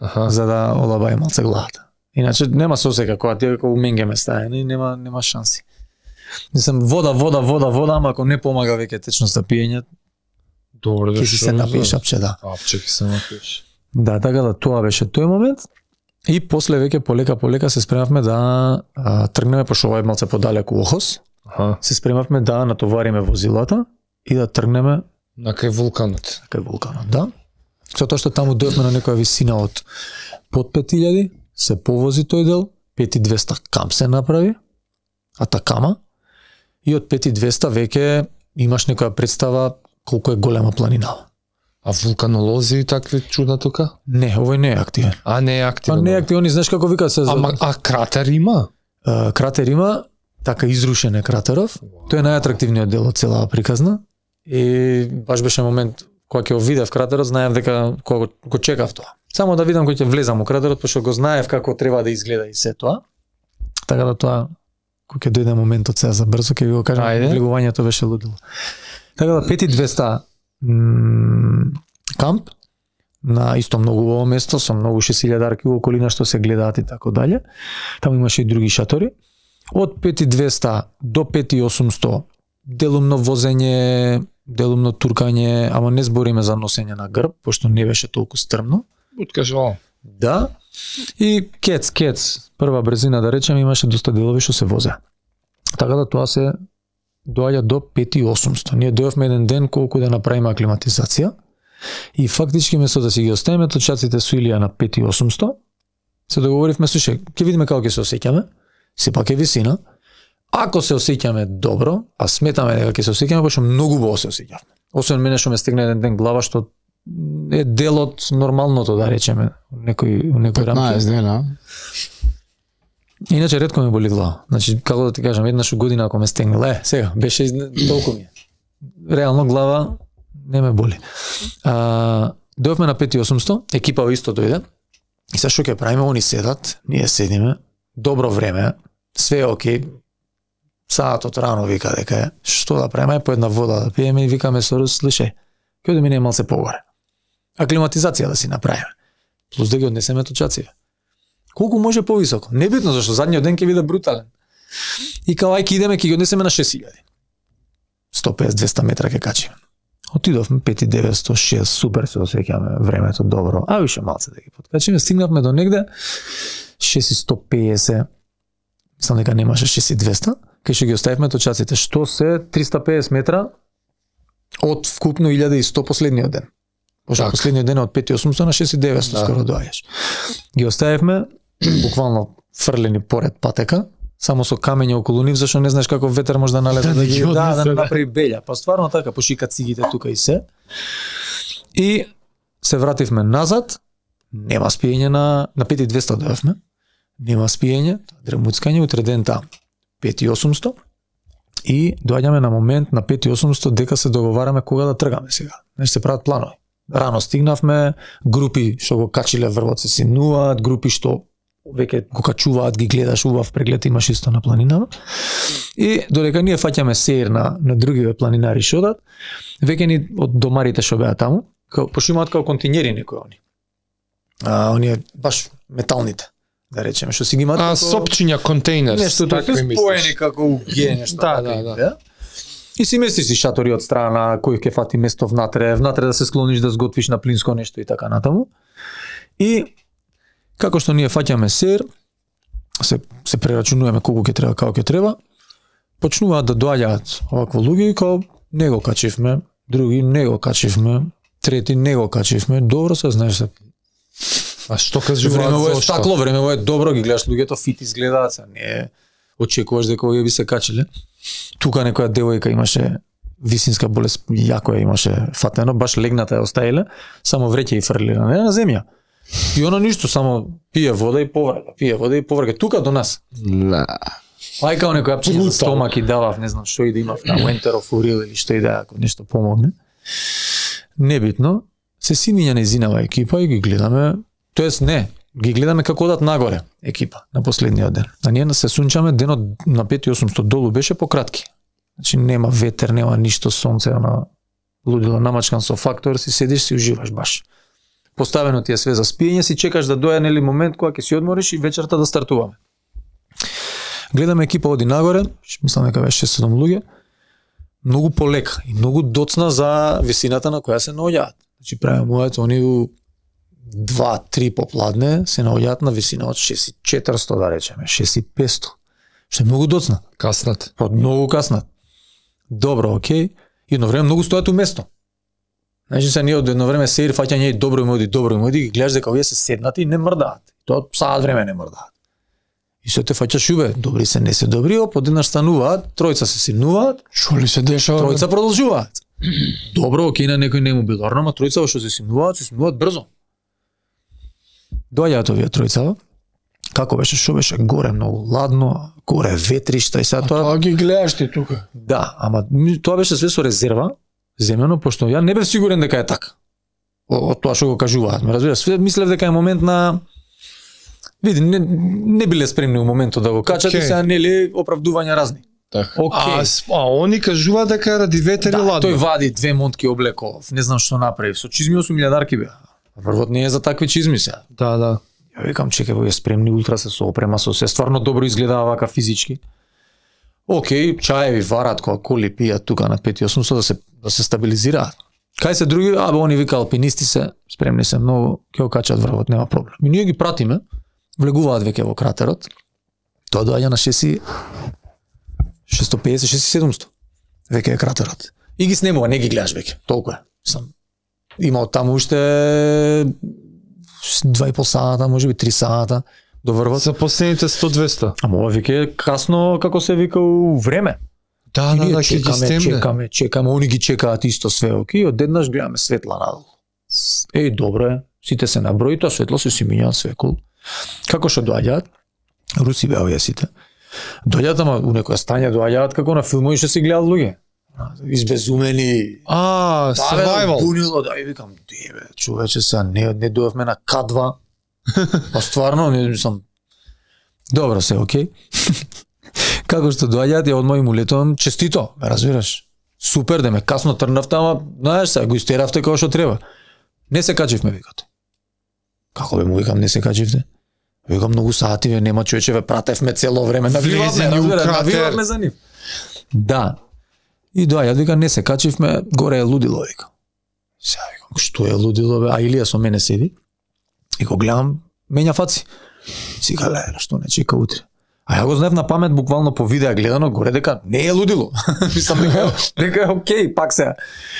A: за да олабај малце главата. Иначе нема сосека кога ти како менге ме стае, нема шанси. Мислам вода, ама ако не помага веќе течноста пиење,
B: добро да
A: се напиеш апче, да.
B: Апче ќе се напиеш.
A: Да, така да тоа беше тој момент. И после веќе полека се спремавме да тргнеме, пошто ова е малце подалеку Охос. Се спремавме да натовариме возилата и да тргнеме
B: на кај вулканот.
A: Да. Затоа што таму дојдовме на некоја висина од под 5000, се повози тој дел, 5200 камп се направи, Атакама, и од 5200 веќе имаш некоја представа колку е голема планина.
B: А вулканолози и такви чуда тука?
A: Не, овој не е активен.
B: Не е активен.
A: Не е активен, знаеш како викаат се.
B: А кратер има?
A: Кратер има, така изрушен е кратеров. Тој е најатрактивниот дел од целава приказна. И баш беше момент кога ќе го видев кратерот, знаев дека кога го чекав тоа. Само да видам кој ќе влезам у кратерот, пошто го знаев како треба да изгледа и се тоа. Така да тоа кога ќе дојде моментот сега за брзо ќе ви го кажам, влегувањето беше лудило. Така да 5200 камп на исто многу убаво место со многу 6000-дарки во околина што се гледаат и така дале. Таму имаше и други шатори. Од 5200 до 5800 делумно возење, делумно туркање, ама не збориме за носење на грб, пошто не беше толку стрмно.
B: Откажувал.
A: Да. И кец, прва брзина да речем, имаше доста делови што се возе. Така да тоа се доаѓа до 5800. Ние дојавме еден ден колку да направиме аклиматизација и фактички место да си ги оставиме точаците со Илија на 5800, се договоривме, слушај, ќе видиме како ќе се осеќаме, сепак е висина, Ако се осеќаме добро, а сметаме дека ќе се осеќаме, пошто многу убаво се осеќавме. Освен мене што ме стигна еден ден глава што е дел од нормалното, да речеме, некој рамки.
C: 15 дена.
A: Иначе ретко ме боли глава. Значи, како да ти кажам, еднаш у година ако ме стегне, сега, беше толку ми. Реално глава не ме боли. Дојавме на 5800, екипа исто дојде. И сега што ќе правиме, они седат, ние седиме, добро време, све е окей. Саатот рано вика дека е, што да правиме, по една вода да пиеме и викаме со Рус, слушај, ќе одиме малце погоре. Аклиматизација да си направиме. Плюс да ги однесеме точациве. Колку може повисоко? Небитно, зашто задниот ден ќе биде брутален. И као ајке идеме, ќе ги однесеме на 6000. 150-200 метра ќе качиме. Отидовме 5900, 6, супер се осеќаме, времето добро. А више малце да ги подкачиме, стигнавме до негде 6150. Мислам дека немаше 6200, кај што ги оставивме точаците, што се 350 метра од вкупно 1100 последниот ден. Пошто последниот ден од 5800 на 6900 скоро доаѓаш. Ги оставивме буквално фрлени поред патека, само со камења околу нив, зашто не знаеш како ветер може да налезе да ги да направи белја. Па стварно така, пошика цигите тука и се. И се вративме назад, нема спиење на 5200 дојавме. Нема спиење, дремуцкање, утре ден таму. 5800 и доаѓаме на момент на 5800 дека се договараме кога да тргаме сега. Значи се прават планови. Рано стигнавме, групи што го качиле врвот се симнуваат, групи што веќе го качуваат, ги гледаш, убав преглед имаш исто на планинава. И додека ние фаќаме сеир на другиве планинари што одат, веќе ни од домарите што беа таму, пошто имаат као континери некои они. Оние баш металните, да речеме, што си ги имаат како
B: сопчиња контейнер.
A: Нешто тоа се споени како уге, нешто. Да. И си местиш си шатори од страна, кој ќе фати место внатре да се склониш да сготвиш на плинско нешто и така натаму. И како што ние фаќаме сер, се прерачунуваме колку ќе треба, како ќе треба, почнуваат да доаѓаат овакво луѓе и као не го качивме, други не го качивме, трети не го качивме, добро се знаеш се.
B: А што кажуваат
A: времево е стакло, времево е добро, ги гледаш луѓето фит изгледаат, се не очекуваш дека овие би се качиле. Тука некоја девојка имаше висинска болест, јако ја имаше фатено, баш легната ја оставиле, само вреќе и фрлили на земја. И она ништо, само пие вода и поврга, тука до нас. Ај као некој апчиња за стомак и давав, не знам што и да имав, таму ентерофурил или што и да, ако нешто помогне. Небитно, се симиња нејзинава екипа и ги гледаме, тоест не, ги гледаме како одат нагоре екипа на последниот ден. А ние се сунчаме, денот на 5800 долу беше пократки. Значи нема ветер, нема ништо, сонце, она лудило намачкан со фактор, си седиш, си уживаш баш. Поставено ти е све за спиење, си чекаш да дојде нели момент кога ќе си одмориш и вечерта да стартуваме. Гледаме екипа оди нагоре, мислам дека беше 6-7 луѓе, многу полека и многу доцна за висината на која се наоѓаат. Значи правимуваат они 2-3 попладне се наоѓаат на висина од 6400 да речеме, 6500. Што е многу доцна.
B: Каснат.
A: Многу каснат. Добро, окей. И едно време многу стојат у место. Значи се ние од едно време сеир фаќање и добро им оди, ги гледаш дека овие се седнати и не мрдаат. Тоа саат време не мрдаат. И се те фаќаш убе, добри се, не се добри, подеднаш стануваат, тројца се симнуваат,
C: Што ли се дешава?
A: Тројца продолжуваат. Добро, окей, на некој не му било, ама тројца што се симнуваат брзо. Доаѓаат овие тројца. Како беше, што беше? Горе многу ладно, горе ветришта и сега тоа.
C: Тоа ги гледаш ти тука.
A: Да, ама тоа беше све со резерва, земено, пошто ја не бев сигурен дека е така. Од тоа што го кажуваат, ме разбираш, све мислев дека е момент на види, не биле спремни у моментот да го качат и сега нели оправдувања разни.
B: Така.
A: Okay.
B: А они кажуваат дека ради ветер и ладно.
A: Тој вади 2 монтки облеков, не знам што направи, со чизми 8000 беа. Врвот не е за такви чизми сега.
B: Да.
A: Ја викам, чекај, вие спремни, ултра се соопрема со се, стварно добро изгледаа вака физички. Океј, чаеви варат кога коли пијат тука на 5800 да се стабилизираат. Кај се други, они вика алпинисти се, спремни се многу, ќе го качат врвот, нема проблем. И ние ги пратиме, влегуваат веќе во кратерот. Тоа доаѓа на 650-600. Веќе е кратерот. И ги снемува, не ги гледаш веќе. Толку е. Има од таму уште 2,5 сата, можеби 3 сата, до врвот.
B: За последните 100-200.
A: Ама ова веќе е касно како се вика у време.
B: Да, ќе ги стемне.
A: Чекаме, они ги чекаат исто све, окей, одеднаш гледаме светла надолу. Добро е, сите се наброи, тоа светло се си мињаат све кул. Како што доаѓаат? Руси беа овие сите. Доаѓаат, ама у некоја стање доаѓаат како на филмови што се гледаат луѓе. Избезумени.
B: Survival.
A: Бунило, да, и викам, човече сега не дојавме на К2. Па стварно, не сум. Добро се, окей. Како што доаѓаат, ја одма и му летувам, честито, разбираш. Супер, да ме касно трнавте, ама, знаеш се, го истеравте како што треба. Не се качивме, викате. Како бе му викам, не се качивте? Викам, многу сати, нема човече, пратевме цело време, навивавме за нив. Да. И доаѓаат, вика, не се качивме, горе е лудило, вика. Сега викам, што е лудило, бе? А Илија со мене седи. И го гледам, мења фаци. Сика, што не чека утре. А ја го знаев на памет, буквално по видео гледано, горе дека не е лудило. Мислам дека е окей, пак се.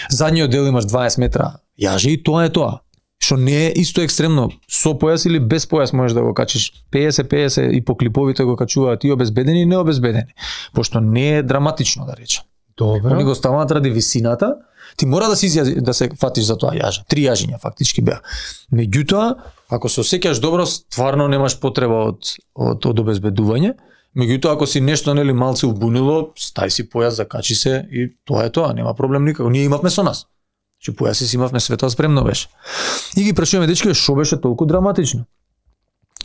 A: Задниот дел имаш 20 метра јажи и тоа е тоа. Што не е исто екстремно, со појас или без појас можеш да го качиш. 50-50 и по клиповите го качуваат и обезбедени и необезбедени. Пошто не е драматично, да речем.
B: Добро.
A: Они го ставаат ради висината, ти мора да се фатиш за тоа јаже. 3 јажиња фактички беа. Меѓутоа, ако се осеќаш добро, стварно немаш потреба од обезбедување. Меѓутоа, ако си нешто нели малце убунило, стај си појас, закачи се и тоа е тоа, нема проблем никако. Ние имавме со нас. Че појаси си имавме, све тоа спремно беше. И ги прашуваме дечки, што беше толку драматично?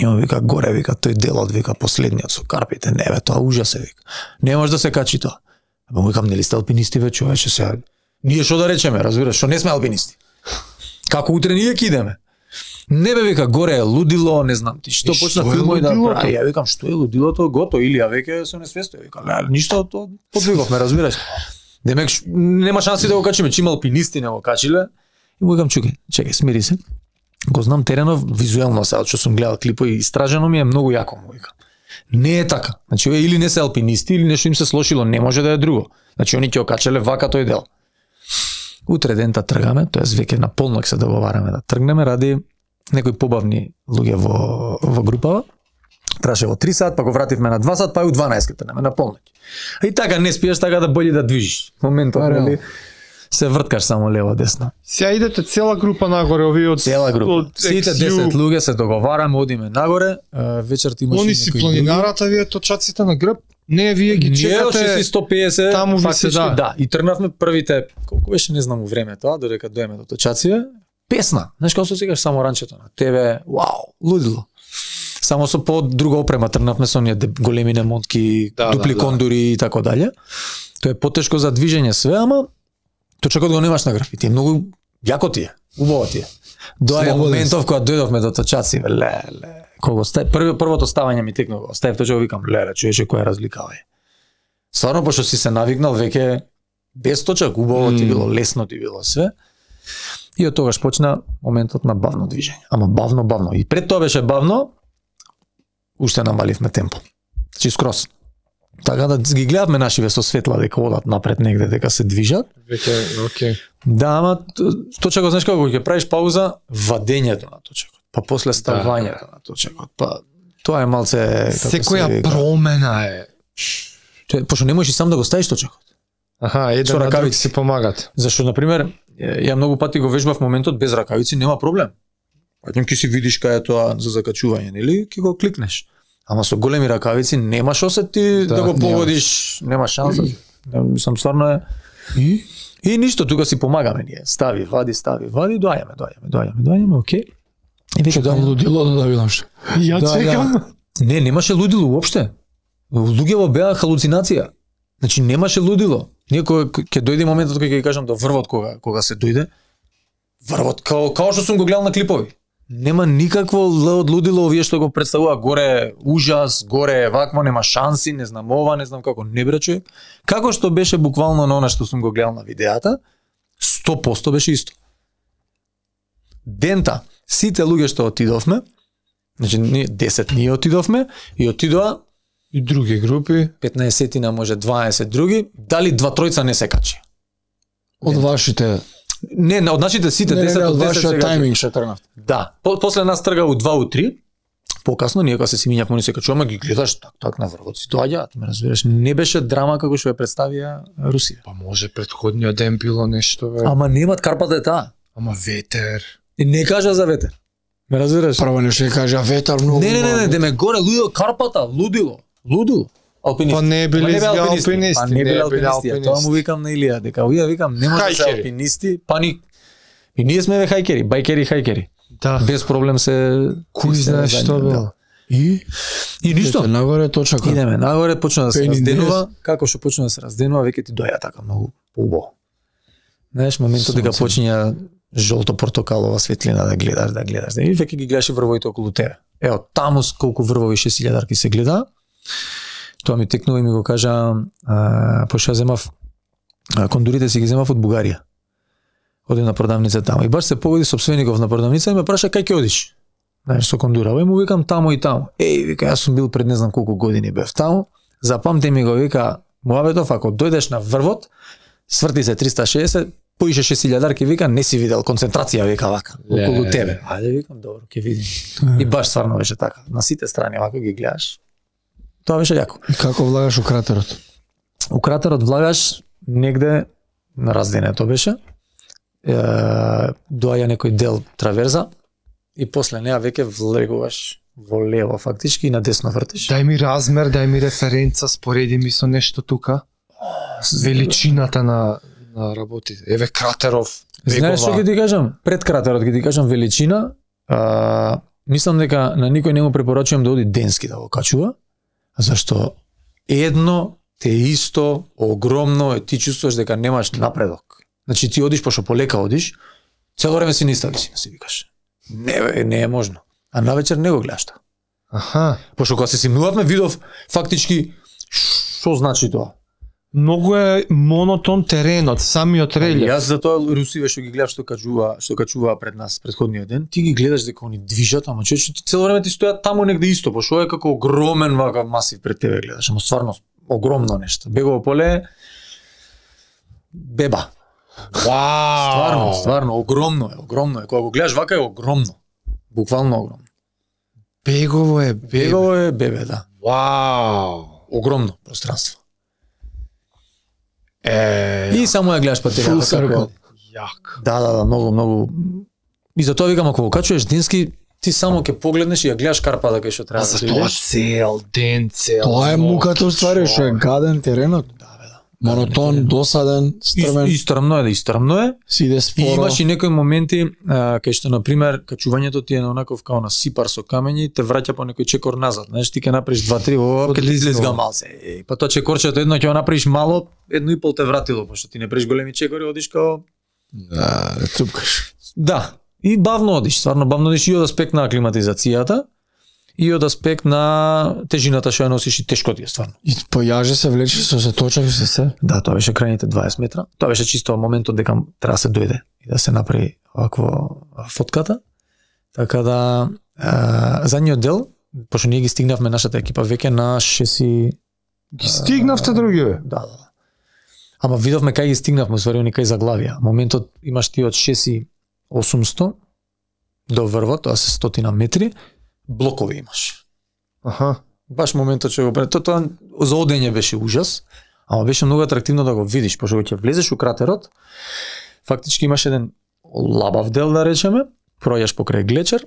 A: И он вика, горе, вика, тој делот, вика, последниот со карпите, не бе, тоа ужас е, вика. Не може да се качи тоа. Ама викам, нели сте алпинисти ве, човече, сега. Ние што да речеме, разбираш, што не сме алпинисти. Како утре ние ќе идеме? Не бе, вика, горе е лудило, не знам ти, што почна филмови да прави. Ја викам, што е лудилото, гото, или ја веќе се несвестува. Вика, ништо, подвиговме, разбираш. Демек, нема шанси да го качиме, че има алпинисти не го качиле. И му викам, чекај, смири се. Го знам теренов, визуелно сега, што сум гледал клипови, истражено ми е многу јако, му викам. Не е така. Значи, или не се алпинисти, или нешто им се слошило, не може да е друго. Значи, они ќе го качеле вака тој дел. Утре дента тргаме, тоест веќе на полнок се договараме да тргнеме ради некои побавни луѓе во групава. Траше во 3 сат, па го вративме на 2 сат, па и у 12 тргнеме на полнок. И така не спиеш, така да боли да движиш. Моментот, нели, се врткаш само лево десно.
B: Сега идете цела група нагоре, овие од
A: цела група. Сите 10 луѓе се договараме, одиме нагоре, вечерта имаше
B: они си планинарата, вие точаците на грб. Не, вие ги чекате.
A: Ние 150,
B: таму ви се
A: да. И тргнавме првите, колку беше, не знам, време тоа, додека доеме до точаците. Песна. Знаеш како се сикаш само ранчето на тебе, вау, лудило. Само со по друга опрема тргнавме со оние големи немонтки, дупли кондури и така дале. Тоа е потешко за движење све, ама точакот го немаш на грб. И ти е многу јако ти е, убаво ти е. Доаѓа моментов кога дојдовме до точаци, кога првото ставање ми текнува, оставив точно викам, човече, која разлика е. Стварно, пошто си се навикнал веќе без точак, убаво ти било, лесно ти било све. И од тогаш почна моментот на бавно движење. Ама бавно. И пред тоа беше бавно, уште намаливме темпо. Значи скрос. Така да ги гледавме нашиве со светла дека одат напред негде, дека се движат.
B: Веќе, окей.
A: Да, ама точако, знаеш како ќе правиш пауза, вадењето на точакот, па после ставањето на точакот, па тоа е малце
B: секоја промена е.
A: Пошто не можеш и сам да го ставиш точакот.
B: Аха, еден на друг си помагат.
A: Зашто, например, ја многу пати го вежбав моментот без ракавици, нема проблем. Паѓам ќе си видиш кај е тоа за закачување, нели? Ќе го кликнеш. Ама со големи ракавици немаш осет ти да го погодиш, нема шанса. Мислам, стварно е. И ништо, тука си помагаме ние. Стави, вади, доаѓаме, окей. И веќе
C: да лудило да видам што.
B: Ја чекам.
A: Не, немаше лудило уопште. Луѓето беа халуцинација. Значи немаше лудило. Ние ќе дојде моментот кога ќе кажам до врвот кога се дојде. Врвот као што сум го гледал на клипови. Нема никакво од лудило овие што го представува горе ужас, горе вакво, нема шанси, не знам ова, не знам како, не бре човек. Како што беше буквално на она што сум го гледал на видеата, 100% беше исто. Дента, сите луѓе што отидовме, значи 10 ние отидовме и отидоа
B: и други групи,
A: 15-тина, може 20 други, дали 2-3 не се качи.
C: Од вашите
A: од нашите сите 10
C: од вашиот тајминг што тргнавте.
A: Да, после нас трга у 2 у 3. Покасно ние кога се симињавме, они се качуваме, ги гледаш так на врвот си доаѓаат, ме разбираш, не беше драма како што ја представија Русија.
B: Па може претходниот ден било нешто, бе.
A: Ама немат Карпата е таа.
B: Ама ветер.
A: И не кажа за ветер. Ме разбираш?
C: Прво нешто ќе кажа ветар многу.
A: Не, де ме горе лудило Карпата, лудило. Алпинисти.
B: Па не биле алпинисти.
A: Па не биле алпинисти. Тоа му викам на Илија, дека ја викам не може да се алпинисти, па ни и ние сме хајкери, хајкери.
B: Да.
A: Без проблем се
B: кој знае што било.
C: И
A: ништо.
C: Нагоре точака.
A: Идеме нагоре, почна да се разденува, како што почна да се разденува, веќе ти доја така многу поубаво. Знаеш, моментот дека почиња жолто-портокалова светлина да гледаш. И веќе ги гледаш и врвовите околу тебе. Ево, таму колку врвови 6000-дарки се гледа. Тоа ми текнува и ми го кажа, пошто земав кондурите си ги земав од Бугарија. Одим на продавница таму и баш се погоди сопствеников на продавница и ме праша кај ќе одиш. Знаеш, со кондура, и му викам таму и таму. Вика, јас сум бил пред не знам колку години бев таму. Запамти ми го, вика, муабетов, ако дојдеш на врвот, сврти се 360, поише 6000-дарки, вика, не си видел концентрација, вика, вака, околу тебе. Ајде, викам, добро, ќе видим. И баш стварно беше така. На сите страни, вака ги гледаш. Тоа беше јако.
C: И како влагаш у кратерот?
A: У кратерот влагаш негде на разденето беше. Доаѓа некој дел траверза и после неа веќе влегуваш во лево фактички и на десно вртиш.
B: Дај ми размер, дај ми референца, спореди ми со нешто тука. Величината на работите. Еве кратеров, бегова.
A: Знаеш што ќе ти кажам? Пред кратерот ќе ти кажам величина. Мислам дека на никој не му препорачувам да оди денски да го качува, зашто едно те исто огромно ти чувствуваш дека немаш напредок. Значи ти одиш пошто полека одиш, цело време си ниста висина, си викаш. Не е можно. А навечер не го гледаш тоа.
B: Аха.
A: Пошто кога се симнувавме видов фактички што значи тоа.
B: Многу е монотон теренот, самиот релјеф.
A: Јас затоа русиве што ги гледам што качуваа пред нас претходниот ден, ти ги гледаш дека они движат, ама човече ти цело време ти стојат таму негде исто, пошто е како огромен вака масив пред тебе гледаш, ама стварно огромно нешто. Бегово поле беба.
B: Вау!
A: Стварно огромно е. Кога го гледаш вака е огромно. Буквално огромно.
B: Бегово е
A: бебе, да.
B: Вау!
A: Огромно пространство. И само ја гледаш патеката како
B: јак.
A: Да, многу. И затоа викам, ако го качуваш денски, ти само ќе погледнеш и ја гледаш Карпата кај што треба да
B: идеш. Цел ден.
C: Тоа е муката уствари, што е гаден теренот. Монотон, досаден, стрмен.
A: Истрмно е.
C: Си иде споро.
A: И имаш и некои моменти кај што на пример качувањето ти е на онаков као на сипар со камењи, те враќа по некој чекор назад. Знаеш, ти ќе направиш 2-3, ќе ти излезга малце. Па тоа чекорчето едно ќе го направиш мало, 1,5 те вратило, пошто ти не правиш големи чекори, одиш као
C: цупкаш.
A: Да. И бавно одиш, стварно бавно одиш и од аспект на аклиматизацијата. И од аспект на тежината што ја носиш и тешко ти е стварно.
C: И појаже се влече со се точак се.
A: Да, тоа беше крајните 20 метра. Тоа беше чисто моментот дека треба да се дојде и да се направи вакво фотката. Така да задниот дел, пошто ние ги стигнавме нашата екипа веќе на 6.
B: Ги стигнавте други?
A: Да. Ама видовме кај ги стигнавме, уствари они кај заглавија. Моментот имаш ти од 6.800 до врвот, тоа се 100 метри. Блокови имаш.
B: Аха.
A: Баш моментот што го тоа за одење беше ужас, ама беше многу атрактивно да го видиш, пошто ќе влезеш у кратерот, фактички имаш еден лабав дел да речеме, пројаш покрај глечер,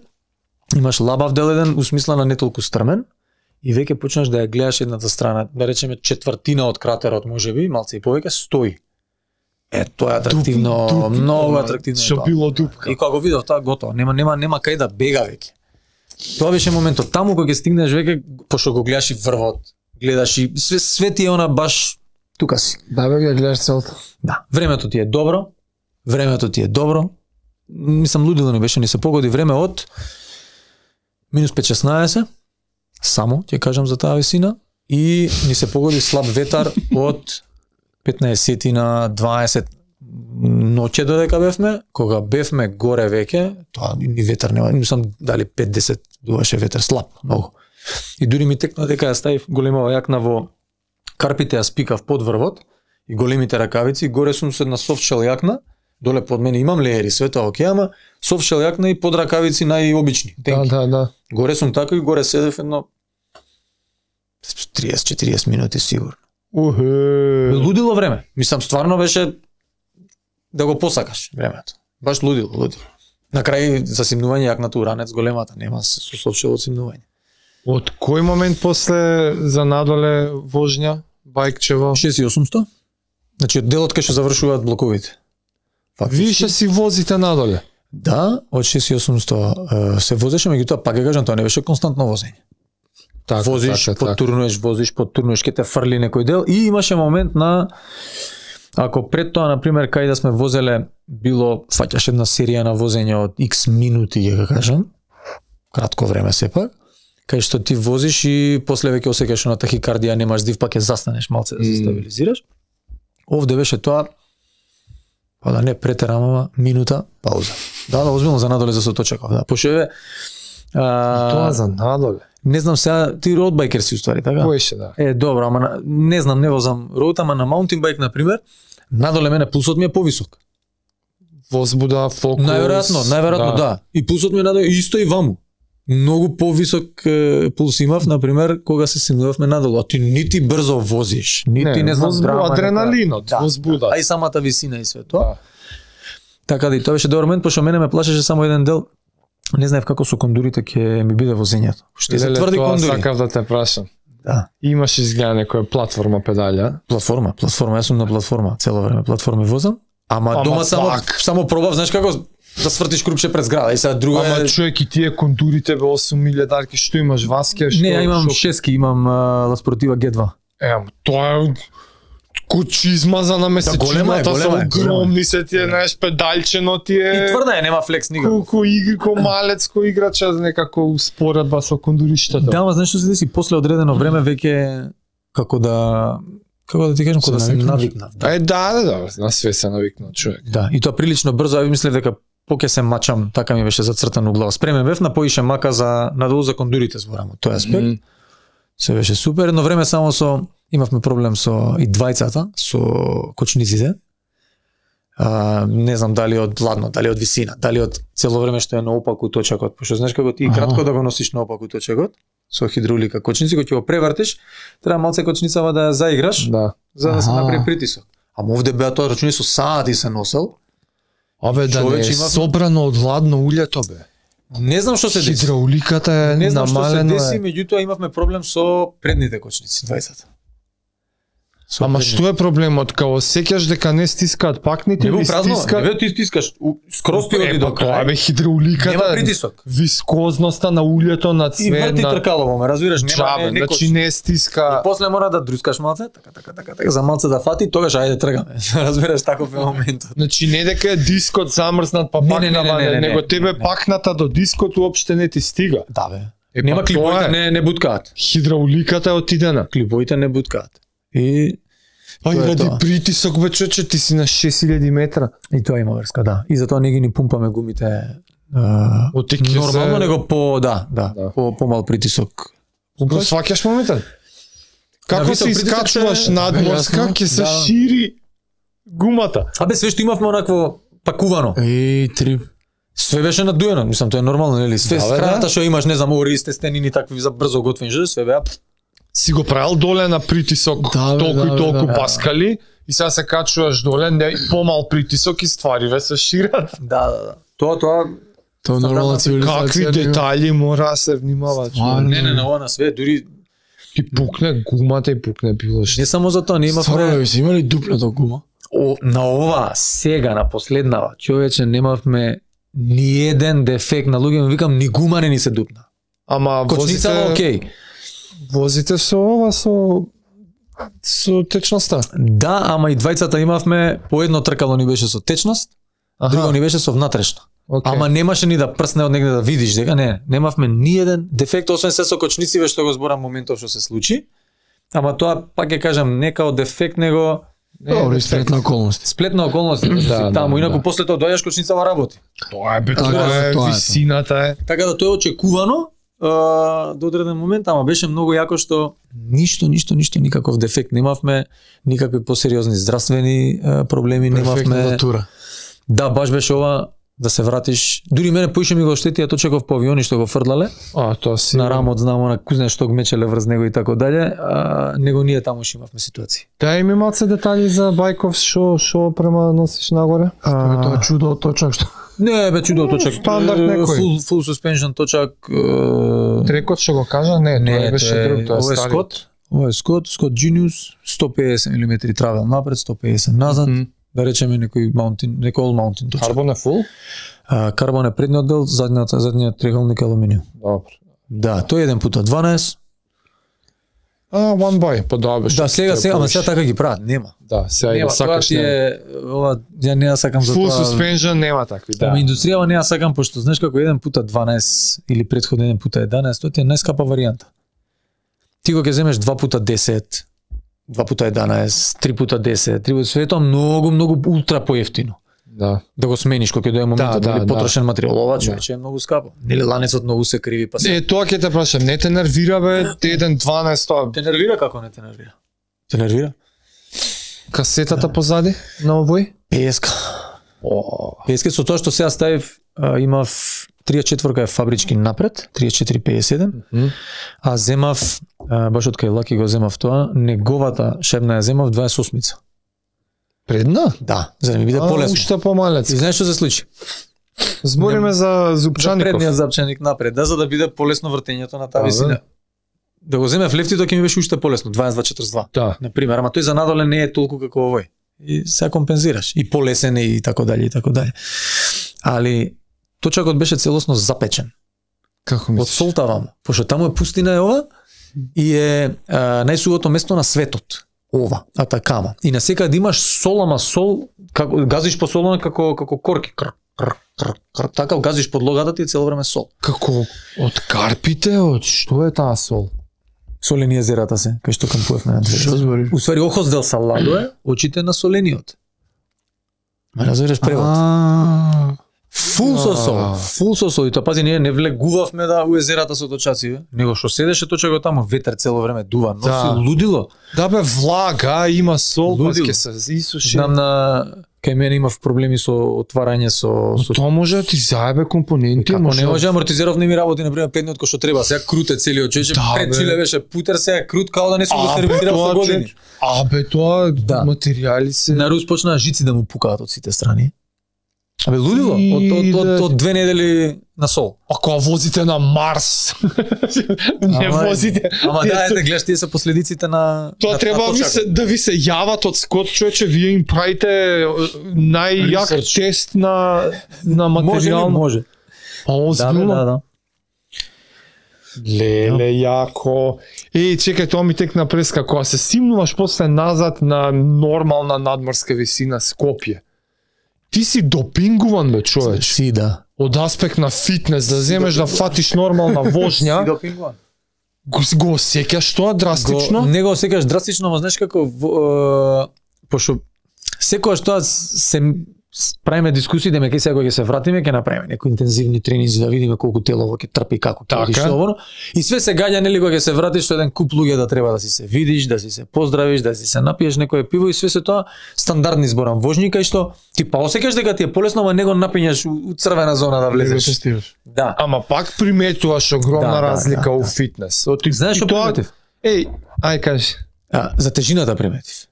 A: имаш лабав дел еден усмисла на не толку стрмен и веќе почнаш да ја гледаш едната страна, да речеме четвртина од кратерот можеби, малце и повеќе стои. Тоа е атрактивно, многу атрактивно.
B: Што било дупка.
A: И кога го видов тоа готово, нема кај да бега веќе. Тоа беше моментот таму кога ќе стигнеш веќе, пошто го гледаш и врвот, гледаш и све ти е она баш тука си.
C: Да бе, ја гледаш целта.
A: Да, времето ти е добро. Мислам лудило не беше, ни се погоди време од минус 5-16, само ќе кажам за таа висина, и ни се погоди слаб ветар од 15 на 20 ноќе додека бевме, кога бевме горе веќе, тоа ни ветар нема, мислам дали 5-10 дуваше ветар слаб, многу. И дури ми текна дека ја ставив големава јакна во карпите, ја спикав под врвот и големите ракавици, горе сум со една софтшел јакна, Доле под мене имам леери, све тоа окей, ама софшел јакна и подракавици најобични.
B: Да.
A: Горе сум така и горе седев едно 30-40 минути сигурно. Лудило време. Мислам, стварно беше да го посакаш времето. Баш лудило. На крај засимнување јакната уранец големата, нема со софшел симнување.
B: Од кој момент после за надоле вожња, бајкчево?
A: 6800. Значи од делот кај што завршуваат блоковите.
B: Вие си возите надоле?
A: Да, од 6800 се возеше, меѓутоа пак ја кажам, тоа не беше константно возење. Возиш, подтурнуеш, ке те фрли некој дел и имаше момент на, ако пред тоа, например, кај да сме возеле, било, фаќаш една серија на возење од X минути, ја кажам, кратко време сепак, кај што ти возиш и после веќе осеќаш на тахикардија, немаш див, пак ќе застанеш малце да се стабилизираш. Овде беше тоа, па да не претерам, ама минута, пауза. Да, озбилно за надоле за се точекав, да. Пошеве
B: тоа за надоле.
A: Не знам сега, ти роудбајкер си уствари, така?
B: Поеше, да.
A: Добро, ама не знам, не возам роуд, ама на маунтинг бајк, например, надоле мене пулсот ми е повисок.
B: Возбуда, фокус.
A: Најверојатно, да. И пулсот ми е надоле, исто и ваму. Многу повисок пулс имав, например, кога се симнувавме надолу, а ти нити брзо возиш, нити не знам драма.
B: Адреналинот, возбуда.
A: А и самата висина и све тоа. Така да и тоа беше добар момент, пошто мене ме плашеше само еден дел. Не знаев како со кондурите ќе ми биде возењето. Што се тврди кондури.
B: Сакав да те прашам.
A: Да.
B: Имаш изгледа некоја платформа педалја?
A: Платформа, јас сум на платформа, цело време платформи возам. Ама дома само пробав, знаеш како да свртиш крупче пред зграда и сега друга.
B: Ама човек и тие кондурите бе 8000 дарки, што имаш васке, што?
A: Не, ја имам шески, имам Ла Спортива G2.
B: Тоа е кучизма за намесечината, са огромни се тие, знаеш, педалчено тие.
A: И тврда е, нема флекс никако.
B: Ко малец, ко играча, некако успоредба со кондуриштата.
A: Да, ама знаеш што се деси, после одредено време веќе како да ти кажам, кога да се навикнав.
B: Да, на све се навикнав човек.
A: Да, и тоа прилично брзо, ја мислев дека поќе се мачам, така ми беше зацртано у глава. Спремен бев на поише мака за надолу за кондурите зборам, тој аспект. Се беше супер, едно време само имавме проблем со и двајцата, со кочниците. Не знам дали од ладно, дали од висина, дали од цело време што е наопаку точакот, пошто знаеш како ти кратко да го носиш наопаку точакот со хидравлика кочници, кога ќе го превртиш, треба малце кочницава да ја заиграш, за да се направи притисок. Ама овде беа тоа рачуни со сати се носел.
B: Абе да не е собрано од ладно улјето бе.
A: Не знам што се деси.
B: Хидравликата е намалено.
A: Не знам што се деси, меѓутоа имавме проблем со предните кочници, 20-та.
B: Ама што е проблемот? Као сеќаш дека не стискаат пакните или стискаат?
A: Не бе, ти стискаш, скроз ти оди до крај.
B: Тоа бе хидравликата.
A: Нема притисок.
B: Вискозноста на улјето, на цвет.
A: И врти тркалово, ме разбираш, нема не
B: значи не стиска.
A: И после мора да друскаш малце, така, за малце да фати, тогаш ајде тргаме. Разбираш, таков е моментот.
B: Значи не дека е дискот замрзнат па пакнава, него тебе пакната до дискот уопште не ти стига.
A: Да бе. Нема клиповите не буткаат.
B: Хидравликата е отидена.
A: Клиповите не буткаат. И
B: ради притисок бе човече, ти си на 6000 метра.
A: И тоа има врска, да. И затоа не ги ни пумпаме гумите нормално, него по-мал притисок.
B: Го сваќаш моментот? Како се искачуваш надморска, ќе се шири гумата.
A: Абе све што имавме онакво пакувано.
C: Трип.
A: Све беше надуено, мислам тоа е нормално, нели? Све страната што имаш, не знам, ористе стенини такви за брзо готвени, све беа
B: си го правил доле на притисок, толку и толку паскали и сега се качуваш доле, помал притисок и ствариве се шират.
A: Да. Тоа
C: нормална цивилизација.
B: Какви детали мора да се внимават.
A: Не, ова на све, дури
B: ти пукне гумата и пукне било што.
A: Не само за тоа, не имавме.
C: Си имали дупнато гума?
A: На ова, сега, на последнава, човече, немавме ни еден дефект на луѓе, викам, ни гума не ни се дупна.
B: Ама
A: кочницава окей.
B: Возите со ова, со течноста?
A: Да, ама и двајцата имавме, по едно тркало ни беше со течност, друго ни беше со внатрешна. Ама немаше ни да прсне од негде да видиш дека немавме ни еден дефект, освен се со кочнициве што го зборам моментов што се случи. Ама тоа, пак ќе кажам, не као дефект, него
C: сплетна околност.
A: Сплетна околност, таму, инаку после тоа доаѓаш кочницава работи.
B: Тоа е висината е.
A: Така да тоа е очекувано до одреден момент, ама беше многу јако што ништо, никаков дефект немавме, никакви посериозни здравствени проблеми немавме. Да, баш беше ова да се вратиш. Дури мене поише ми го штетија точеков по авиони што го фрлале.
B: Тоа си
A: На рамот знамо на кузне што го мечеле врз него и така дале, него ние таму што имавме ситуации.
B: Дај ми малце детали за Бајков што према носиш нагоре.
C: Тоа чудо од точак што.
A: Не, бе чудо точак.
B: Стандард некој.
A: Full suspension точак.
B: Трекот што го кажа? Не, тоа беше друг, тоа е стари.
A: Ова е Scott Genius, 150 мм травел напред, 150 назад. Да речеме некој all mountain точак.
B: Карбон е фул?
A: Карбон е предниот дел, задниот триъгълник алуминиум.
B: Добро.
A: Да, тој 1x12.
B: One by, па да беше.
A: Да, сега, ама сега така ги прават, нема.
B: Да, сега и да сакаш
A: не. Ова, ја не ја сакам за
B: full
A: тоа.
B: Full suspension нема такви, да.
A: Ама индустријава не ја сакам, пошто знаеш како 1x12 или претходно 1x11, тоа ти е најскапа варијанта. Ти го ќе земеш 2x10, 2x11, 3x10, 3x све тоа многу ултра поевтино.
B: Да.
A: Да го смениш кога ќе дое моментот, или потрошен материјал, ова човече е многу скапо. Нели ланецот многу се криви, па се.
B: Тоа ќе те прашам, не те нервира бе 1.12 тоа?
A: Те нервира како не те нервира? Те нервира?
B: Касетата позади на овој?
A: Песка. Песка со тоа што сега ставив, имав 34 е фабрички напред, 3457, а земав, баш од кај Лаки го земав тоа, неговата шебна ја земав 28-мица.
B: Предна?
A: Да, за да ми биде полесно.
B: Уште помалец.
A: И знаеш што се случи?
B: Збориме за Зупчаников.
A: Предниот запчаник напред, да, за да биде полесно вртењето на таа висина. Да го земев лефти, тоа ќе ми беше уште полесно, 22-42.
B: Да.
A: На пример, ама тој за надоле не е толку како овој. И сега компензираш, и полесен и така дале и така дале. Али точакот беше целосно запечен.
B: Како
A: мислиш? Од солта ваму, пошто таму е пустина е ова и е најсувото место на светот. Ова, Атакама. И на секаде имаш сол, ама сол, како газиш по солона како корки. Така газиш подлогата ти е цело време сол.
B: Како од карпите, од што е таа сол?
A: Солени езерата се, кај што кампувавме на две.
C: Што збориш?
A: Уствари Охос дел Саладо е очите на солениот. Ме разбираш превод? Фул со сол, и тоа пази ние не влегувавме да у езерата со точаци, него што седеше точако таму, ветер цело време дува, носи лудило.
B: Да бе, влага, има сол, па ќе се исуши.
A: Знам кај мене имав проблеми со отварање со
B: тоа може да ти заебе компоненти,
A: како не може амортизеров не ми работи на пример предниот кој што треба, сега крут е целиот човече, пред чиле беше путер, сега крут као да не сум го сервизирал со години.
B: Тоа материјали се.
A: На Рус почнаа жици да му пукаат од сите страни. Абе лудило, од 2 недели на сол.
B: А кога возите на Марс, не возите.
A: Ама да, ете, гледаш, тие се последиците на
B: тоа треба да ви се јават од Скот, човече, вие им правите најјак тест на материјал.
A: Може.
B: Да. Леле, јако. Чекај, тоа ми текна преска, кога се симнуваш после назад на нормална надморска висина Скопје. Ти си допингуван, бе, човеч.
A: Си, да.
B: Од аспект на фитнес, да земеш да фатиш нормална вожња.
A: Си допингуван.
B: Го осеќаш тоа драстично?
A: Не го осеќаш драстично, но знаеш како пошто секогаш тоа се правиме дискусии дека ќе сега кога ќе се вратиме ќе направиме некои интензивни тренинзи да видиме колку телово ќе трпи, како ќе видиш ово. И све се гаѓа нели кога ќе се вратиш со еден куп луѓе да треба да си се видиш, да си се поздравиш, да си се напиеш некое пиво и све се тоа стандардни зборам вожњи кај што ти па осеќаш дека ти е полесно, ама него напињаш у црвена зона да влезеш. Да.
B: Ама пак приметуваш огромна разлика у фитнес.
A: Знаеш што приметив?
B: Ај кажи.
A: За тежината приметив.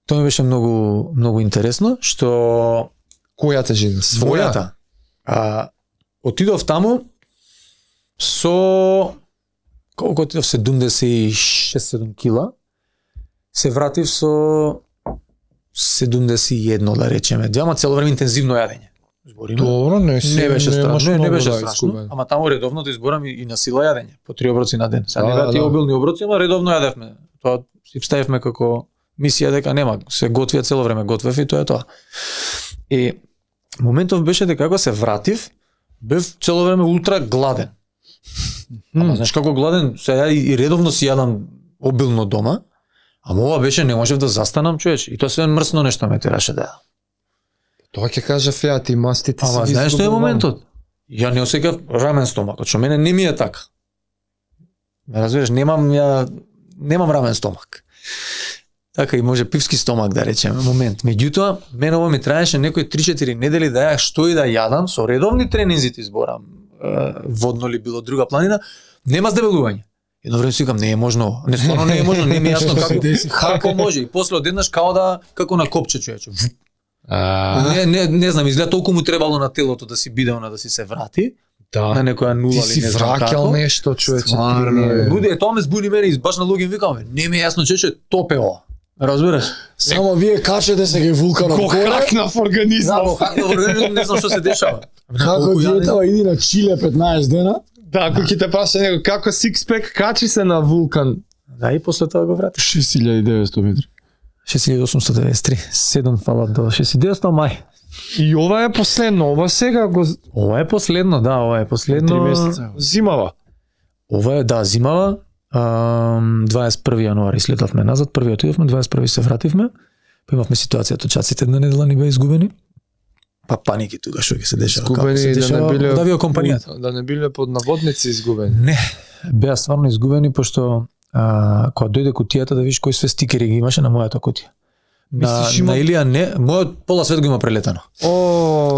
A: Тоа ми беше многу интересно, што
B: која тежина?
A: Својата. Отидов таму со колку отидов 76-7 кила. Се вратив со 71 да речеме. Ама цело време интензивно јадење. Збориме.
B: Добро, не
A: беше страшно, не беше страшно. Ама таму редовно да изборам и на сила јадење, по 3 оброци на ден. Сега не беа тие обилни оброци, ама редовно јадевме. Тоа си ставивме како мисија дека нема, се готвија цело време, готвев и тоа е тоа. И моментов беше дека кога се вратив, бев цело време ултра гладен. Ама знаеш како гладен, сега и редовно си јадам обилно дома, ама ова беше не можев да застанам, човече, и тоа све мрсно нешто ме тераше да јадам.
B: Тоа ќе кажа феа, ти мастите се.
A: Ама знаеш што е моментот? Ја не осеќав рамен стомакот, што мене не ми е така. Ме разбираш, немам рамен стомак. Така и може пивски стомак да речеме, момент. Меѓутоа, мене ова ми траеше некои 3-4 недели да ја што и да јадам со редовни тренинзи ти зборам, водно ли било друга планина, нема здебелување. Едно време си викам, не е можно, не стварно не е можно, не ми е јасно како може. И после одеднаш како на копче човече. Не знам, изгледа толку му требало на телото да си биде она да си се врати.
B: Да.
A: На некоја нула
B: или не знам како. Ти си враќал нешто, човече.
A: Луѓе, тоа ме збуни мене и баш на луѓе викам, не ми е јасно човече, топе ова. Разбираш?
C: Само вие качете се ге вулканот
B: горе. Хакнав организам.
A: Да, хакнав организам, не знам што се дешава.
C: Како диетава иди на Чиле 15 дена?
B: Да, ако ќе те праша него како сикспек качи се на вулкан.
A: Да, и после тоа го врати.
C: 6900 метри.
A: 6893. 7 фала до 6900 мај.
B: И ова е последно, ова сега го...
A: Ова е последно, да, ова е последно.
C: 3 месеца.
B: Зимава.
A: Ова е, да, зимава. 21 јануари слетавме назад, првиот отидовме, 21 се вративме. Па имавме ситуација, точаците една недела ни беа изгубени. Па паники тука што ќе се дешава.
B: Изгубени да не биле
A: од авиокомпанијата.
B: Да не биле под наводници изгубени.
A: Не, беа стварно изгубени пошто кога дојде кутијата да видиш кои све стикери ги имаше на мојата кутија. На Илија не, мојот пола свет го има прелетано.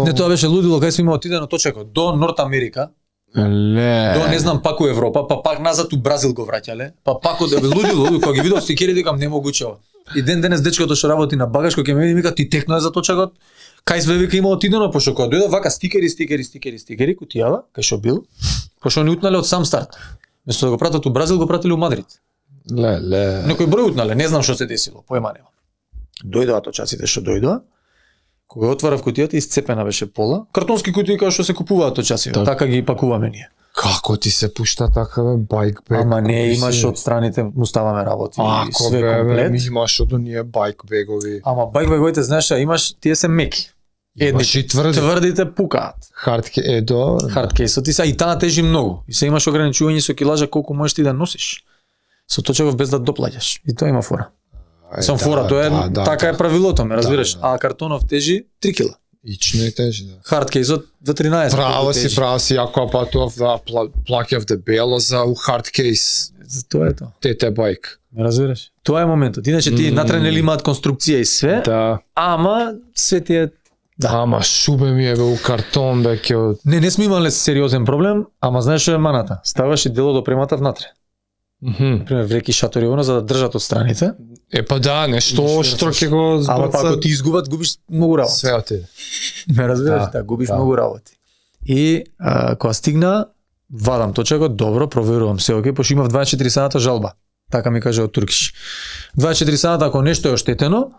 A: Не, тоа беше лудило, кај сме има отидено точако до Норт Америка. До не знам пак у Европа, па пак назад у Бразил го враќале, па пак од лудило, кога ги видов стикерите викам немогуче ова. И денес дечкото што работи на багаж кој ќе ме види вика ти текно е за точакот. Кај све вика има отидено пошто кога дојдов вака стикери кутијава, кај што бил, пошто ни утнале од сам старт. Место да го пратат у Бразил го пратиле у Мадрид. Некој број утнале, не знам што се десило, поема нема. Дојдоа точаците што дојдоа. Кога отварав кутијата, isцепена беше пола. Картонски кутии како што се купуваат точаци, така ги пакуваме ние.
B: Како ти се пушта така бе, байкбег?
A: Ама не, имаш од страните, му ставаме работи.
B: Све комплет. Имаш од оние байкбегови.
A: Ама байкбеговите, знаеш, имаш, тие се меки.
B: Едни
A: тврдите пукаат. Хардкейсот ти се и таа тежи многу. И се имаш ограничување со килажа колку можеш ти да носиш. Со точаков без да доплаќаш. И тоа има фора. Сам фора, тоа е така е правилото, ме разбираш. А картонов тежи 3 кила.
B: Ично е тежи, да.
A: Хардкейсот за 13.
B: Право си, ако патов да плаќав дебело за хардкейс.
A: Тоа е тоа.
B: ТТ байк.
A: Ме разбираш? Тоа е моментот. Иначе ти натре нели имаат конструкција и све.
B: Да.
A: Ама све ти е
B: Ама шубе ми е бе у картон бе ќе.
A: Не сме имале сериозен проблем, ама знаеш што е маната. Ставаш и дело до премата внатре. Например, вреки шатори за да држат од страните.
B: Па да, нешто оштро ќе го збрца.
A: Ама ако ти изгубат, губиш многу работи.
B: Све отиде.
A: Ме разбираш, да, губиш многу работи. И кога стигна, вадам точакот, добро, проверувам се, окей, пошто имав 24 сата жалба. Така ми каже од Туркиш. 24 сата ако нешто е оштетено,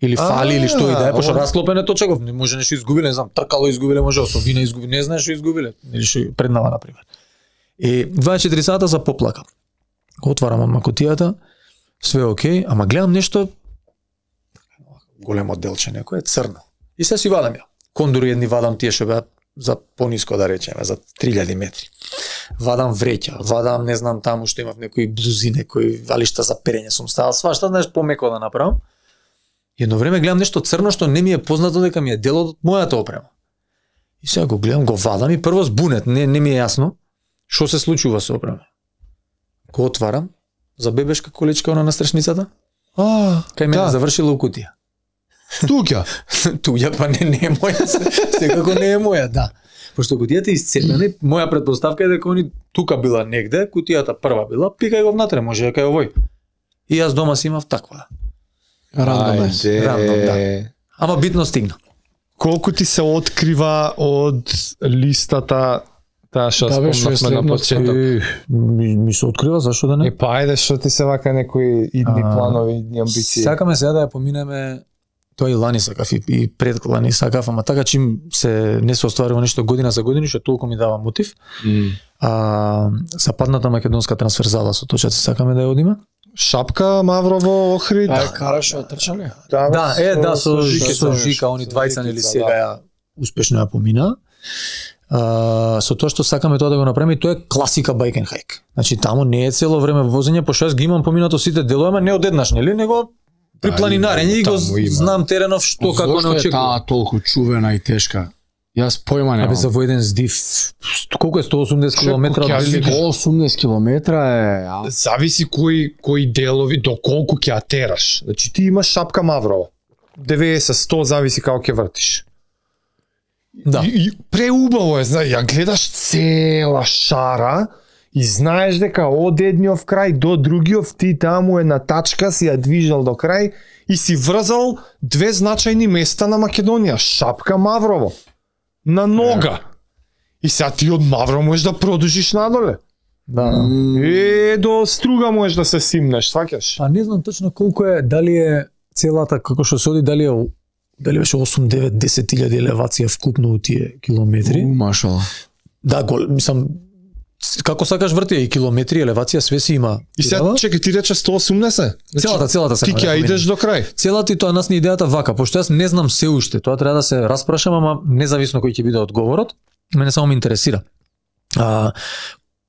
A: или фали или што и да е, пошто расклопен е точаков, не може нешто изгубиле, не знам, тркало изгубиле, може осовина изгубиле, не знаеш што изгубиле, или што преднава на пример. И 24 сата за поплака. Отварам од кутијата, све окей, ама гледам нешто големо делче некое црно. И се си вадам ја. Кондури едни вадам тие што беа за пониско да речеме, за 3000 метри. Вадам вреќа, вадам не знам таму што имав некои блузи, некои валишта за перење сум ставал, свашта знаеш помеко да направам. Едно време гледам нешто црно што не ми е познато дека ми е дел од мојата опрема. И сега го гледам, го вадам и прво збунет, не ми е јасно што се случува со опрема. Го отварам, за бебешка количка на настрашницата. Кај мене завршила у кутија.
B: Туѓа?
A: Туѓа, па не е моја, секако не е моја, да. Пошто кутијата е исцепнена, моја претпоставка е дека они тука била негде, кутијата прва била, пикај го внатре, може дека е овој. И јас дома си имав таква. Рандом, да. Ама битно стигна.
B: Колку ти се открива од листата таа што спомнавме на почеток?
A: Ми се открива, зашто да не?
B: Па ајде, што ти се вака некои идни планови, идни амбиции?
A: Сакаме сега да ја поминеме, тоа и лани сакав и пред лани сакав, ама така чим се не се остварува нешто година за година, што толку ми дава мотив. Западната македонска трансферзала со точаци сакаме да ја одиме.
B: Шапка, Маврово, Охрид.
C: Караш од трчале?
A: Да, со Жика, они двајца нели сега ја успешно ја помина. Со тоа што сакаме тоа да го направиме, и тоа е класика байк енд хайк. Значи таму не е цело време возење, пошто јас ги имам поминато сите делови, ама не одеднаш, нели, него при планинарење и го знам теренов што како не очекувам.
C: Зошто е таа толку чувена и тешка Јас појма немам.
A: Абе за во еден здив колку е 180 км?
C: 180 км е.
B: Зависи кои делови до колку ќе ја тераш. Значи ти имаш шапка Маврово. 90-100 зависи како ќе вртиш.
A: Да.
B: И преубаво е, ја гледаш цела шара и знаеш дека од едниот крај до другиот ти таму е на тачка си ја движал до крај и си врзал две значајни места на Македонија. Шапка Маврово. На нога. И сега ти од Маврово можеш да продолжиш надоле.
A: Да.
B: До Струга можеш да се симнеш, сваќаш?
A: Па не знам точно колку е, дали е целата како што се оди, дали беше 8, 9, 10.000 елевација вкупно у тие километри.
C: Машала.
A: Да, мислам, како сакаш врти и километри, елевација, све си има.
B: И сега чекај, ти рече 180?
A: Целата
B: ти ќе идеш до крај.
A: Целата и тоа нас ни идејата вака, пошто јас не знам се уште, тоа треба да се распрашам, ама независно кој ќе биде одговорот, мене само ме интересира.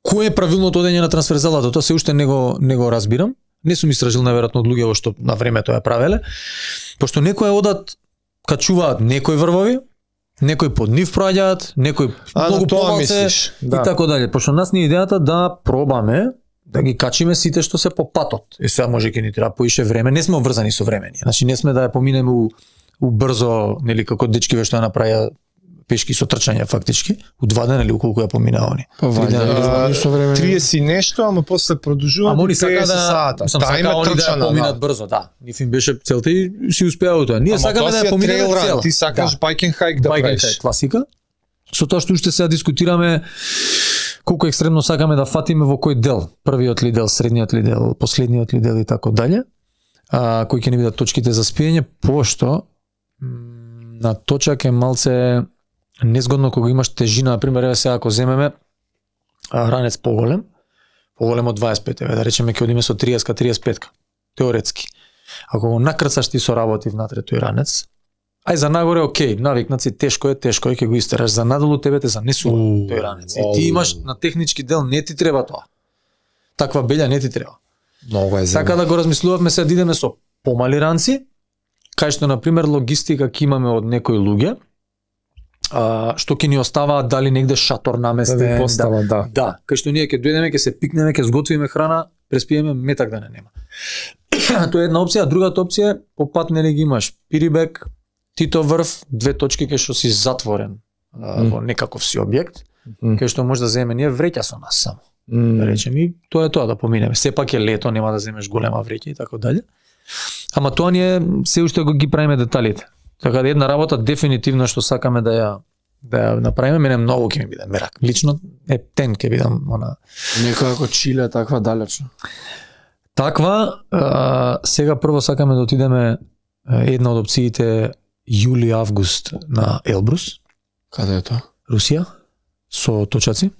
A: Кој е правилното одење на трансферзалата, тоа се уште не го разбирам. Не сум истражил наверојатно од луѓе што на времето ја правеле, пошто некои одат качуваат некои врвови, некои под нив проаѓаат, некои многу помалце и така дале. Пошто нас ни идејата да пробаме да ги качиме сите што се по патот. И сега може ќе ни треба поише време, не сме обврзани со времени. Значи не сме да ја поминеме у брзо, нели како дечкиве што ја направија пешки со трчање фактички, у 2 дена или колку ја поминаа они.
B: 30 нешто, ама после продолжуваат 50 сата.
A: Да, има трчана, да поминат брзо, да. Ниф им беше целта и си успеа тоа. Ние сакаме да ја поминеме цела.
B: Ти сакаш байкен хайк да правиш.
A: Класика. Со тоа што уште сега дискутираме колку екстремно сакаме да фатиме во кој дел, првиот ли дел, средниот ли дел, последниот ли дел и така дале. Кои ќе ни бидат точките за спиење, пошто на точак е малце незгодно кога имаш тежина, например, еве сега ако земеме ранец поголем од 25, еве да речеме ќе одиме со 30-ка, 35-ка, теоретски. Ако го накрцаш ти со работи внатре тој ранец, ај за нагоре окей, навикнат си, тешко е, ќе го истераш, за надолу тебе те занесува тој ранец. И ти имаш на технички дел, не ти треба тоа. Таква белја не ти треба.
B: Много е земе.
A: Така да го размислувавме се да идеме со помали ранци, кај што на пример логистика ќе имаме од некои луѓе, што ќе ни оставаат дали негде шатор наместен,
B: да постава,
A: да, кај што ние ќе дојдеме, ќе се пикнеме, ќе сготвиме храна, преспиеме, метак да не нема. Тоа е една опција, другата опција е по пат нели ги имаш Пирибек, Тито врв, 2 точки кај што си затворен во некаков си објект, кај што може да земеме ние вреќа со нас само. Да речем и тоа е тоа да поминеме. Сепак е лето, нема да земеш голема вреќа и така дале. Ама тоа ние се уште го ги правиме деталите. Така да една работа дефинитивно што сакаме да ја направиме, мене многу ќе ми биде мерак. Лично ептен ќе бидам она.
C: Некоја како Чиле таква далечно.
A: Таква сега прво сакаме да отидеме една од опциите јули-август на Елбрус.
C: Каде е тоа?
A: Русија со точаци.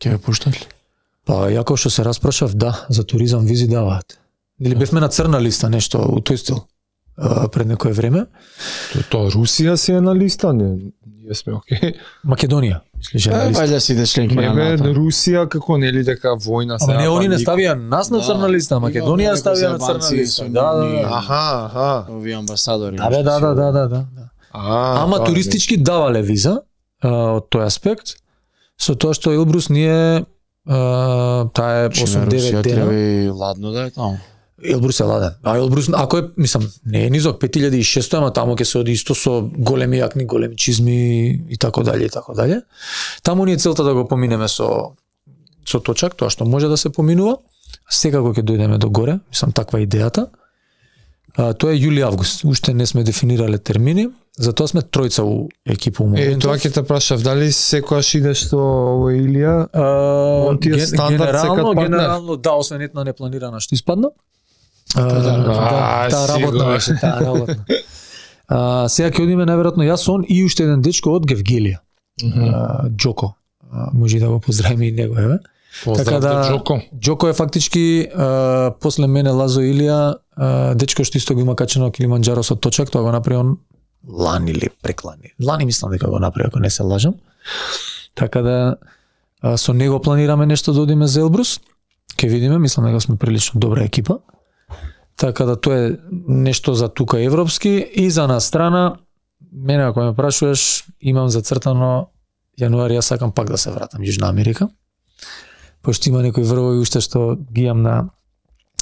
C: Ќе ве пуштат ли?
A: Па јако што се распрашав, да, за туризам визи даваат. Или бевме на црна листа нешто у тој стил пред некое време.
B: Тоа Русија си е на листа, не сме окей.
A: Македонија, мислиш на листа.
C: Вајде сите членки на
B: НАТО. Русија како нели дека војна се.
A: Ама не, они не ставија нас на црна листа, Македонија ставија на црна листа. Да.
B: Аха.
C: Ови амбасадори.
A: Да. Ама туристички давале виза од тој аспект, со тоа што Елбрус ние таа е 8-9 дена.
C: И ладно да е таму.
A: Елбрус е ладен. А Елбрус, ако е, мислам, не е низок, 5600, ама таму ќе се оди исто со големи јакни, големи чизми и така дале и така дале. Таму ни е целта да го поминеме со точак, тоа што може да се поминува. Секако ќе дојдеме до горе, мислам таква е идејата. Тоа е јули-август. Уште не сме дефинирале термини, затоа сме тројца у екипа у моментов.
B: Тоа ќе те прашав, дали секојаш идеш со Илија? Он ти е стандард секад партнер?
A: Генерално, да, освен една непланирана што испадна. Таа работна беше, таа работна. Сега ќе одиме најверојатно јас, он и уште еден дечко од Гевгелија. Џоко. Може да го поздравиме и него, еве.
B: Така да
A: Џоко е фактички после мене Лазо Илија, дечко што исто го има качено Килиманџаро со точак, тоа го направи он лани или преклани. Лани мислам дека го направи, ако не се лажам. Така да со него планираме нешто да одиме за Елбрус. Ке видиме, мислам дека сме прилично добра екипа. Така да тоа е нешто за тука европски и за на страна мене ако ме прашуваш, имам зацртано јануари, јас сакам пак да се вратам Јужна Америка. Пошто има некои врвови уште што ги имам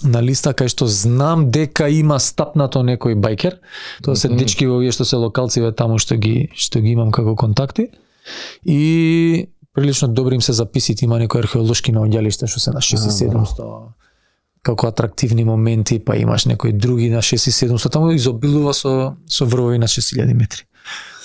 A: на листа, кај што знам дека има стапнато некој байкер. Тоа се дечки во овие што се локалци таму што ги имам како контакти. И прилично добри им се записите, има некои археолошки наоѓалишта што се на 6700 како атрактивни моменти, па имаш некои други на 6700, таму изобилува со врвови на 6000 метри.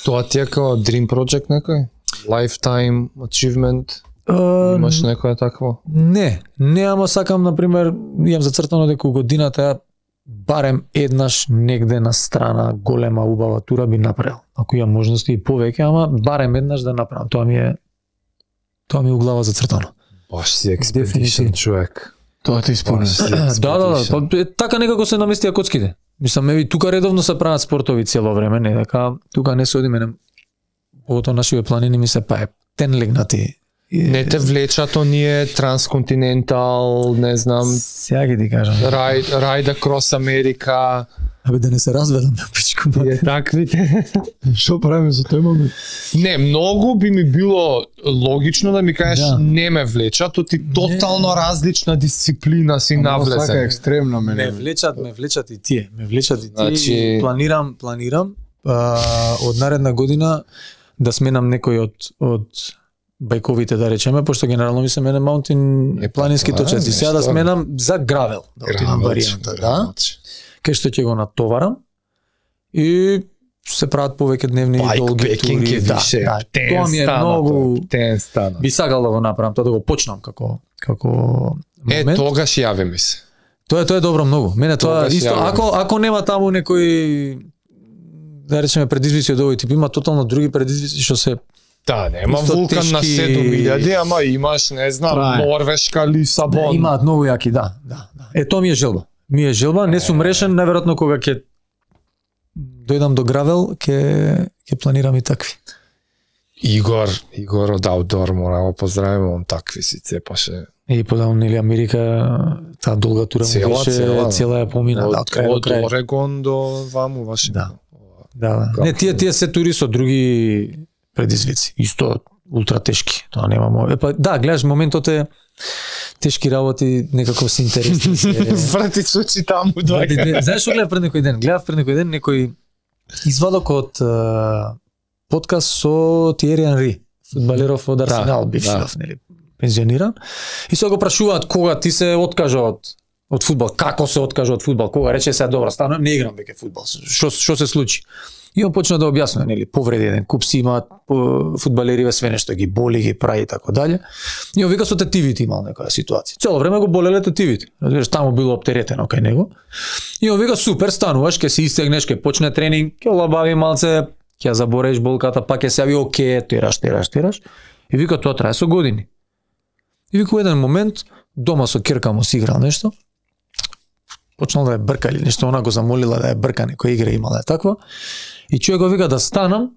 B: Тоа ти е како Dream Project некој? Lifetime achievement? Имаш некоја такво?
A: Не, ама сакам, например, имам зацртано дека годината барем еднаш негде на страна голема убава тура би направил. Ако имам можности и повеќе, ама барем еднаш да направам. Тоа ми е у глава зацртано.
B: Баш си експедишн човек.
C: Тоа ти исполнува.
A: Да, така некако се наместија коцките. Мислам, еви тука редовно се прават спортови цело време, не дека тука не се одиме, поготоа нашиве планини ми се па тен легнати.
B: Не те влечат оние трансконтинентал, не знам,
A: сега ги ти кажам.
B: Ride across America.
A: Абе да не се разведам на пичку.
B: Таквите.
C: Што правиме за тој момент?
B: Не, многу би ми било логично да ми кажеш не ме влечат, то ти тотално различна дисциплина си навлезен.
C: Сака екстремно мене.
A: Ме влечат и тие.
B: Значи...
A: Планирам од наредна година да сменам некој од бајковите, да речеме, пошто генерално ми се мене маунтин планински точаци. Сега да сменам за гравел, да отидам варијанта, да. Кај што ќе го натоварам и се прават повеќе дневни и долги тури. Да, тоа ми е многу. Би сакал да го направам, тоа да го почнам како момент.
B: Тогаш јави ми се.
A: Тоа е добро многу. Мене тоа исто, ако нема таму некој, да речеме, предизвици од овој тип, има тотално други предизвици што се.
B: Да, нема вулкан на 7000, ама имаш, не знам, Норвешка, Лисабон.
A: Имаат многу јаки, да. Тоа ми е желба. Не сум решен, наверојатно кога ќе дојдам до гравел, ќе планирам и такви.
B: Игор од Outdoor, мора да поздравиме, он такви си цепаше.
A: И подавам, нели, Америка, таа долга тура му беше, цела ја помина, од крај до крај.
B: Од Орегон до ваму, Вашингтон.
A: Да. Не, тие се тури со други предизвици. Исто ултра тешки. Тоа нема. Да, гледаш, моментот е тешки работи, некако се интересни.
B: Врати сучи таму доаѓа.
A: Знаеш што гледав пред некој ден? Гледав пред некој ден некој извадок од подкаст со Тиери Анри, фудбалеров од Арсенал, бившиот, нели, пензиониран. И се го прашуваат кога ти се откажа од фудбал, како се откажа од фудбал, кога рече се добро, станам, не играм веќе фудбал. Што се случи? И он почна да објаснува, нели, повреди, еден куп си имаат фудбалериве, све нешто ги боли, ги прави и така дале. И он вика со тетивите имал некоја ситуација. Цело време го болеле тетивите. Разбираш, таму било оптеретено кај него. И он вика супер, стануваш, ќе се истегнеш, ќе почне тренинг, ќе лабави малце, ќе забореш болката, па ќе се јави оке, тераш. И вика тоа трае со години. И вика еден момент дома со ќерка му си играл нешто. Почнал да ја брка или нешто, она го замолила да ја брка, некоја игра имала таква. И човек го вика да станам,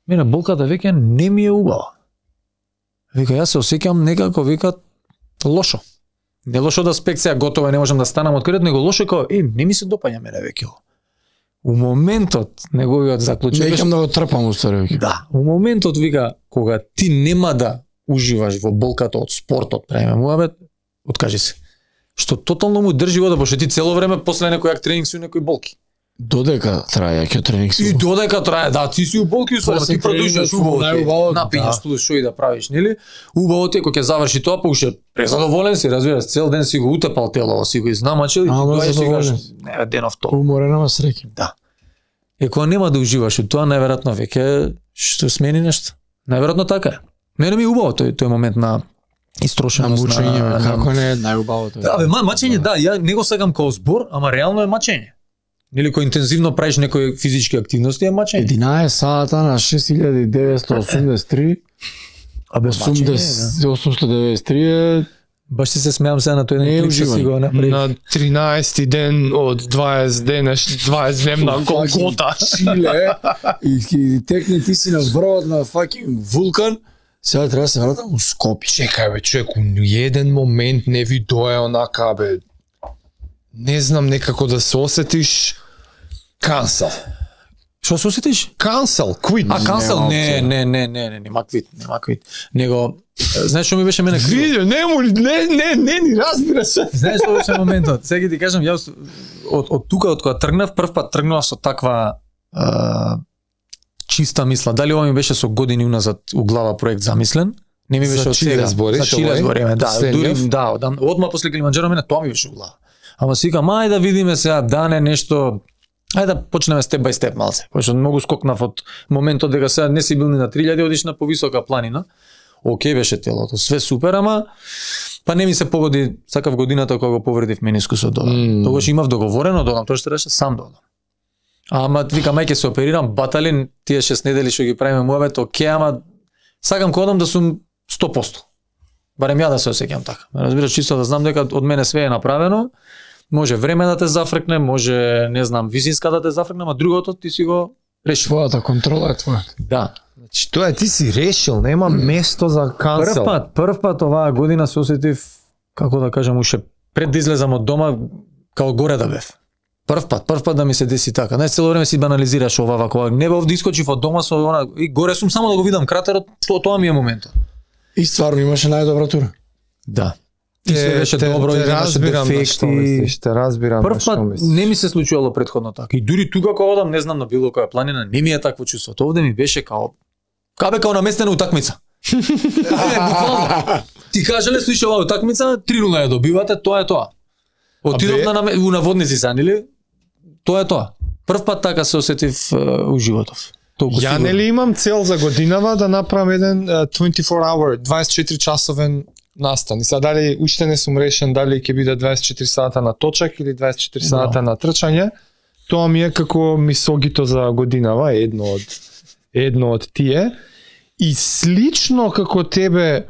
A: мене болката веќе не ми е убава. Вика, јас се осеќам некако, вика, лошо. Не лошо да спекција готова, не можам да станам од кредот, него лошо како, не ми се допаѓа мене веќе. У моментот, неговиот заклучок беше...
C: Неќам да го трпам устари веќе.
A: Да, у моментот, вика, кога ти нема да уживаш во болката од спортот, правиме муабет, откажи се. Што тотално му држи вода, пошто ти цело време после некој тренинг си некои болки.
C: Додека трае ќе тренинг си.
A: И додека трае, да, ти си у болки, ти продолжуваш убаво. Напињаш плюс шо и да правиш, нели? Убаво ти кога ќе заврши тоа, па уште презадоволен си, разбираш, цел ден си го утепал тело, си го изнамачил и ти доаѓаш и кажеш, не, денов тоа.
C: Уморена среќа.
A: Да. И кога нема да уживаш тоа, најверојатно веќе што смени нешто. Најверојатно така е. Мене ми е убаво тој момент на истрошеност,
C: на мучење, како не е најубавото.
A: Да, мачење, да, ја не го сакам како збор, ама реално е мачење. Или кој интензивно правиш некои физички активности е мачење.
C: 11 сата на 6983. Абе 893 е.
A: Баш си се смеам сега на тој еден клип што си го направи.
B: На 13-ти ден од 20 дневна Голгота.
C: Чиле. И текне ти си на врвот на факинг вулкан. Сега треба да се вратам у Скопје.
B: Чекај бе, човек, у еден момент не ви дое онака бе. Не знам, некако да се осетиш кансал.
A: Што се осетиш?
B: Cancel, quit.
A: А cancel? Не, нема quit. Него знаеш што ми беше мене криво?
B: Видео, не, ни разбира се.
A: Знаеш што беше моментот? Сега ти кажам, јас од тука од кога тргнав, прв пат тргнав со таква чиста мисла. Дали ова ми беше со години уназад у глава проект замислен? Не ми беше од сега. За Чиле збориме, да, дури одма после Килиманџаро мене тоа ми беше у глава. Ама си викам, ајде да видиме сега дане нешто. Ајде да почнеме степ бај степ малце. Пошто многу скокнав од моментот дека сега не си бил ни на 3000, одиш на повисока планина. Океј беше телото, све супер, ама па не ми се погоди, сакав годината кога го повредив менискусот додам. Тогаш имав договорено додам, тоа што реше сам додам. Ама викам ај ќе се оперирам, баталин, тие 6 недели што ги правиме муабет, океј, ама сакам кога одам да сум 100%. Барем ја да се осеќам така. Разбираш, чисто да знам дека од мене све е направено. Може време да те зафркне, може, не знам, висинска да те зафркне, ама другото ти си го решил.
C: Твојата контрола е твоја.
A: Да.
B: Значи, тоа ти си решил, нема место за cancel.
A: Прв пат оваа година се осетив, како да кажам, уште пред да излезам од дома, као горе да бев. Прв пат да ми се деси така. Не цело време си банализираш ова вако. Не бев да искочив од дома со она и горе сум само да го видам кратерот, тоа ми е моментот.
C: И стварно имаше најдобра тура.
A: Да. И се беше добро, и имаше дефекти.
B: Те разбирам
A: прв пат не ми се случувало претходно така. И дури тука кога одам, не знам на било која планина, не ми е такво чувство. Овде ми беше као наместена утакмица. Ти кажале, слушай, оваа утакмица 3-0 ја добивате, тоа е тоа. Отидов на наводници сан, или? Тоа е тоа. Прв пат така се осетив у животов.
B: Ја нели имам цел за годинава да направам еден 24 часовен настан. И сега дали уште не сум решен дали ќе биде 24 сата на точак или 24 сата на трчање. Тоа ми е како мисогито за годинава, едно од тие. И слично како тебе,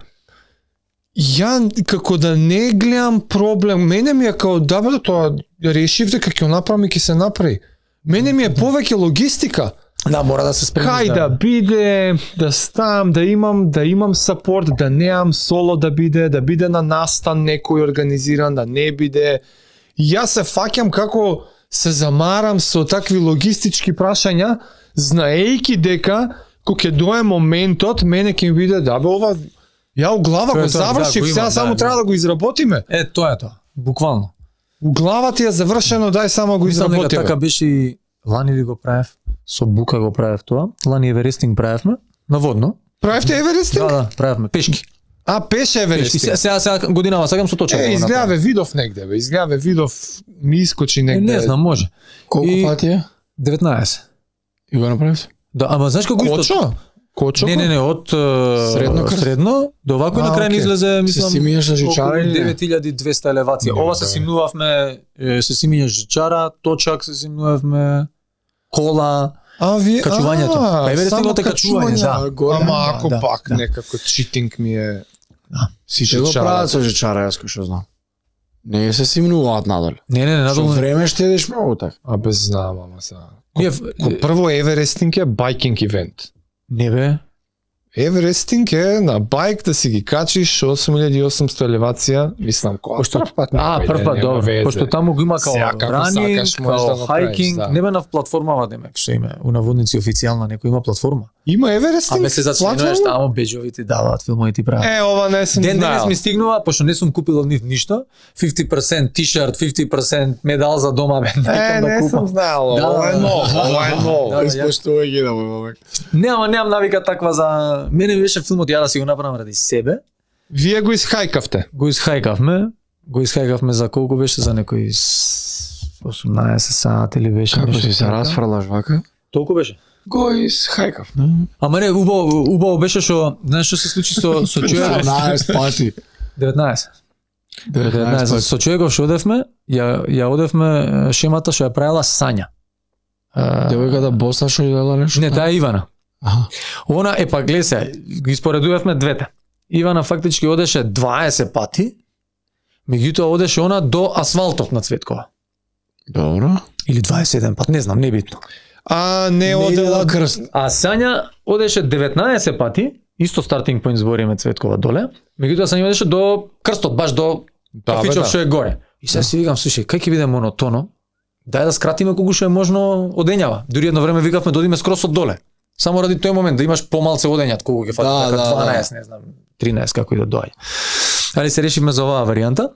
B: ја како да не гледам проблем, мене ми е као да тоа решив дека ќе направам и ќе се направи. Мене ми е повеќе логистика.
A: Да, мора да се спремиш.
B: Кај да биде, да стам, да имам сапорт, да неам соло да биде на настан некој организиран, да не биде. И јас се фаќам како се замарам со такви логистички прашања, знаејќи дека кога ќе дое моментот, мене ќе ми биде ова ја у глава го завршив, сега само треба да го изработиме.
A: Тоа е тоа, буквално.
B: У глава ти е завршено, дај само го изработиме.
A: Така беше и лани ли го правев, со бука го правев тоа. Лани еверестинг правевме, наводно.
B: Правевте еверестинг?
A: Да, правевме, пешки.
B: Пеше еверестинг.
A: Сега годинава сакам со точка.
B: Изгледа видов негде, ми искочи негде.
A: Не знам, може.
C: Колку пати е?
A: 19.
C: И го направив?
A: Да, ама знаеш како
B: исто? Кочо?
A: Не, од средно до овако на крај излезе, мислам,
C: се симињаш на жичара или
A: 9200 елевација. Ова се симнувавме, се симињаш жичара, точак се симнувавме, кола, качувањето. Па еверестингот е качување, да.
B: Ама ако пак некако читинг ми е.
A: Да.
C: Сите го прават со жичара, јас кој што знам. Не се симнуваат надоле.
A: Не, надолу.
C: Со време штедиш многу така.
B: Без знам, ама сега. Прво еверестинг е байкинг ивент.
A: Не бе.
B: Еверестинг е на байк да си ги качиш 8800 елевација, мислам која.
A: Прв пат, добро. Пошто таму го има као ранинг, као хайкинг, не бе на платформава демек, што има у наводници официјална некој има платформа.
B: Има еверестинг?
A: Абе се зачленуваш таму, беџови ти даваат, филмови ти прават.
B: Ова не сум знаел.
A: Ден ми стигнува, пошто не сум купил од нив ништо, 50% тишерт, 50% медал за дома бе.
B: Не сум знаел, ова е ново.
C: Испоштувај ги да мој момек.
A: Немам навика таква за мене беше филмот ја да си го направам ради себе.
B: Вие го исхајкавте?
A: Го исхајкавме за колку беше, за некои 18 сати или беше.
C: Како си се расфрлаш вака?
A: Толку беше.
C: Го исхајкав.
A: Ама не, убаво беше што, знаеш што се случи со човеков?
C: 19 пати.
A: 19. Со човеков што одевме, ја одевме шемата што ја правила Сања.
C: Девојката боса што ја дела нешто?
A: Не, таа е Ивана. Она па гледа се, ги споредувавме двете. Ивана фактички одеше 20 пати, меѓутоа одеше она до асфалтот на Цветкова.
C: Добро.
A: Или 21 пат, не знам, небитно.
B: Не одела
C: крст.
A: А Сања одеше 19 пати, исто стартинг поинт збориме Цветкова доле, меѓутоа Сања одеше до крстот, баш до кафичот што е горе. И сега си викам, слушај, кај ќе биде монотоно, дај да скратиме колку што е можно одењава. Дури едно време викавме да одиме скрос од доле. Само ради тој момент да имаш помалце одењат колку ќе фати, така 12, не знам, 13 како и да доаѓа. Али се решивме за оваа варијанта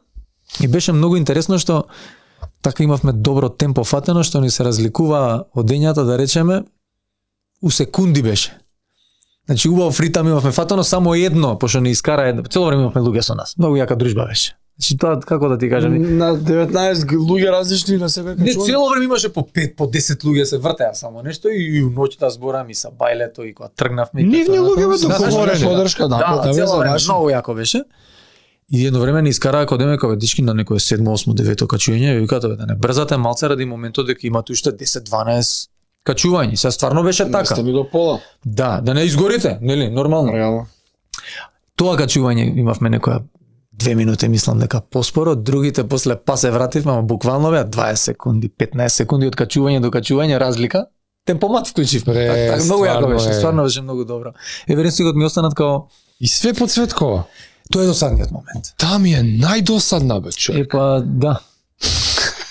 A: и беше многу интересно што така имавме добро темпо фатено што ни се разликува одењата, да речеме, у секунди беше. Значи убав ритам имавме фатено, само едно, пошто ни искара едно. Цело време имавме луѓе со нас. Многу јака дружба беше. Значи тоа како да ти кажам,
C: на 19 луѓе различни на себе
A: не, цело време имаше по 5, по 10 луѓе се вртеа само нешто и ноќта зборам и са бајлето и кога тргнавме.
B: Нивни луѓе бе договорени
C: подршка,
A: да, цело време многу јако беше. И едно време ни искараа кога демека бе дички на некое 7, 8, 9 качување, викаат да не брзате малце ради моментот дека имате уште 10, 12 качувања. Се стварно беше така.
C: Сте ми до пола.
A: Да не изгорите, нели, нормално.
C: Реално.
A: Тоа качување имавме некоја 2 минути, мислам дека поспоро, другите после па се вративме, ама буквално беа 20 секунди, 15 секунди од качување до качување разлика. Темпомат вклучивме. Така многу јако беше, стварно беше многу добро. Еверестигот ми останат као
B: и све подсветкова.
A: Тоа е досадниот момент.
B: Таа ми е најдосадна бе, човек.
A: Епа, да.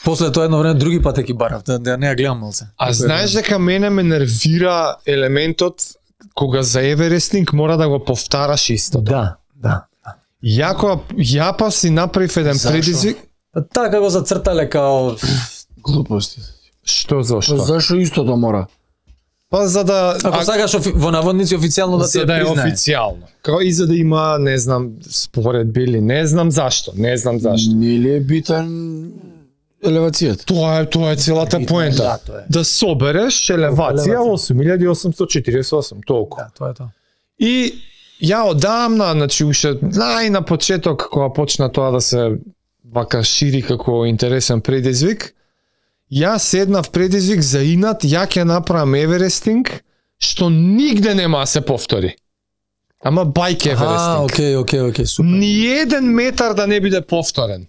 A: После тоа едно време други пат ги барав, да не ја гледам малце.
B: А знаеш дека мене ме нервира елементот кога за Еверестинг мора да го повтараш истото.
A: Да.
B: Ја па си направив еден предизвик.
A: Така го зацртале као
C: глупости.
B: Што зашто?
C: Зашо истото мора?
B: Па за да
A: ако сакаш во наводници официјално да
B: се признае. За да е официјално. Како и за да има, не знам, споредби или не знам зашто.
C: Не ли е битен елевацијата?
B: Тоа е целата поента. Да собереш елевација 8848, толку.
A: Да, тоа е тоа.
B: И ја одамна, значи уште на почеток кога почна тоа да се вака шири како интересен предизвик, ја седнав предизвик за инат, ја ќе направам Еверестинг, што нигде нема да се повтори. Ама бајк Еверестинг.
A: Окей, супер.
B: Ниеден метар да не биде повторен.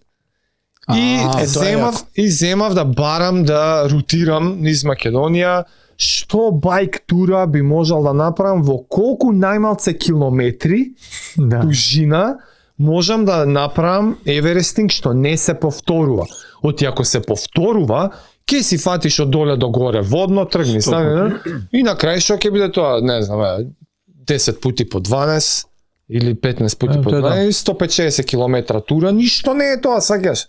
B: И земав да барам да рутирам низ Македонија, што бајк тура би можел да направам во колку најмалце километри дужина можам да направам Еверестинг што не се повторува. Оти ако се повторува, ќе си фатиш од доле до горе водно, тргни стане, и на крај што ќе биде тоа, не знам, 10 пути по 12 или 15 пути по 12, 150 километра тура, ништо не е тоа, саѓаш.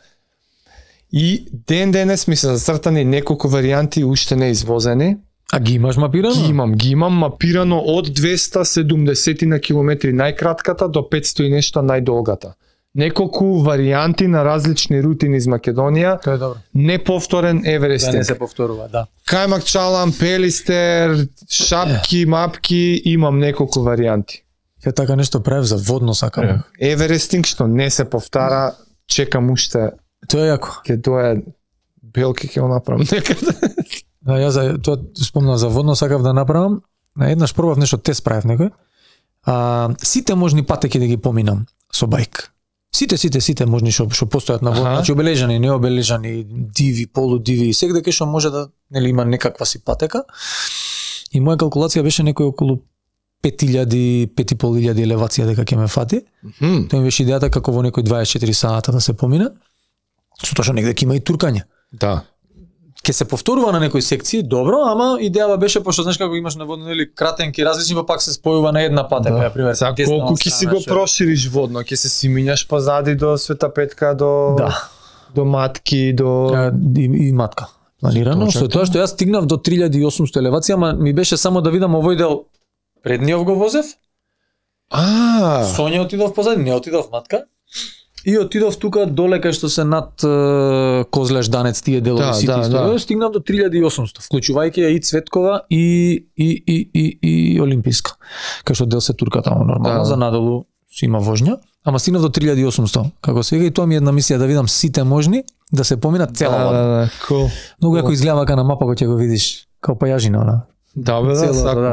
B: И денес ми се зацртани неколку варијанти уште не извозени.
A: А ги имаш мапирано?
B: Ги имам мапирано од 270 на километри најкратката до 500 и нешто најдолгата. Неколку варијанти на различни рути низ Македонија.
A: Тоа е добро.
B: Неповторен Еверестинг.
A: Да не се повторува, да.
B: Кајмак чалам, пелистер, шапки, мапки, имам неколку варијанти.
A: Ја така нешто правев за водно сакам.
B: Еверестинг што не се повтара, чекам уште.
A: Тоа е јако.
B: Ке дое белки ќе го направам некаде.
A: Да, ја за тоа спомнав за водно сакав да направам. На еднаш пробав нешто тест правев некој. Сите можни патеки да ги поминам со бајк. Сите можни што постојат на водно, значи обележани, необележани, диви, полудиви, секаде што може да нели има некаква си патека. И моја калкулација беше некој околу 5.500 елевација дека ќе ме фати. Тоа ми беше идејата како во некој 24 сата да се помине. Со тоа што негде ќе има и туркање.
B: Да.
A: Ке се повторува на некои секции, добро, ама идејава беше пошто знаеш како имаш на водно или кратенки различни, па пак се спојува на една патека, на пример.
B: За колку ќе си го прошириш водно, ќе се симињаш позади до Света Петка, до Матки, до
A: и Матка. Планирано, со тоа што јас стигнав до 3800 елевација, ама ми беше само да видам овој дел предниот го возев. Сонја отидов позади, не отидов Матка. И отидов тука доле кај што се над Козлеш, Данец, тие делови сите историја, стигнав до 3800, вклучувајќи ја и Цветкова и Олимписка. Кај што дел се турка таму нормално, за надолу си има воžња, ама стигнав до 3800. Како сега и тоа ми е една мисија да видам сите можни да се помина цела вода. Многу јако изгледа вака на мапа кога ќе го видиш, као пајажина она. Да,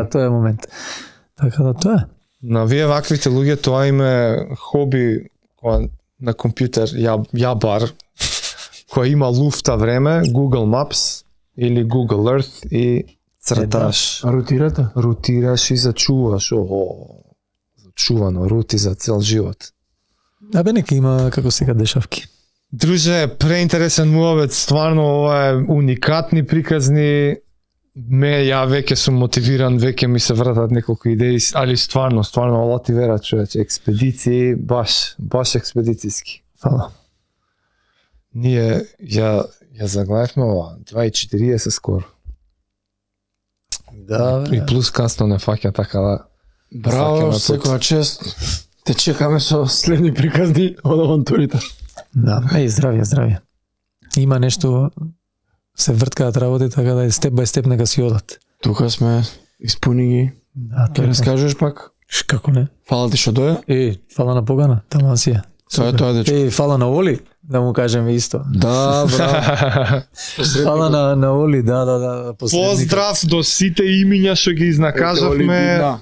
A: тоа е момент. Така да тоа е.
B: На вие ваквите луѓе тоа им е хоби на компјутер, ја бар, која има луфта време, Google Maps или Google Earth и црташ. Рутираш и зачуваш. Зачувано, рути за цел живот.
A: Абе, нека има како сега дешавки.
B: Друже, преинтересен муавет, стварно ова е уникатни приказни. Ја веќе сум мотивиран, веќе ми се вратат неколку идеи, али стварно, ала ти вера, човече, експедиции, баш експедицијски. Фала. Ние ја заглавивме ова, 2:40 скоро. Да, и плюс касно не фаќа, така да.
C: Браво, секоја чест. Те чекаме со следни приказни од авантурите.
A: Да, здравје. Има нешто, се врткаат работи, така да степ бај степ нека си одат.
C: Тука сме, испуни ги.
A: Да,
C: Ке раскажеш пак?
A: Како не?
C: Фала ти што доја?
A: Фала на Погана, таман си е.
C: Тоа дечко.
A: Фала на Оли, да му кажеме исто.
C: Да, браво.
A: Фала на Оли, да.
B: Поздрав до сите имиња што ги изнакажавме.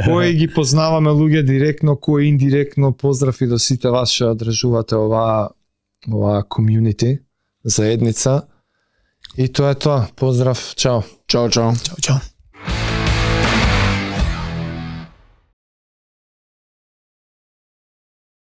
B: Кои ги познаваме луѓе директно, кои индиректно. Поздрав и до сите вас што одржувате оваа комјунити, заедница. И тоа е тоа. Поздрав, чао.
C: Чао.
A: Чао.